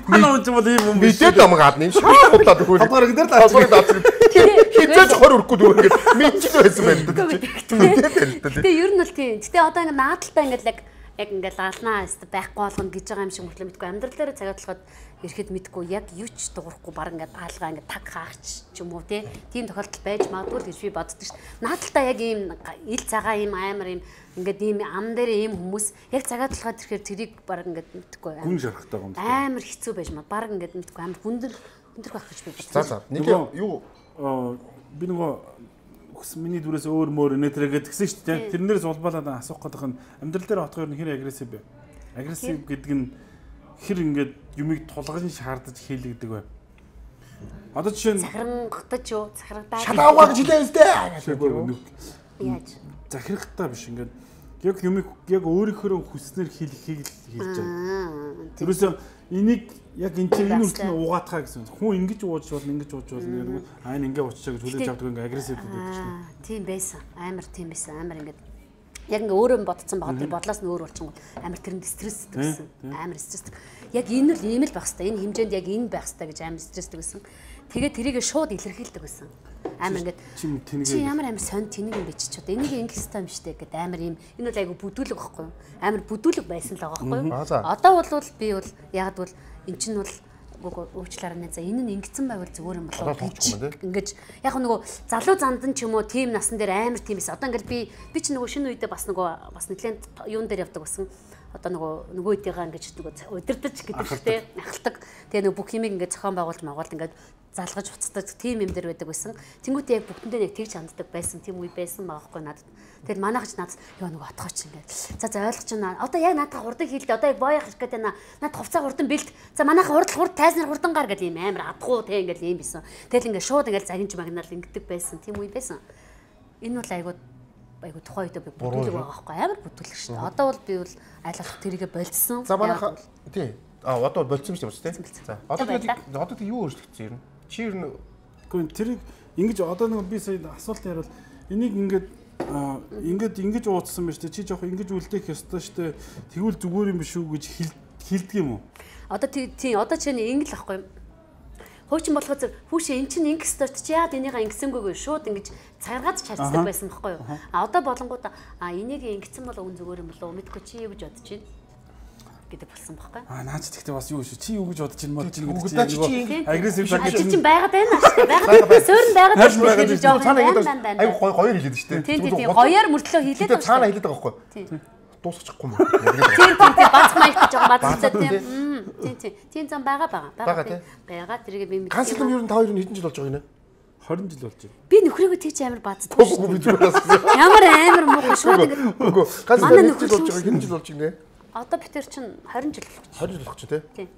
Манай хүн ч бол ийм юм биш. Мэдээд намайг адна юм шаа удлаад дүр. Хадгаар гэдэг л аа. Хизээч хор өрөхгүй дүр ингэж мэдчих байсан байна. Тэгээ ер нь бол тийм. Гэтэ одоо ингэ наадталтай ингэ л яг ингээл алнаа өст байхгүй болгоно гэж байгаа юм шиг мөртлөө мэдгүй амьдрал дээр цагаад болоход ирэхэд мэдгүй яг юу ч дуурахгүй баг ингээд аалгаа ингээд таг хаагч ч юм уу тийм тохиолдол байж магадгүй гэж би боддог шүү дээ. Наадталтаа яг ийм ил цагаа ийм амар ийм ингээд ийм ам дээр ийм хүмүүс яг цагаад болоход ирэхээр тэрийг баг ингээд мэдгүй гүн шарахтай юм. Амар хэцүү байж маа баг ингээд мэдгүй амар хүндэр хүндэр байх гэж би бодсон. За за нэг юу би нөгөө миний дүрээс өөр мөр нэтрэгээ тэгсэн шүү дээ. Тэрнээс улбалаад асуух гэдэг нь амьдрал дээр отгоор нь хэр агрессив бэ? Агрессив гэдэг нь хэр ингээд юмыг тулгаж шаардаж хийлэгдэг вэ? Одоо жишээ нь захирангатаж юу? Захирагдаад шалаагаа гэж хэлээ үстэй. Яаж? Захирахтаа биш ингээд яг юмыг яг өөрийнхөө хүснээр хийлэхийг л хэлж байгаа. Тэрөөсөө энийг яг энэ чинь энэ үртэл угаатхаа гэсэн. Хүн ингэж ууж болно, ингэж ууж болно гэдэг. Аа энэ ингэ ууччаа гэж хүлээж авдаг ингээ агрессив гэдэг чинь. Тийм байсан. Амар тийм байсан. Амар ингээ яг ингээ өөрөө бодсон байгаа тэр бодлоос нь өөр болчихсон. Амар тэрэнд стресстэй байсан. Амар стресстэй. Яг энэ л ийм л байх хэвээр. Энэ хэмжээнд яг энэ байх хэвээр гэж амар стресстэй байсан. Тэгээ тэрийг шууд илэрхийлдэг байсан. Амар ингээд чи ямар амар сонь тэнэг юм бэ чи ч одоо энийг ингэх систем штэ гэдэг амар юм энэ бол айгу бүдүүлэг байхгүй юу амар бүдүүлэг байсан л байгаа байхгүй юу одоо бол би бол яг бол эн чинь бол уучлаарай нэ за энэ нь ингэсэн байвал зүгээр юм болоо гэж ингэж яг нөгөө залуу зандан ч юм уу тим насан дээр амар тийм байсан одоо ингээд би би чи нөгөө шинэ үедээ бас нөгөө бас нэлээд юун дээр явдаг болсон одоо нөгөө нөгөө үеийнхаа ингэж нөгөө удирдах гэдэг штэ ахалдаг тэгээ нөгөө бүх юмыг ингээд зохион байгуулж магуулт ингээд залгаж уцдаг тийм юм дээр байдаг байсан. Тэнгүүтээ яг бүгдэндээ яг тэгж ханддаг байсан. Тийм үе байсан байгаа хгүй надад. Тэгэл манайхч надад ёо нөгөө отгооч ингээд. За за ойлгож байна. Одоо яг надад хурдан хийлдэ. Одоо яг боёх гэж гэдэг байна. Над хувцас хурдан бэлт. За манайхаа хурд хурд тайзнаар хурдан гар гэдэг юм амар адгуу те ингээд юм байсан. Тэгэл ингээд шууд ингээд загинж магнаар ингэдэг байсан. Тийм үе байсан. Энэ бол айгуу айгуу тухайн үед би бүдүүлэг байгаа хгүй амар бүдүүлэг шүү дээ. Одоо бол би бол айлах тэрийгэ болцсон. За манайхаа тий. А одоо болцсон шүү дээ тий. За одоо тэгээд одоо тэг юу өөрчлөгдсөн юм? Чи ер нь гоо тэрийг ингэж одоо нэг би сая асуулт ярил энийг ингээд ингээд ингэж ууцсан байна шүү дээ чи жоох ингэж үлдээх ёстой шүү дээ тэгвэл зүгээр юм биш үү гэж хэлдэг юм уу одоо тий одоо чинь ингэ л ахгүй хуучин болохоо хүүшээ эн чинь ингэх ёстой чи яад энийгээ ингэсэнгүйгүй шууд ингэж цагааргаж чарцдаг байсан байхгүй юу а одоо болонгууд а энийг ингэсэн бол өн зүгээр юм болоо мэдгүй чи юу гэж бодож байна гэдэг болсон байхгүй. Аа наач тэгтээ бас юу шүү. Чи юу гэж бодож ин бодож ин гэдэг чинь агрессив цаг гэж чинь байгаад байна шүү. Байгаад суурн байгаад байна гэж жоо байна. Айгу гоё гоё хэлээд шүү дээ. Тийм тийм гоёор мөртлөө хэлээд байна. Цаана хэлээд байгаа байхгүй. Тийм. Дуусчихгүй юм. Тийм тийм тийм бац маягт жоо бацтай тийм. Тийм тийм. Тийм зам байгаа байгаа. Байгаа тийм. Байгаа тэрийг би мэдээ. Ганц юм ер нь та хоёр нь хэдэн жил болж байгаа юм бэ? двадцать жил болж байна. Би нөхрийгөө тийч амар баацдаг шүү. Ямар амар муухай шууд ингэ. Үгүй ганц жил болж байгаа хэдэн жил болж байна? Одоо битэр чинь двадцать жил болох. двадцать жил болох ч тий. Тийм.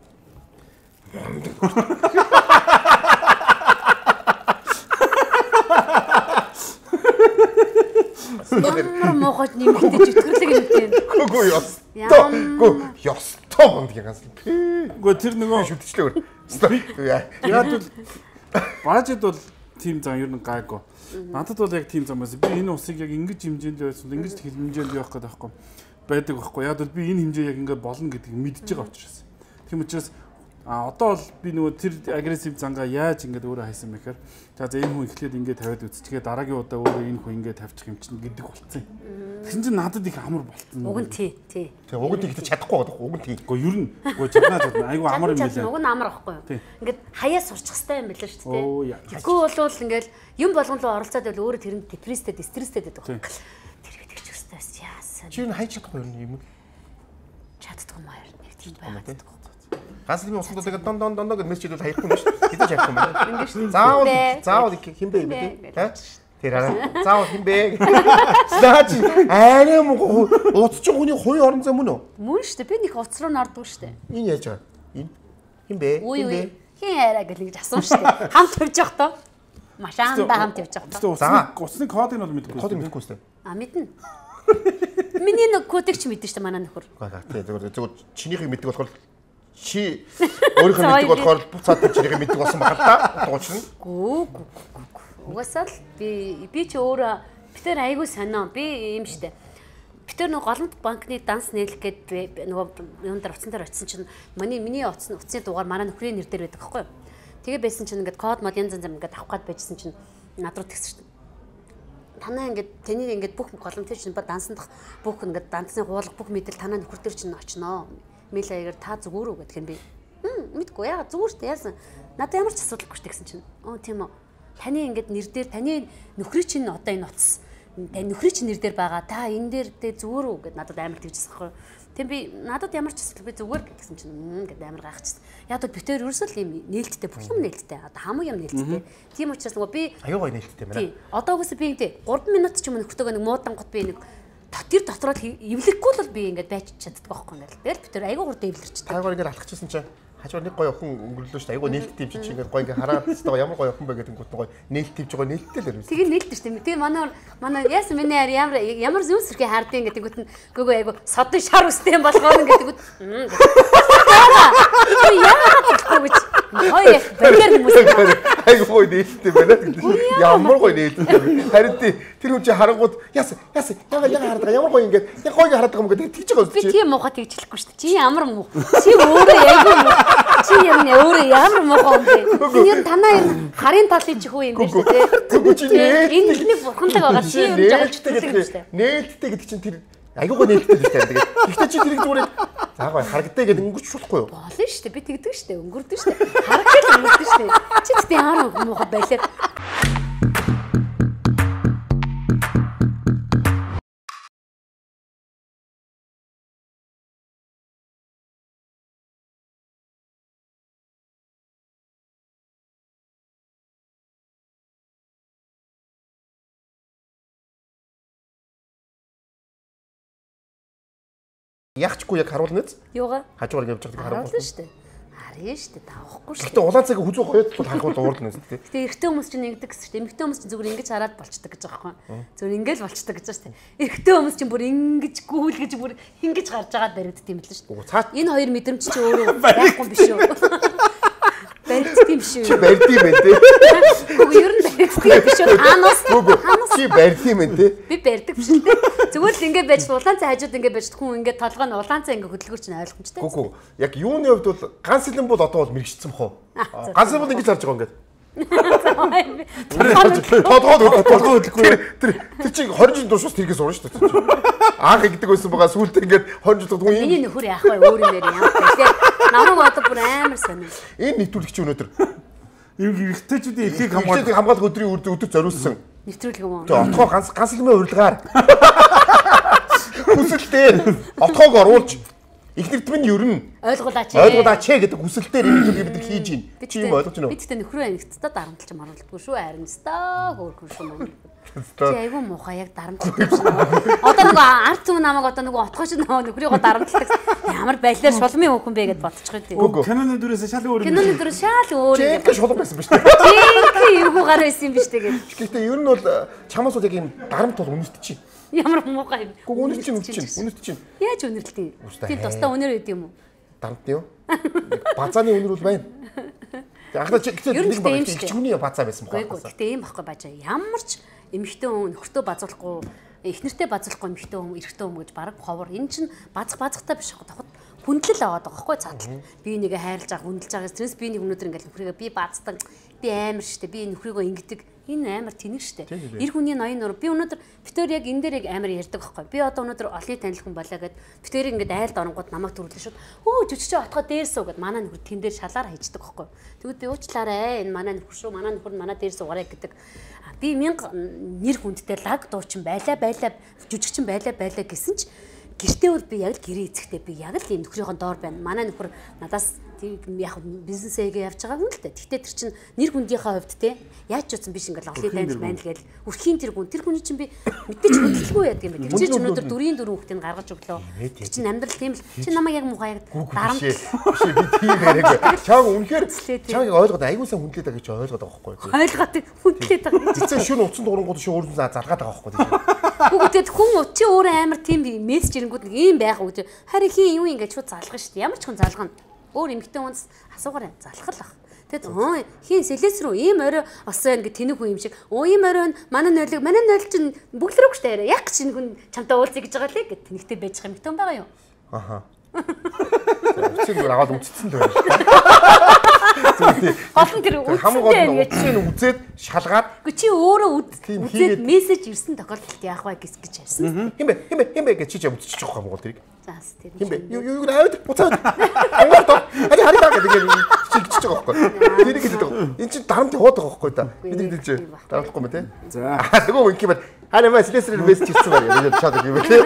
Ямар мохот нэмэгдэж өтгөрлөг юм тийм. Үгүй ёс. Үгүй ёстой бонд янз. Үгүй тэр нөгөө шүтчихлээ. Яг бол бажид бол тим зам ер нь гайгүй. Надад бол яг тим зам байсан. Би энэ усыг яг ингэж хэмжээнд байсан. Ингэж хэмжээнд явах гэдэг байхгүй. Байдаг байхгүй. Яг бол би энэ хэмжээ яг ингээд болно гэдгийг мэдж байгаа учраас. Тийм учраас а одоо бол би нөгөө тэр агрессив зангаа яаж ингээд өөрөө хайсан бэ гэхээр за за энэ хүн эхлээд ингээд тавиад үзчихээ дараагийн удаа өөрөө энэ хүн ингээд тавьчих юм чинь гэдэг болцсон юм. Тэгсэн чинь надад их амар болцсон. Уг нь тий, тий. Тэгээ уг нь тэгтээ чадахгүй байдаг. Уг нь тий. Гэхдээ ер нь үгүй чаднаа чадна. Айгу амар юм билээ. Уг нь амар байхгүй юу? Ингээд хаяа сурчих хэвээр юм билээ шүү дээ. Тэгэхгүй болвол ингээд юм болгон руу оролцоод байвал өөрөө тэрэнд депресстэй, стресстэй байдаг байхгүй. Тэр гэдэг ч сайн. Чи энэ хайж чадахгүй юм. Чаддгүй юм аа. Нэг тийм байгаад. Ганц л усанд тэгээд дон дон дон гэж мессеж хийвэл хаяхгүй юм шүү. Хэдэж хаяхгүй юм байна. Заавал заавал хинбэ юм бэ? Тэ? Тэр аа. Заавал хинбэ. Наач арай муу уцч хүний хувийн орон зай мөн үү? Мөн шүү дээ. Би нэг уц руу нордгүй шүү дээ. Энэ яаж байгаа? Энэ хинбэ? Хинбэ? Хин арай гэл гэж асуусан шүү дээ. Хамт тавьж явах тоо. Машаанда хамт явж явах тоо. За уцны кодыг нь бол мэдэхгүй. Кодыг мэдэхгүй шүү дээ. А мэднэ. Миний нэг кодыг ч мэдэн шүү дээ манай нөхөр. Тий зүгээр зүгээр чинийхийг мэддэг болохоор чи өөрийнхөө мэддэг болохоор буцаад чинийхийг мэддэг болсон баг л да. Дуучна. Гүү гүү гүү. Угаасаа л би би ч өөрөө битэр айгүй сонио. Би юм штэ. Битэр нөгөө голомт банкны данс нээлэх гээд нөгөө юун дээр утсан дээр очисон чинь миний миний утасны утасны дугаар манай нөхрийн нэр дээр байдаг байхгүй юу. Тэгээ байсан чинь ингээд код мод янз янз ингээд авах гээд байжсэн чинь над руу тэгсэн штэ. Танаа ингээд тэнийг ингээд бүх голомтын чинь ба дансандах бүх ингээд дансны хуулга бүх мэдэл танаа нөхөр дээр чинь очноо. Мэйл аягаар та зүгээр үү гэдг юм би. Хм мэдгүй яа зүгээр штэ яасан. Надад ямар ч асуудалгүй штэ гэсэн чинь. Оо тийм үү. Таны ингээд нэр дээр таны нөхрийн чинь одоо энэ утас таны нөхрийн чинь нэр дээр байгаа. Та энэ дээр дэ зүгээр үү гэд надад амар тэгжсэн байхгүй. Тэгм би надад ямар ч асуудал би зүгээр гэсэн чинь мм гэд амар гайхчихсан. Яг бол битээр ерөөсөө л юм нээлттэй бүх юм нээлттэй. Одоо хамаг юм нээлттэй. Тийм учраас нөгөө би аюу гой нээлттэй байна. Тий. Одоо угсаа би ингээд гурван минут ч юм нөхөртөөгөө нэг муудан гот би нэг тэр дотроо эвлэхгүй л би ингээд байж чаддаг байхгүй ингээд. Тэгэл битээр аюу гурд эвлэрч. Таагаар ингээд алхчихсан чинь хажуугаар нэг гоё охин өнгөрлөө шүү дээ. Айгу нээлттэй юм чи ингээд гоё ингээд хараад тест ямар гоё охин бэ гэдэг нь гоё нээлттэй юм байгаа нээлттэй л юм. Тэгээ нээлттэй шүү дээ. Тэгээ манай манай яасан миний ар ямар ямар зүүн сэрхий хаардын гэдэг үгт нь гөгөө айгу содын шар үстэй юм болгоно гэдэг үгт. Яа гэж хой бэлэр хүмүүс айгу гоё нээлттэй байна гэдэг. Ямар гоё нээлттэй. Харин тэр хүн чи харангууд яасан яасан яга яга хардаг ямар гоё ингээд яг гоё хардаг юм гэдэг тэгж байгаа үстэй. Би тийм муухай тэгжлэхгүй шүү дээ. Чи ямар муу. Чи өөрөө айгу чи юм өөрөө ямар муухай юм бэ? Энэ юм танаа юм харын талын чих үү юм биш үү те? Энэ ихний бурхантай байгаа чи юм жагалждаг гэдэг шүү дээ. Нээлттэй гэдэг чинь тэр айгуу гоё нээлттэй шүү дээ. Тэгээд ихтэй чи тэрийг зүгээр за гоё харагдаа гэдэг өнгөрч болохгүй юу? Болно шүү дээ. Би тэгдэг шүү дээ. Өнгөрдөг шүү дээ. Харагдал өнгөрдөг шүү дээ. Чи тэгтээ ямар муухай байлаа. Ягчгүй яг харуулна биз? Юугаа? Хажуугаар явж байгааг харуулна шүү дээ. Харъя шүү дээ. Тавахгүй шүү. Гэтэ улаан цагийг хүзүү гоёд бол харахад уурлна шүү дээ. Гэтэ эрэгтэй хүмүүс чинь ингэдэг гэсэн шүү дээ. Эмэгтэй хүмүүс чинь зүгээр ингэж хараад болчдөг гэж байгаа байхгүй. Зүгээр ингээл болчдөг гэж байна шүү дээ. Эрэгтэй хүмүүс чинь бүр ингэж гүйлгэж бүр ингэж гарч байгаа баригдд юм л шүү дээ. Энэ хоёр мэдрэмж чи өөрөө байхгүй биш үү? Баригдд юм шүү. Чи барьд юм байна те. Үгүй ер нь баригдд юм биш үү? Хаанаас? Чи барьд юм байна те. Би барьдаг биш үү? Зүгээр л ингээд байж улаан цай хажууд ингээд байж хүн ингээд толгой нь улаан цай ингээд хөдөлгөр чинь ойлгомжтой. Үгүй яг юуны хувьд бол ганц хэлэн бол одоо бол мэрэгчсэн бохоо. Ганц хэлэн бол ингэж харж байгаа ингээд. Тодгоод тодгоод хөдөлгөө. Тэр тэр чинь хорин жин дуушаас тэргээс урна шүү дээ. Анх игдэг байсан байгаа сүүлдээ ингээд хорин жин тодгоо юм. Миний нөхөр яах вэ өөр юм дээр юм. Тэгэхээр намайг одоо бүр амар сонир. Энэ нэвтрүүлэгч өнөөдөр юм эрэгтэйчүүдийн эрхийг хамгаалах хамгаалах өдрийн өдөр зориулсан. Нэвтрүүлэг юм уу? Тэгээ отгоо ганц ганц хэлмээ урилгаар. Хүсэлтээр отгоог оруулж ихнэрт минь ерөн ойлгуулаач. Ойлгуулаач гэдэг хүсэлтээр энэ зүйлийг бид нар хийж байна. Чи юм ойлгож байна уу? Бид тэ нөхрөө анигтдаа дарамтлж маруулдаггүй шүү. Харин стаа хөөрхөн шүү мөн. Чи айгүй муухай яг дарамтлдаг шүү. Одоо нөгөө ард түмэн намайг одоо нөгөө отгооч нөхрийгөө дарамтлагдаг. Ямар байлаар шулмын хөхөн бэ гэд бодчих гээд. Киноны дүрээс шал өөр юм. Киноны дүрээс шал өөр юм. Чи шулман байсан биз дээ. Чи юу гар байсан юм биш тэгээд. Гэхдээ ер нь бол чамаас бол яг юм дарамт бол үнэт чи. Ямар муухай юм. Үнэт чинь үнэт чинь үнэт чинь. Яаж үнэрлэлтэй? Тийм тусдаа үнээр өгд юм уу? Дарамт юу? Базааны үнэр бол байна. Ахна чи гэхдээ нэг баг чигүүний базаа байсан байхгүй. Гэхдээ ийм байхгүй баажаа. Ямар ч эмэгтэй хүн нөхөртөө базуулахгүй, эхнэртэй базуулахгүй эмэгтэй хүн, эрэгтэй хүн гэж баг ховор. Энэ чинь базах базахтай биш хаа. хүндлэл аваад байгаа байхгүй цаатал. Би нэгэ хайрлаж байгаа хүндэлж байгаа. Тэрнээс би нэг өнөөдөр ингээл нөхрийгээ би баацдаг. Би амар штэ. Би нөхрийгөө ингэдэг. Энэ амар тэнэг штэ. Эр хүний ноён нөр би өнөөдөр битээр яг энэ дээр яг амар ярьдаг байхгүй. Би одоо өнөөдөр олны танил хүн болоо гэд битээр ингээд айлд оронгууд намайг төрүүлсэн шууд. Өө жүжигч отгоо дээрсүү гэд манай нөхөр тэн дээр шалаар хайждаг байхгүй. Тэгвэл би уучлаарай энэ манай нөхөр шүү. Манай нөхөр манай дээр суугаарай гэдэг. Би мянга нэр хүндтэй лаг дуучин байлаа байлаа жүжигчин байлаа байлаа гэсэн ч гэртээ бол би яг л гэрээ эцэгтэй би яг л ийм нөхрийнхөө доор байна. Манай нөхөр надаас яг бизнесээгээ явж байгаа хүн л дээ. Гэхдээ тэр чинь нэр хүндийнхээ хувьд те яаж ч утсан биш ингээл олны дайнд байна л гээл үрхийн тэр хүн тэр хүний чинь би мэдээж хөдөлгөө яадаг юм байна. Тэр чинь өнөөдөр дөрийн дөрөв хүүхдийг гаргаж өглөө. Тэр чинь амьдрал тийм л чи намайг яг муухай яг дарамт биш би тийм яриаг. Чааг үнэхээр чааг ойлгоод аягуулсан хүндлээд байгаа гэж ойлгоод байгаа байхгүй юу? Ойлгоод хүндлээд байгаа. Цэцэн шүн утсан дуурангууд шин өөрөөсөө заргаад байгаа байхгүй юу? Хүүхдэд хүн чи өөрөө амар тийм мессеж ирэнгүүд нэг юм байх үү? Харин хин юу ингэж шууд залгана шүү дээ. Ямар ч хүн залгана. Өөр эмэгтэй хүнс асуугаарай залхал ах. Тэгэд өө хин сэлэс рүү ийм орой осон ингэ тэнэг хүн юм шиг. Өө ийм орой манай нойлог манай нойл чинь бүглэрэг штэ яриа. Яг чинь хүн чамтай уулзъя гэж байгаа лээ гэд тэнэгтэй байж байгаа эмэгтэй хүн байгаа юу? Аха. Чи зүгээр аваад үтцсэн л байна. Олон тэр хамгийн утсын үзээд шалгаад үгүй чи өөрөө үзээд мессеж ирсэн тохиолдолд яах вэ гэж гэж ярьсан. Химбэ химбэ химбэ гэж чи ч үтчих жоох юм бол тэрийг. Заас тэр. Химбэ юу юу аваад буцаад. Ангууд ари хари таа гэдэг чи гэж байгаа байхгүй. Тэр гэж байгаа. Энд чи дарамт яваад байгаа байхгүй да. Бид хэлж дарамтлахгүй мэ те. За. Тэгвэл ингэ бат хаана мас лесрэр мессеж ирсэн байна. Яг чад юм те.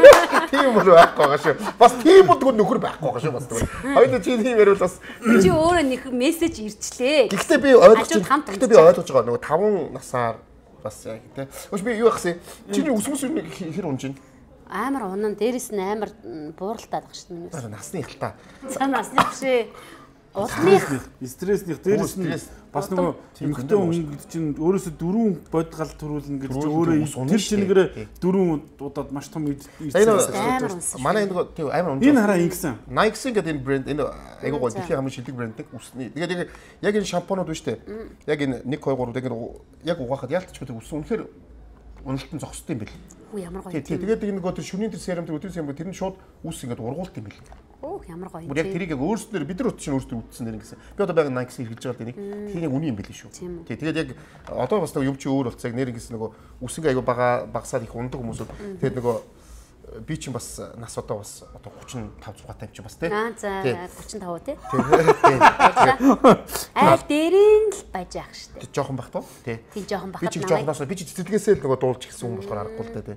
Тийм бол байхгүй байгаа шүү. Бас тийм бодгоо нөхөр байхгүй байгаа шүү бас. Хоёул чи тийм ярил бас чи өөрөө нэг мессеж ирчлээ. Гэхдээ би ойлгож байна. Гэхдээ би ойлгож байгаа нөгөө таван насаар бас яг тий. Өөш би юу ахсан? Чиний өсмөс хэр унж байна? Амар унан дээрэс нь амар бууралтаад байгаа шүү дээ. Насны их та. За насны бишээ. Улмынх стрессних дээрээс нь бас нөгөө эмэгтэй хүн чинь өөрөөсөө дөрвөн бод гал төрүүлнэ гэж чинь өөрөө тэр чингэрээ дөрвөн удаад маш том ирсэн. Манай энэ нөгөө тийм амар унж. Энэ хараа ингэсэн. Nike гэдэг энэ брэнд энэ айгуу гоо дэлхийн хамгийн шилдэг брэнд нэг үсний. Тэгээд яг энэ шампунууд биш үү? Яг энэ нэг хоёр гурав яг яг угаахад яалтч гэдэг үсэн үнэхээр уналтан зогсдог юм бэл. Үу ямар гоё. Тэгээд энэ нөгөө тэр шүний тэр серум тэр өдрийн серум тэр нь шууд үс ингээд ургуулт юм бэл. Оо ямар гоё. Яг тэрийг яг өөрснөр бид нар чинь өөрсдөө үтсэн нэр гэсэн. Би одоо байгаа Nike хэрэгж байгаа тэнийг. Тэр яг үний юм бэл шүү. Тий. Тэгээд яг одоо бас нөгөө юм чи өөр болцоо яг нэр гэсэн нөгөө үсэнгээ айгу бага багасаад их ундаг хүмүүсүүд тэгээд нөгөө би чинь бас нас одоо бас одоо гурван тавь зугаатай юм чи бас тий. Аа за гурван тавь тий. Айл дээрэн л байж ах штэ. Жохон бах туу тий. Тий жохон бахад би чи жоохноос би чи цэцэлгээсээ л нөгөө дуулж гисэн юм болохоор аргагүй л дээ тий.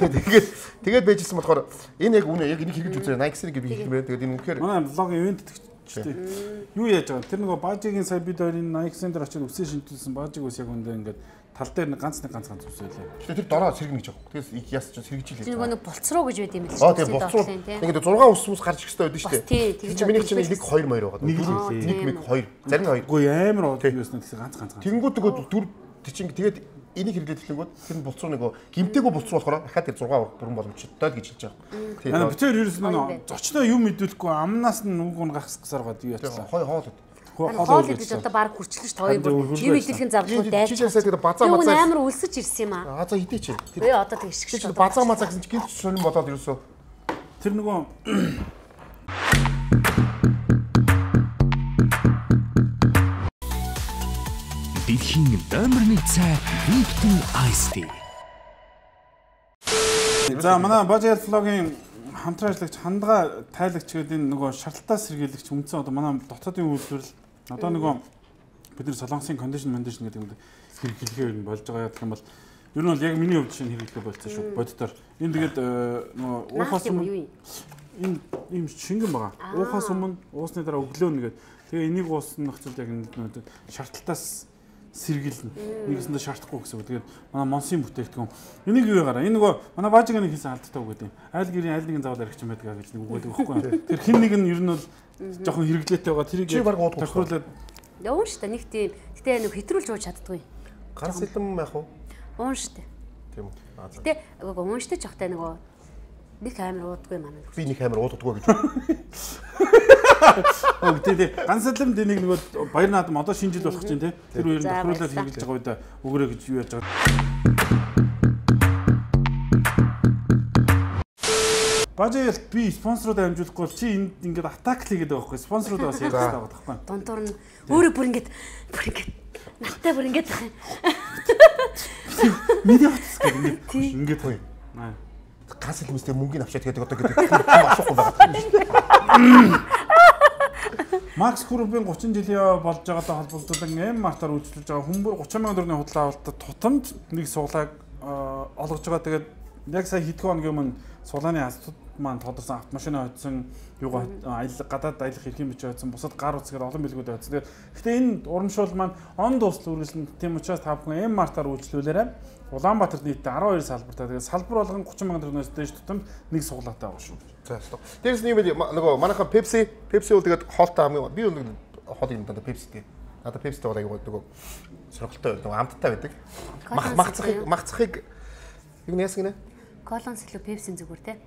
Тэгээд тэгээд байжсэн болохоор энэ яг үнэ яг энийг хэрэгж үзээ Nike-ийг би хэлэх юм байна. Тэгээд энэ үнэхээр манай блогийн ивент тэгчтэй. Юу яаж байгаа? Тэр нөгөө баажигийн сая бид хоёрын Nike центр очиж үсээ шинжүүлсэн баажиг ус яг үндэ ингээд тал дээр нэг ганц нэг ганц ганц үсээлээ. Тэгэхээр тэр дороо сэргэнэ гэж байгаа. Тэгээс яс ч сэргэж илээ. Тэр нөгөө болцроо гэж байд юм л шүү. Аа тийм болцроо. Ингээд зургаан ус ус гарч ихтэй байдаг шүү дээ. Тэр чинь миний чинь нэг хоёр маяр байгаа. Нэг л нэг нэг хоёр. Зарим хоёр. Үгүй амар уу юуснаа гэсэн ганц ганц ганц. Тэнгүүд нөгөө дүр чинь тэгээд энийг хэрэглээд хэлэнгүүт тэр болцроо нөгөө гимтээгүй болцроо болохоор дахиад тэр зургаа бүрэн боломжтой л гэж хэлж байгаа. Тийм. Битээр ерөөс нь зочноо юм мэдүүлэхгүй амнаас нь нүг нь гахсгасаар гад юу яцлаа. Хой хоол. Хоол гэж одоо баг хүрчлээ ш хоёр бүр юм идэхин завлгүй дайж. Чи часаа тэр базаа мазаа амар үлсэж ирсэн юм аа. Аа за хитээ чи. Би одоо тэг ишгэж чи базаа мазаа гэсэн чи гинт сонирн бодоод ерөөсөө тэр нөгөө Дэлхийн номер нэг цай Lipton Ice Tea. За манай Бажаал влогийн хамтран ажиллагч хандгаа тайлагч гэдэг энэ нөгөө шаардлагатай сэргийлэгч үндсэн одоо манай дотоодын үйлдвэрлэл одоо нөгөө бидний солонгосын кондишн кондишн гэдэг нь хэрэглэхээр нь болж байгаа гэх юм бол ер нь бол яг миний хувьд шинэ хэрэглээ болчихсон шүү боддоор энэ тэгээд нөгөө уухаас өмнө энэ ийм шингэн байгаа уухаас өмнө уусны дараа өглөө нэгээд тэгээ энийг уусных зүйл яг нэг шаардлагатаас сэргийлнэ. Нэгэсэндээ шаардахгүй гэсэн үг. Тэгээд манай Монсын бүтээгдэхүүн. Энийг юу яагараа? Энэ нөгөө манай Баажигийн хийсэн алдтаа үг гэдэг юм. Айл гэрийн айл нэгэн заавал аригч юм байдаг гэж нэг үг байдаг байхгүй юу? Тэр хин нэг нь ер нь бол жоохон хэрэглээтэй байгаа. Тэрийг тохируулаад уун штэ нэг тийм. Гэтэ нэг хэтрүүлж ууж чаддгүй. Ганц хэдэн байх уу? Уун штэ. Тийм үү. Гэтэ уун штэ жоохтой нөгөө нэг амир уудгүй манай. Би нэг амир ууддаггүй гэж. Оо тийм ганцлам тэнийг нөгөө баяр наадам одоо шинэ жил болох чинь тий. Тэр үеэр тохируулаад хэрэгжилж байгаа үед өгөрөө гэж юу яаж байгаа. Бажаялт би спонсорууд амжуулахгүй бол чи энд ингээд атак хийгээд байгаа байхгүй спонсорууд бас ярьж байгаа байхгүй. Дундуур нь өөрөө бүр ингээд бүр ингээд наттай бүр ингээд байх юм. Медиа утас гэдэг ингээд хой. Газ хэлмэстэй мөнгөний авчаад гэдэг одоо гэдэг асуухгүй байгаа. Макс Группийн гучин жилийн болж байгаатай холбогдуулан М-Мартаар үйлчлүүлж байгаа хүмүүр гучин мянган төгрөгийн худлаа авалтад тутамд нэг суулгааг олгож байгаа. Тэгээд яг сая хэдхэн хоногийн өмнө суулгааны хастууд маань тодорсон автомашин хоцсон юугаа аялал гадаад аялах эрхийн бичиг хоцсон бусад гар утасгаар олон билгүүд хоцсон. Тэгээд гэхдээ энэ урамшуул маань он дуусал үргэлжлэн тийм учраас та бүхэн М-Мартаар үйлчлүүлээрэй. Улаанбаатарт нийтдээ арван хоёр салбартай. Тэгээд салбар болгон гучин мянган төгрөгөөс дээш тутамд нэг суулгаатай байгаа шүү. За ёстой. Дээрс нь юм бэ нөгөө манайхан Pepsi, Pepsi бол тэгээд хоолтой хамгийн би бол хоол юм даа Pepsi гэдэг. Надад Pepsi-тэй бол аягүй нөгөө сорголттой нөгөө амттай байдаг. Мах махцахыг махцахыг юу нэс гинэ? Колонс илүү Pepsi-ийн зүгээр те.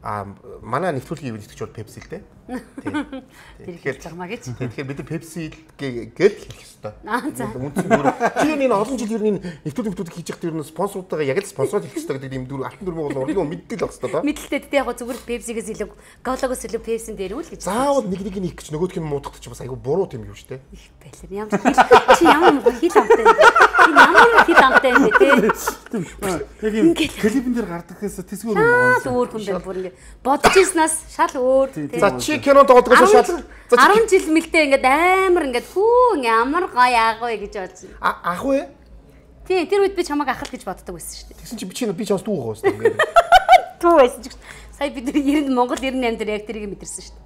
А манай нэвтрүүлгийн ивент гэж бол Pepsi л дээ. Тэр хэлж байгаа маа гэж. Тэгэхээр бид Pepsi гэж хэлэх ёстой. Аа за. Үндсэн дүр. Чи энэ олон жил ер нь нэвтрүүлэг нэвтрүүлэг хийж явахдаа ер нь спонсоруудаа яг л спонсорд хэлэх ёстой гэдэг юм дүр алтан дүрмээ бол урлагийн мэддэг л байна. Мэдэлтэй дээ яг зүгээр Pepsi-гээс илүү Cola-гоос илүү Pepsi-н дээр үл гэж. Заавал нэг нэг нь их гэж нөгөөх нь муудахдаг чи бас айгүй буруу юм юу штэ. Их байлаа. Ямар чи ямар хил амтай. Би ямар хил амтай юм бэ те. Яг юм клипэн дээр гардагхаас тэсгүүр юм байна. Өөр хүн байна бүр ингэ бодож ирснаас шал өөр. За чи кинонд тоглохоос шал арван жил мэлдээ ингээд амар ингээд хүү ямар гоё аах вэ гэж бодсон. Ах вэ? Тий, тэр үед би чамайг ахал гэж боддог байсан шүү дээ. Тэгсэн чи би чи би чамс дүү гоос ингээд. Дүү байсан ч сая бид нэр Монгол девяносто восемь дээр яг тэрийг мэдэрсэн шүү дээ.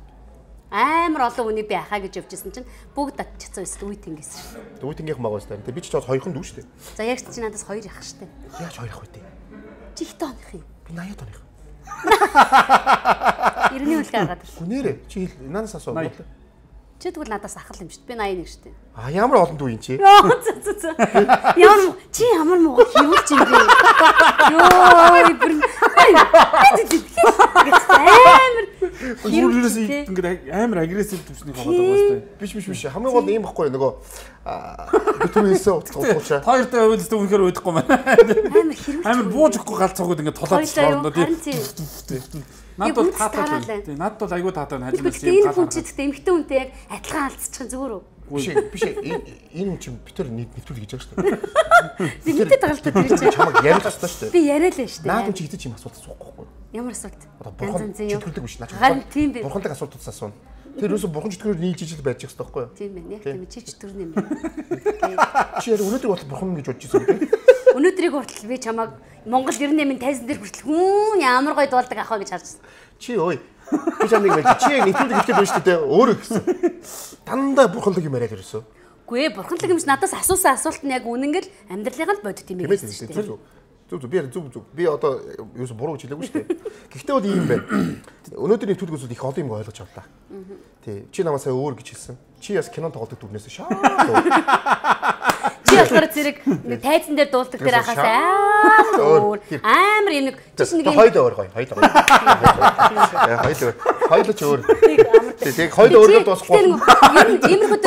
Амар олон үнийг би ахаа гэж явжсэн чинь бүгд татчихсан байсан үе тэнгээс шүү дээ. Үе тэнгийнх маа гоос таа. Би ч бас хоёрхан дүү шүү дээ. За яг чи надаас хоёр ах шүү дээ. Яаж хоёр ах вэ дээ? Чи их тооных юм. Би восемьдесят оных. Иргэний үлгээ гаргаад ирсэн. Гүнээрээ чи надаас асуу. Чи тэгвэл надаас ахал юм шүү дээ. Би восемьдесят нэг шүү дээ. А ямар олон дүү юм чи? Ямар чи ямар муу хийвч юм бэ? Йоо, бүр амар Юурээс ингээд амар агрессив төвчнийг хаваад байгаа сте. Биш биш биш. Хамгийн гол юм баггүй нөгөө битүүнээсээ утгуучаа. Хоёртой авилстай үнэхээр уудахгүй маань. Амар хэрэг. Амар бууж өгөхгүй галцаагүй ингээд толоод цоорно тийм. Надад бол таатай байна. Тийм. Надад бол айгүй таатай байна. Хажуунаас юм гал харагдав. Гэхдээ эмхтэн үнтэй яг адилхан алдчихсан зүгээр үү? Биш биш энэ юм чинь битэр нэвтрүүлэг хийж байгаа шүү дээ. Би мэдээд байгаа л та тэр чинь. Чамаг яриад тастаа шүү дээ. Би яриа л нь шүү дээ. Наад чи хэдэж юм асуулт асуухгүй. Ямар асуулт? Бурхан чөтгөрдөг биш наач. Харин тийм бэ. Бурхантай асуулт асууна. Тэр юусо бурхан чөтгөрөөр нийлж ижил байж байгаа байхгүй юу? Тийм байна. Яг тийм чи чөтгөр юм байна. Чи яа өнөөдөр бол бурхан гэж бодож ирсэн үү? Өнөөдрийг хүртэл би чамайг Монгол девяносто восемь тайзан дээр хүртэл хүн ямар гоё дуулдаг ах вэ гэж харж байна. Чи ой. Би чамайг байж чи нэвтрүүлэг хэлгээд байна шүү дээ. Өөрөө гэсэн. Дандаа бурханлаг юм яриад ирсэн. Үгүй ээ, бурханлаг юмш надаас асуусан асуулт нь яг үнэнгээл амьдралын л бодит юм байсан шүү дээ. Зүг зүг би зүг зүг би одоо юус буруу гэж хэлээгүй шүү дээ. Гэхдээ бол ийм байна. Өнөөдрийн нэвтрүүлгээс их олон юм ойлгож авлаа. Тий. Чи намайг сая өөр гэж хэлсэн. Чи яс кинон тоглодог дүрнээс шаа. Чи болохоор зэрэг нэг тайзан дээр дуулдаг дээр ахаас өөр амар юм нэг чи нэг хоёул өөр гоё. Хоёул гоё. Хоёул хоёул ч өөр. Тэг хоёул өөргөө дуусахгүй. Иймэрхүү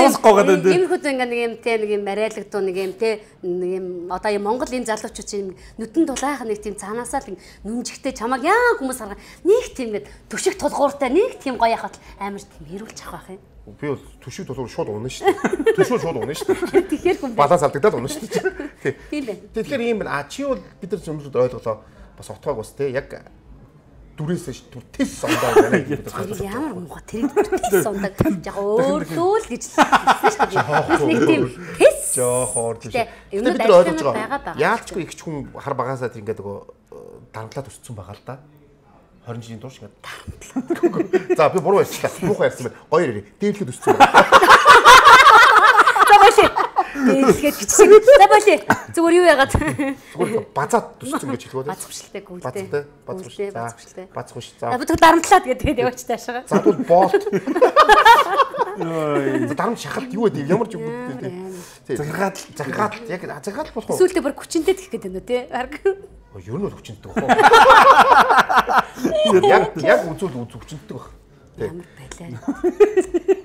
иймэрхүү ингээ нэг юм те нэг юм барайлагдуу нэг юм те нэг юм одоо юм Монгол энэ залуучууд чинь нүдэн дулаах нэг тийм цаанаасаа л нүмжигтэй чамаг яа хүмүүс харгаа нэг тийм ингээд төшиг тулгууртай нэг тийм гоё яхад амар тийм хэрүүлж авах байх юм. Би бол төшиг тулгуур шууд унаа шүү дээ. Төшөө шууд унаа шүү дээ. Тэгэхээр хүн баланс алдагдаад унаа шүү дээ. Тийм байна. Тэгэхээр ийм байна. А чи бол бид нар зөвхөн ойлголоо бас утгааг бас те яг дүрээс түр тес сондоо байна гэдэг байна. Ямар муухай тэрийг тес сондоо яг өөрлөө л гэж хэлсэн шүү дээ. Нэг тийм тес жоохоор тийм. Бид нар ойлгож байгаа. Яалчгүй их ч хүн хар багасаа тэр ингээд нөгөө дарамтлаад өссөн байгаа л да. двадцать жилийн турш ингээд дарамтлаад. За би буруу ярьчихлаа. Муухай ярьсан байна. Гоё ярив. Дээрлэхэд өссөн байна. За боши. Дээрлэхэд гिचсэн. За боши. Зүгээр юу яагаад? Зүгээр базаад өссөн гэж хэлгөө. Бацвшилтэй гүйлтэй. Бацтай. Бацвшилтэй. Бацвшилтэй. Бацвш. За бид дарамтлаад гэдэг яваач таашаа. За бол боолт. Йой. Дарамт шахалт юу вэ? Ямар ч юм бэ? Захиргаат захиргаат яг захиргаат болох уу? Сүүлдээ бүр хүчинтэй гэх гэдэг нь тий. Ер нь бол хүчинтэй баг. Яг яг үзүүл үз хүчинтэй баг. Ямар байлаа.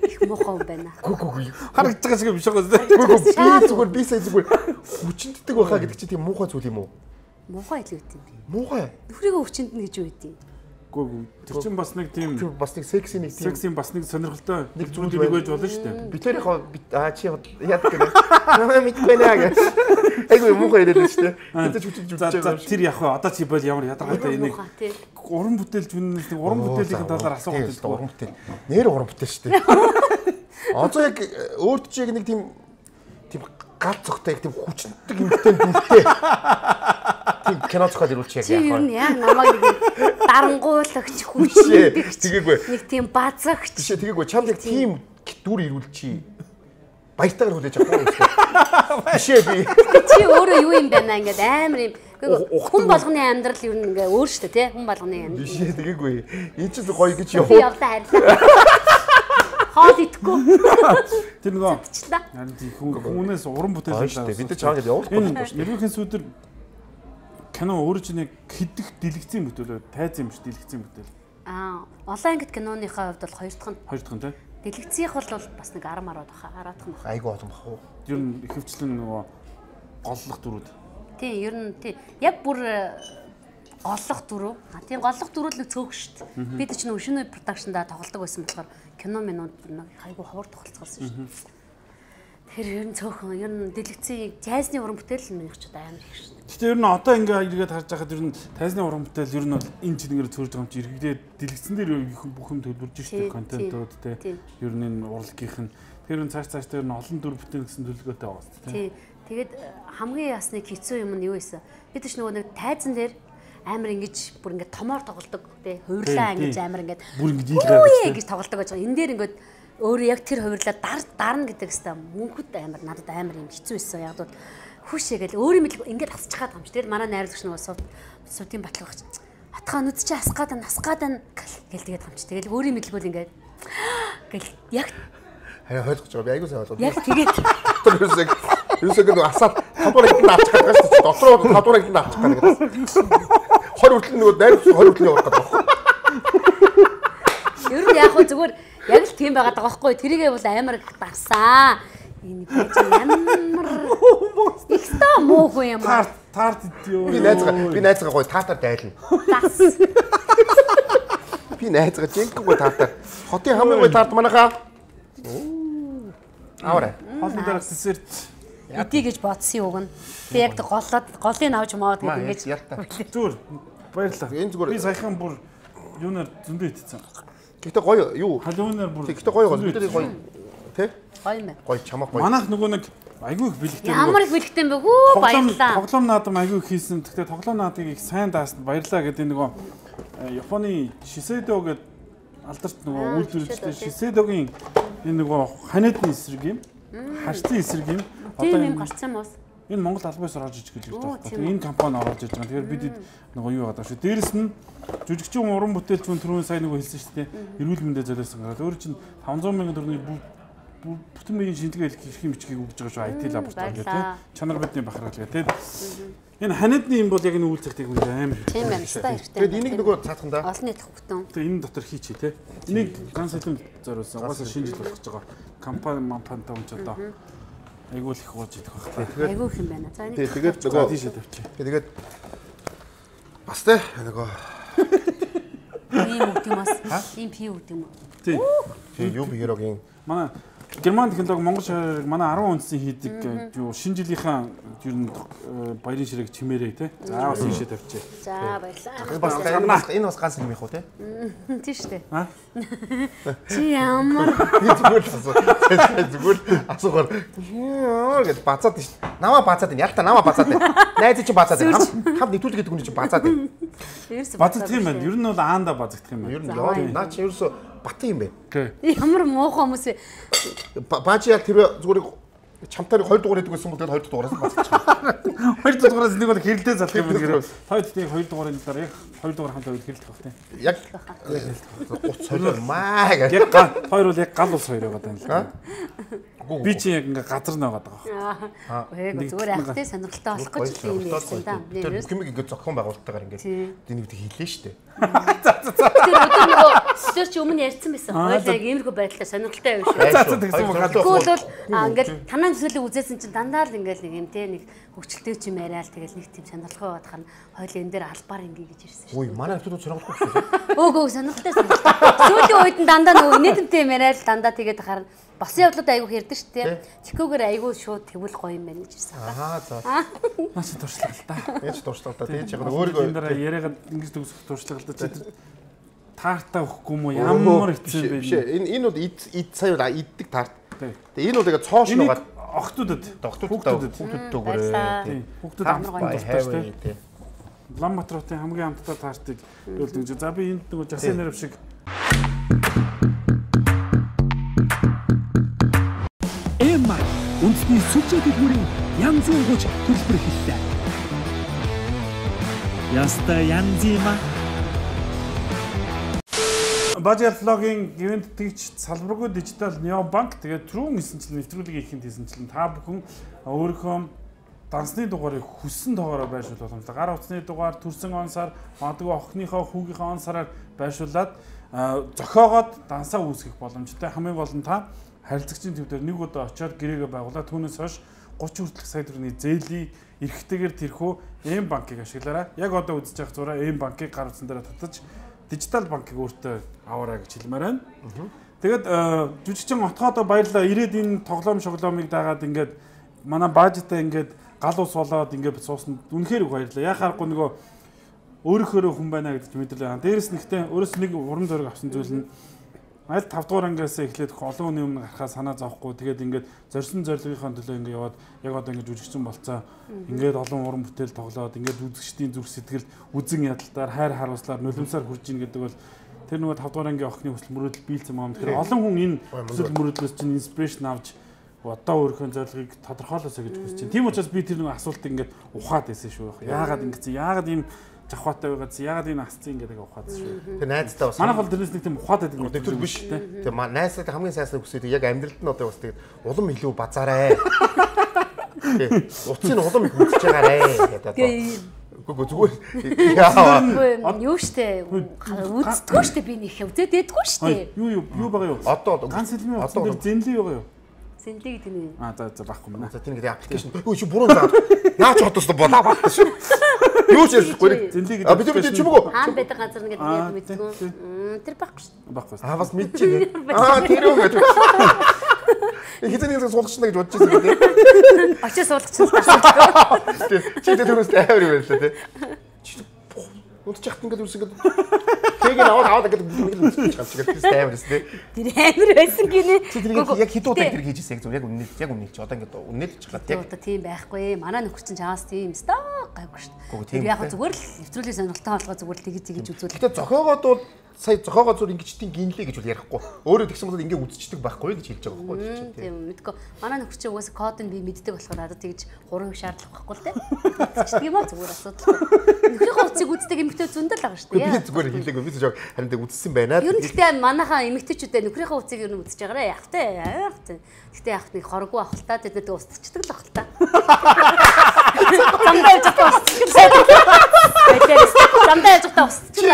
Их муухай юм байна. Гү гү гү. Харагдаж байгаа шиг биш байгаа. Гү гү би зүгээр би сая зүгээр хүчинтэй байхаа гэдэг чинь тийм муухай зүйл юм уу? Муухай илүү үт юм би. Муухай. Нөхрийгөө хүчинд нь гэж юу гэдэг юм? Гүү тэр чинь бас нэг тийм бас нэг секси нэг тийм секси бас нэг сонирхолтой нэг зүйл нэг байж болно шүү дээ. Битэрийнхоо аа чи яад гэнэ. Намаа мэдгүй наа гэж. Айгу муухай яриад шүү дээ. Тэд ч үчиж За тэр яг хаа одоо чи бол ямар ядаргаатай энийг уран бүтээлч үнээс нэг уран бүтээлийн талаар асуух гэдэг уран бүтээл. Нэр уран бүтээл шүү дээ. Одоо яг өөрт чи яг нэг тийм тийм гал цогтой яг тийм хүчтэй юмтай дүртэй. Тийм кино зохиол ирүүлчих яг яг. Чи яг намайг дарангуулагч хүчтэй. Тэгээгүй. Нэг тийм базагч. Тийш тэгээгүй. Чамд яг тийм дүр ирүүлчихий. Баяртайгаар хүлээж авах юм. Бишээ би. Чи өөрөө юу юм бэ наа ингээд амар юм. Хүн болгоны амьдрал юу нэг өөр шүү дээ тий. Хүн болгоны амьдрал. Бишээ тэгээгүй. Энэ ч гоё гэж яваа. Би явлаа харилаа. Хоол идэхгүй. Тэр нөгөө харин тийм хүмүүнээс уран бүтээл шүү дээ. Бид чаагаад явуулахгүй шүү дээ. Ерөнхийдөө сүдэр кино өөрөө ч нэг хэдэх дэлгэцийн бүтээл тайз юм ш дэлгэцийн бүтээл. Аа, олон ангит киноныхаа хувьд бол хоёр дахь нь. Хоёр дахь нь тий. Дэлгэцийнх бол бас нэг арам араад баха, араадах нь баха. Айгу олон бах уу. Ер нь ихэвчлэн нөгөө голлох дүрүүд. Тий, ер нь тий. Яг бүр голлох дүрүү. А тийм голлох дүрүүд л цөөх шүү дээ. Бид ч нөгөө шинэ продакшнда тоглодог байсан болохоор кино минууд нэг айгу ховор тоглолцсон шүү дээ. Тэр ер нь цөөхөн ер нь дэлгэцийн тайзны уран бүтээл минийх ч удаа амар их шүү дээ. Гэтэ ер нь одоо ингээ эргээд харж байхад ер нь тайзны уран бүтээл ер нь бол энэ чигээр цөөрж байгаа юм чи эргээд дэлгэцэн дээр бүх юм төлөвлөж шүү дээ контентууд те. Ер нь энэ урлагийнх нь тэр нь цааш цааш дээр нь олон дүр бүтээн гэсэн төлөвлөгөөтэй байгаа шүү дээ. Тий. Тэгээд хамгийн ясны хэцүү юм нь юу вэ? Бид ч нөгөө нэг тайзан дээр амар ингэж бүр ингэ томоор тоглодог тий хувирлаа ингэж амар ингэ бүр ингэ дийлгээ гэж тоглодог байж байгаа. Энэ дээр ингэ өөрөө яг тэр хувирлаа дар дарна гэдэг хэвээр мөнхөд амар надад амар юм хэцүү байсан. Яг бол хүшээ гэл өөрийн мэдлэг ингэ хасчих гад юм чи тэр манай найруулагч нөгөө сууд суудын батлагч атгаа нүд чи асгаад насгаад гэл тэгээд юм чи тэгэл өөрийн мэдлэг бол ингэ гэл яг хаяа хойлгож байгаа би айгуу сайн болоо. Яг тэгээд ерөөсөө ерөөсөө гэдэг асаад тавдуурыг нь авчих гэдэг шүү дээ. Дотроо тавдуурыг нь авчих гэдэг. Хоёр хүртэл нөгөө найруулагч хоёр хүртэл явах гэдэг байна. Ер нь яг хөө зүгээр яг л тийм байгаад байгаа байхгүй. Тэрийгээ бол амар дарсан. Энэ байж ямар ихтэй муугүй юм аа. Тарт идё. Би найзгаа би найзгаа гоё таатар дайлна. Би найзгаа жинхэнэ гоё таатар. Хотын хамгийн гоё таарт манайхаа. Аваарай. Хоолны дараа десерт идэ гэж бодсон үг нь. Тэг яг голоод голыг авч маад гэдэг ингэж зүгээр баярлалаа. Энэ зүгээр би саяхан бүр юунаар зөндөө итцсэн. Гэхдээ гоё юу? Халуунаар бүр гэхдээ гоё гоё. Бид гоё. Тэ? Гоё мэ. Гоё чамаа гоё. Манайх нөгөө нэг айгүй их бэлэгтэй. Ямар их бэлэгтэй юм бэ? Хүү баярлалаа. Тоглоом наадам айгүй их хийсэн. Гэхдээ тоглоом наадыг их сайн даасан баярлалаа гэдэг нөгөө Японы Шисэдо гэдэг алдарт нөгөө үйлдвэрлэгчтэй Шисэдогийн энэ нөгөө ханиадны эсрэг юм. Харцын эсрэг юм. Одоо юм гарцсан юм уу? Энэ Монгол албаас орж иж гэж байна. Энэ компани орж иж байгаа. Тэгэхээр бид нөгөө юу яадаг шүү. Дээрэс нь жүжигчин уран бүтээлч хүн түрүүн сайн нөгөө хэлсэн шүү дээ. Эрүүл мэндэ золиосон гараад өөр чинь таван зуун мянган төгрөгийн бүтэн биеийн шинжилгээ эрхийн бичгийг өгж байгаа шүү. ай ти лаборатори гэх тийм. Чанар бидний бахархал гэх тийм. Энэ ханиадны юм бол яг энэ үйл цагтыг үнэ амар. Тийм байна. Стаа хэрэгтэй. Тэгээд энийг нөгөө цаатхандаа олон нийт хөвгтөн. Тэгээд энэ дотор хийчихье тийм. Энийг ганц сэтэм зориулсан. Угаасаа шинэ жил болох гэж байгаа. Компани мампантай юм ч одоо айгуул их ууж идэх байх та. Тэгээд айгуул юм байна. За энийг тэгээд нөгөө тийшээ тавьчих. Тэгээд бас тэ нөгөө ийм үг юм бас. Ийм пи үг юм уу? Тийм. Тийм юу биерогийн манай Герман технологи Монгол шарыг манай арван үндсэн хийдэг юу шинэ жилийнхаа ер нь баярын ширээг чимээрээ тий. За бас ийшээ тавьчих. За баярлалаа. бас энэ бас ганц юм их уу тий. Тийм шүү дээ. Аа. Чи ямар зүгээр зүгээр асуугаар гэд бацаад тийм шүү. Намаа бацаад байна. Яг та намаа бацаад байна. Найз чи бацаад байна. Хам нэвтрүүлэг гэдэг хүн чи бацаад байна. Бацагдах юм байна. Ер нь бол аанда бацагдах юм байна. Ер нь яа наа чи ерөөсө бат юм бэ. Ямар муухай хүмүүс вэ? Баажи яг тэр зүгээр чамтаар хоёр дугаар хийдэг байсан бол тэгээд хоёр дугаараас бацчихсан. Хоёр дугаараас нэг бол хэрэлдээ залах юм байна. Хоёр тийм хоёр дугаарын дараа яг хоёр дугаар хамтаа хэрэлдэх байх тийм. Яг утас хоёр маа гэж. Яг хоёр бол яг гал ус хоёр байгаа даа л. Би чи яг ингээ газар наагаад байгаа. Аа. Өөг зүгээр ахтай сонирхолтой болох гэж юм ярьсан да. Тэр бүх юм ингээ зохион байгуулалтаагаар ингээ энийг хэлээ шүү дээ. Тэр өдөр нөгөө тэр чи өмнө ярьсан байсан. Хойлоо яг иймэрхүү байдлаар сонирхолтой юм шүү. За за тэгсэн юм галуу. Тэгвэл бол ингээл танаа төсөөлөг үзээсэн чинь дандаа л ингээл нэг юм те нэг хөвчлөлтэй ч юм яриа л тэгэл нэг тийм сонирхолтой бодох нь хойлоо энэ дээр албаар ингээ гэж ирсэн шүү. Үй манай хүмүүс сонирхолтой шүү. Өг өг сонирхолтой сонирхолтой. Сүүлийн үед нь дандаа нөгөө инээдэмтэй юм яриа л дандаа тэгээд харна. Басан явдлууд айгүй хэрдэг шүү дээ. Чикогоор айгүй шууд тэгвэл гоё юм байна гэж ирсэн. Аа за. Маш туршлага л да. Яаж туршлага л да. Тэгээд яг өөрийгөө энэ дараа яриагаад ингэж төгсөх туршлага л да. Чи таартай өгөхгүй юм уу? Ямар хэцүү бэ? Биш ээ. Энэ энэ бол ид ид сая бол иддэг таарт. Тэгээд энэ бол тэгээд цоошн угаад охтуудад охтуудад хүүхдүүд өгөөрэй. Хүүхдүүд амрах дуртай шүү дээ. Улаанбаатарын хамгийн амттай таартыг хэлдэг. За би энд нөгөө жасын нэрв шиг Эмма үндэсний сүлжээ дэлгүүрийн янз бүрийн гоч төлбөр хэллээ. Яста янзима Бажиаллогийн ивент тэгч салбаргүй дижитал необанк тэгээд түрүүн эсэнчлэн нэвтрүүлгийг хийхэд эсэнчлэн та бүхэн өөрийнхөө дансны дугаарыг хүссэн тоогоор байршуул боломжтой. Гар утасны дугаар төрсөн он сар, магадгүй охиныхоо хүүгийнхээ он сараар байршуулад зохиогоод дансаа үүсгэх боломжтой. Хамгийн гол нь та харилцагчийн төвдөр нэг удаа очиод гэрээгээ байгуулаад түүнээс хойш гучин хүртэлх сая төгрөгийн зээлийн эрхтэйгээр тэрхүү М банкыг ашиглаарай. Яг одоо үзэж явах зураа М банкыг гар утсан дээр татаж дижитал банкыг өөртөө аваарай гэж хэлмээр байна. Тэгээд жүжигчин отгоодоо баярлалаа. Ирээд энэ тоглоом шоглоомыг дагаад ингээд манай баажтай ингээд гал ус болоод ингээд суусна. Үнэхээр их баярлалаа. Яхаарахгүй нөгөө өөрөөхөө хүн байна гэдэг мэдрэлээ. Дээрээс нэгтээ өөрөөс нэг урам зориг авсан зүйл нь аль тав дугаар ангиас эхлээд олон хүний өмнө гарахаа санаа зовхгүй тэгээд ингээд зорьсон зорилгынхаа төлөө ингээд яваад яг одоо ингээд жүжигчин болцоо ингээд олон уран бүтээл тоглоод ингээд үзэгчдийн зүрх сэтгэл үзэн ядалтаар хайр харуулслаар нулимсаар хүрж ийн гэдэг бол тэр нөгөө тав дугаар ангийн охины хүсэл мөрөөдөл биелсэн юм. Тэгэхээр олон хүн энэ хүсэл мөрөөдлөөс чинь инспирэшн авч одоо өөрийнхөө зорилгыг тодорхойлоосоо гэж хүсэж байна. Тийм учраас би тэр нэг асуултыг ингээд ухаад байсан шүү. Яагаад ингэсэн? Яагаад ийм жахваатай байгаад яагаад энэ асцсан гэдэг ухаад шүү. Тэр найзтай бас манайх бол тэрнээс нэг тийм ухаад байдаг нэг төр биш те. Тэр найзтай хамгийн сайсныг хүсээд яг амьдралд нь одоо бас тэгээд улам илүү базаарай. Утсын улам их үзэж байгаарэ гэдэг. Гүг зүгээр яа. Юу штэ үздэггүй штэ би нэг үзээд дэдгүй штэ. Юу юу юу байгаа юу? Одоо ганц хэлмийн утсан дээр зэнлээ байгаа юу? Зэнлээ гэдэг нь. Аа за за багхгүй маа. За тийм гэдэг аппликейшн. Өө чи буруу заа. Наач хотоос болоо багт шүү. Юу ч ярьхгүй. Зэнлээ гэдэг. А бид бид чимээгөө. Хаан байдаг газар нэг гэдэг мэдгүй. Тэр багхгүй шүү. Багхгүй. Аа бас мэдчихэв. Аа тэр юу гэдэг. Хитэн нэг суулгач гэж бодож байсан гэдэг. Очиж суулгач тасаа. Чи тэр төрөөс амар юм байлаа тий. Чи удаж яхад ингээд үрс ингээд тэгээд аваад аваад гэдэг нэг үсэж чамч гэдэг амар өс тий. Тэр амар байсан гинэ. Чи тэр яг хэд удаа тэр хийжсэн яг зөв яг үнэн яг үнэн чи одоо ингээд үнэн л чиглаад яг одоо тийм байхгүй. Манай нөхөр чинь чаас тийм стаа гайгүй шүү. Тэр яг зүгээр л нэвтрүүлгийн сонирхолтой болгоо зүгээр л тэгж тэгж үзүүл. Гэтэ зохиогоод бол сая зохиогоо зүр ингэж тийм гинлээ гэж бол ярихгүй. Өөрөө тэгсэн бол ингээ үзчихдэг байхгүй гэж хэлж байгаа байхгүй юу? Тийм мэдгүй. Манай нөхөр чинь угаасаа код нь би мэддэг болохоор надад тэгж гурван шаардлага байхгүй л дээ. Тэгчих юм аа зүгээр асуудал. Нөхрийнхөө утсыг үздэг эмэгтэй зөндөл байгаа шүү дээ. Би зүгээр хэлээгүй. Би зөв харин тэг үзсэн байна. Ер нь гэхдээ манайхаа эмэгтэйчүүдээ нөхрийнхөө утсыг ер нь үзэж байгаарэ. Яг тэ яг тэ. Гэхдээ яг нэг хороггүй авахтаа тэдэд устчдаг л авахтаа. Замдаа яж устчдаг. Замдаа яж устчдаг.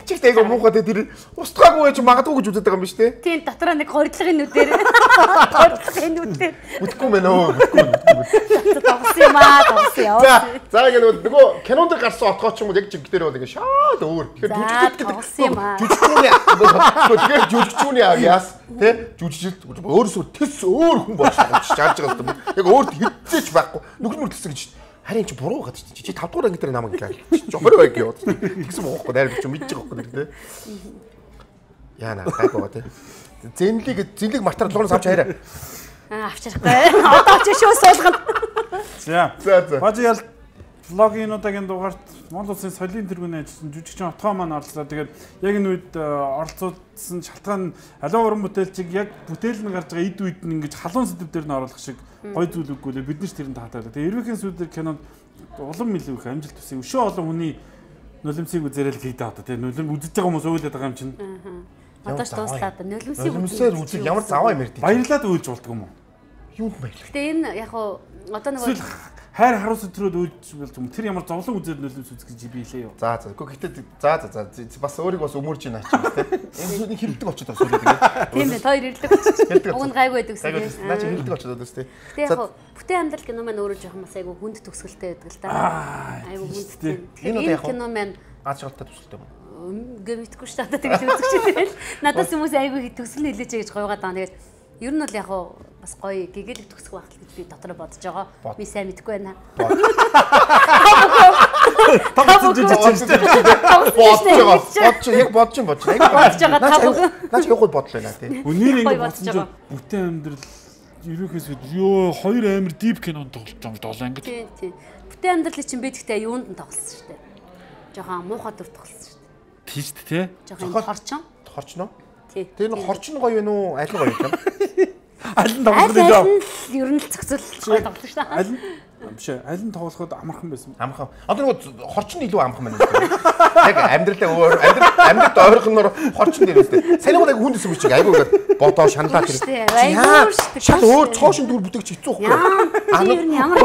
Чи тэйг муухай тэр устгаагүй гэж магадгүй гэж үздэг байгаа юм биш үү? Тийм дотроо нэг хордлогын нүдээр. Хордлогын нүдээр. Үтгэхгүй мэн өө. Үтгэхгүй. Тавсан юм аа, тавсан яа. За, за ингэ нөгөө кинон дээр гарсан отгоо ч юм уу яг чиг дээр бол ингэ шаад өөр. Тэгэхээр жүжигчд гэдэг. Жүжигчүүний. Тэгэхээр жүжигчүүний авьяас тий жүжигчд өөрөөсөө тэс өөр хүн болж чарж байгаа юм. Яг өөр хэдцээч байхгүй. Нүгэл мөрдөлсөн гэж. Харин чи буруу гадчих чи чи тав дугаар анги дээр намайг ингээ жохор байг яваад тэгсэн боохгүй найр чи мэдчих واخгүй нэр тэ яана гайгаа тэ зэнлиг зэнлиг мартар луунаас авч хайраа аа авч харахгүй одоо ч шүү суулгана за за за бажиал влогийн удаагийн дугаарт Монгол Улсын соёлын тэргүүний ажилтан жүжигчин отгоо маань оролцлоо. Тэгээд яг энэ үед оролцуулсан шалтгаан аливаа уран бүтээлчийг яг бүтээл нь гарч байгаа эд үед нь ингэж халуун сэдв дээр нь оруулах шиг гой зүйл үгүй л бид нар ч тэрэн таатай. Тэгээд эрвээхэн сүлдэр кинонд улам илүү их амжилт төсөө. Өшөө олон хүний нулимсыг үзэрэл хийдэг одоо тийм нулим үзэж байгаа хүмүүс уйлаад байгаа юм чинь. Одоо ч дуслаа да нулимсыг нулимсээр үзэл ямар заваа юм ярьдیں۔ Баярлаад үйлж болдгоо юм уу? Юунд баярлах? Гэтэ энэ яг хуу одоо нэг хайр харуус өдрөд үйлж болж юм. Тэр ямар зовлон үзээд нулимс үзэх гэж биелээ юу? За за. Гэхдээ гэтээ за за за бас өөрийг бас өмөрж байна аач юм те. Энэ сүний хилдэг очоод бас үлээд ингээд. Тийм ээ, хоёр ирлэг болчих. Уг нь гайгүй байдаг гэсэн. Наа чи хилдэг очоод байна те. Гэтэ яг хуу бүтээн амьдрал кино маань өөрөө жоохон бас айгу хүнд төгсгөлтэй байдаг л да. Айгу хүндтэй. Тэгэхээр энэ кино маань аз жаргалтай төгсгөлтэй юм. Гэмитгүй шүү дээ. Тэгээд үзэгч байл. Надаас хүмүүс айгүй төгсөл хэлээч гэж гойгаад байгаа. Тэгээд ер нь бол яг бас гоё гэгээлэг төгсөх байх гэж би дотроо бодож байгаа. Би сайн мэдэхгүй байна. Тавцсан жижиг чинь бодож байгаа. Бодож яг бодож юм бодож. Яг бодож байгаа тав. Наач яг гол бодол байна тий. Үнээр ингэ бодсон чинь бүтээн амьдрал ерөөхөөс ёо хоёр амир дип кинонд тоглож байгаа долоо ингэ. Тий, тий. Бүтээн амьдрал чинь би тэгтээ юунд нь тоглосон шүү дээ. Жохон муухай дүр тоглосон шүү дээ. Тийш тий. Жохон хорчон. Хорчно? Тий. Тэр нь хорчно гоё вэ нүү? Аль гоё юм? Аль нь тоглох вэ? Ер нь л зөксөл гоё тоглох шүү дээ. Аль нь биш ээ. Аль нь тоглоход амархан байсан. Амархан. Одоо нөгөө хорчно илүү амархан байна. Яг амьдралаа өөр амьдрал амьдралд ойрхоноор хорчно дээр үстэй. Санийгууд яг хүнд өсөв чиг айгуугаар бодоо шаналаад тэр. Айгуу шүү дээ. Шал өөр цоошин дүр бүтээгч хэцүү хөхгүй. Аа ер нь ямар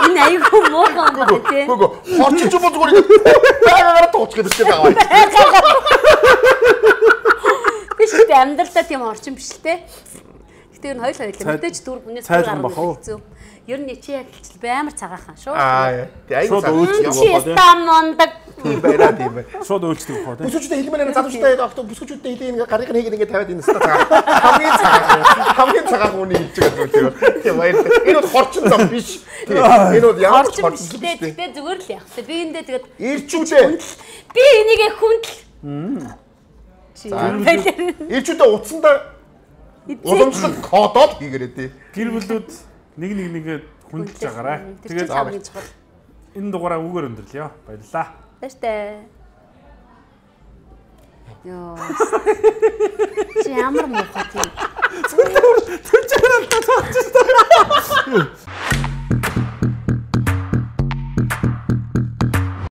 энэ айгуу мууган байна тий. Гүг хорчиж юм зүгээр ингэ байгаагаар тууч гэдэг чинь байгаа байна. Биш үү амьдралдаа тийм орчин биш л те. Гэтэ ер нь хоёул хоёул мэдээж дүр бүнээс гарах хэцүү. Ер нь чи яг хэлчихэл би амар цагаахан шүү. Аа айгуу цагаахан. Чи станондаг. Тийм байна тийм байна. Шууд өөрчлөж байгаа тийм. Бүсгүүчтэй хэлмээр залуучтай доктор бүсгүүчтэй хэлээ ингээ гарыг нь хийгээд ингээ тавиад энэ өстө цагаан. Хамгийн цагаан. Хамгийн цагаан үний хэлж байгаа зүйл. Тийм баяр. Энэ бол хорчин зам биш. Энэ бол ямар хорчин биш. Гэтэ зүгээр л яг. Би эндээ тэгээд ирчүүдээ. Би энийг хүндэл. Ирчүүдээ утсандаа уламжлалт кодод хийгээрээ тий. Гэр бүлүүд нэг нэг нэгээ хүндэлж байгаарай. Тэгээд энэ дугаараа үгээр өндөрлөё. Баярлалаа. Баяртай. Йоо. Чи ямар мохот юм. Түр түр чанаа таач.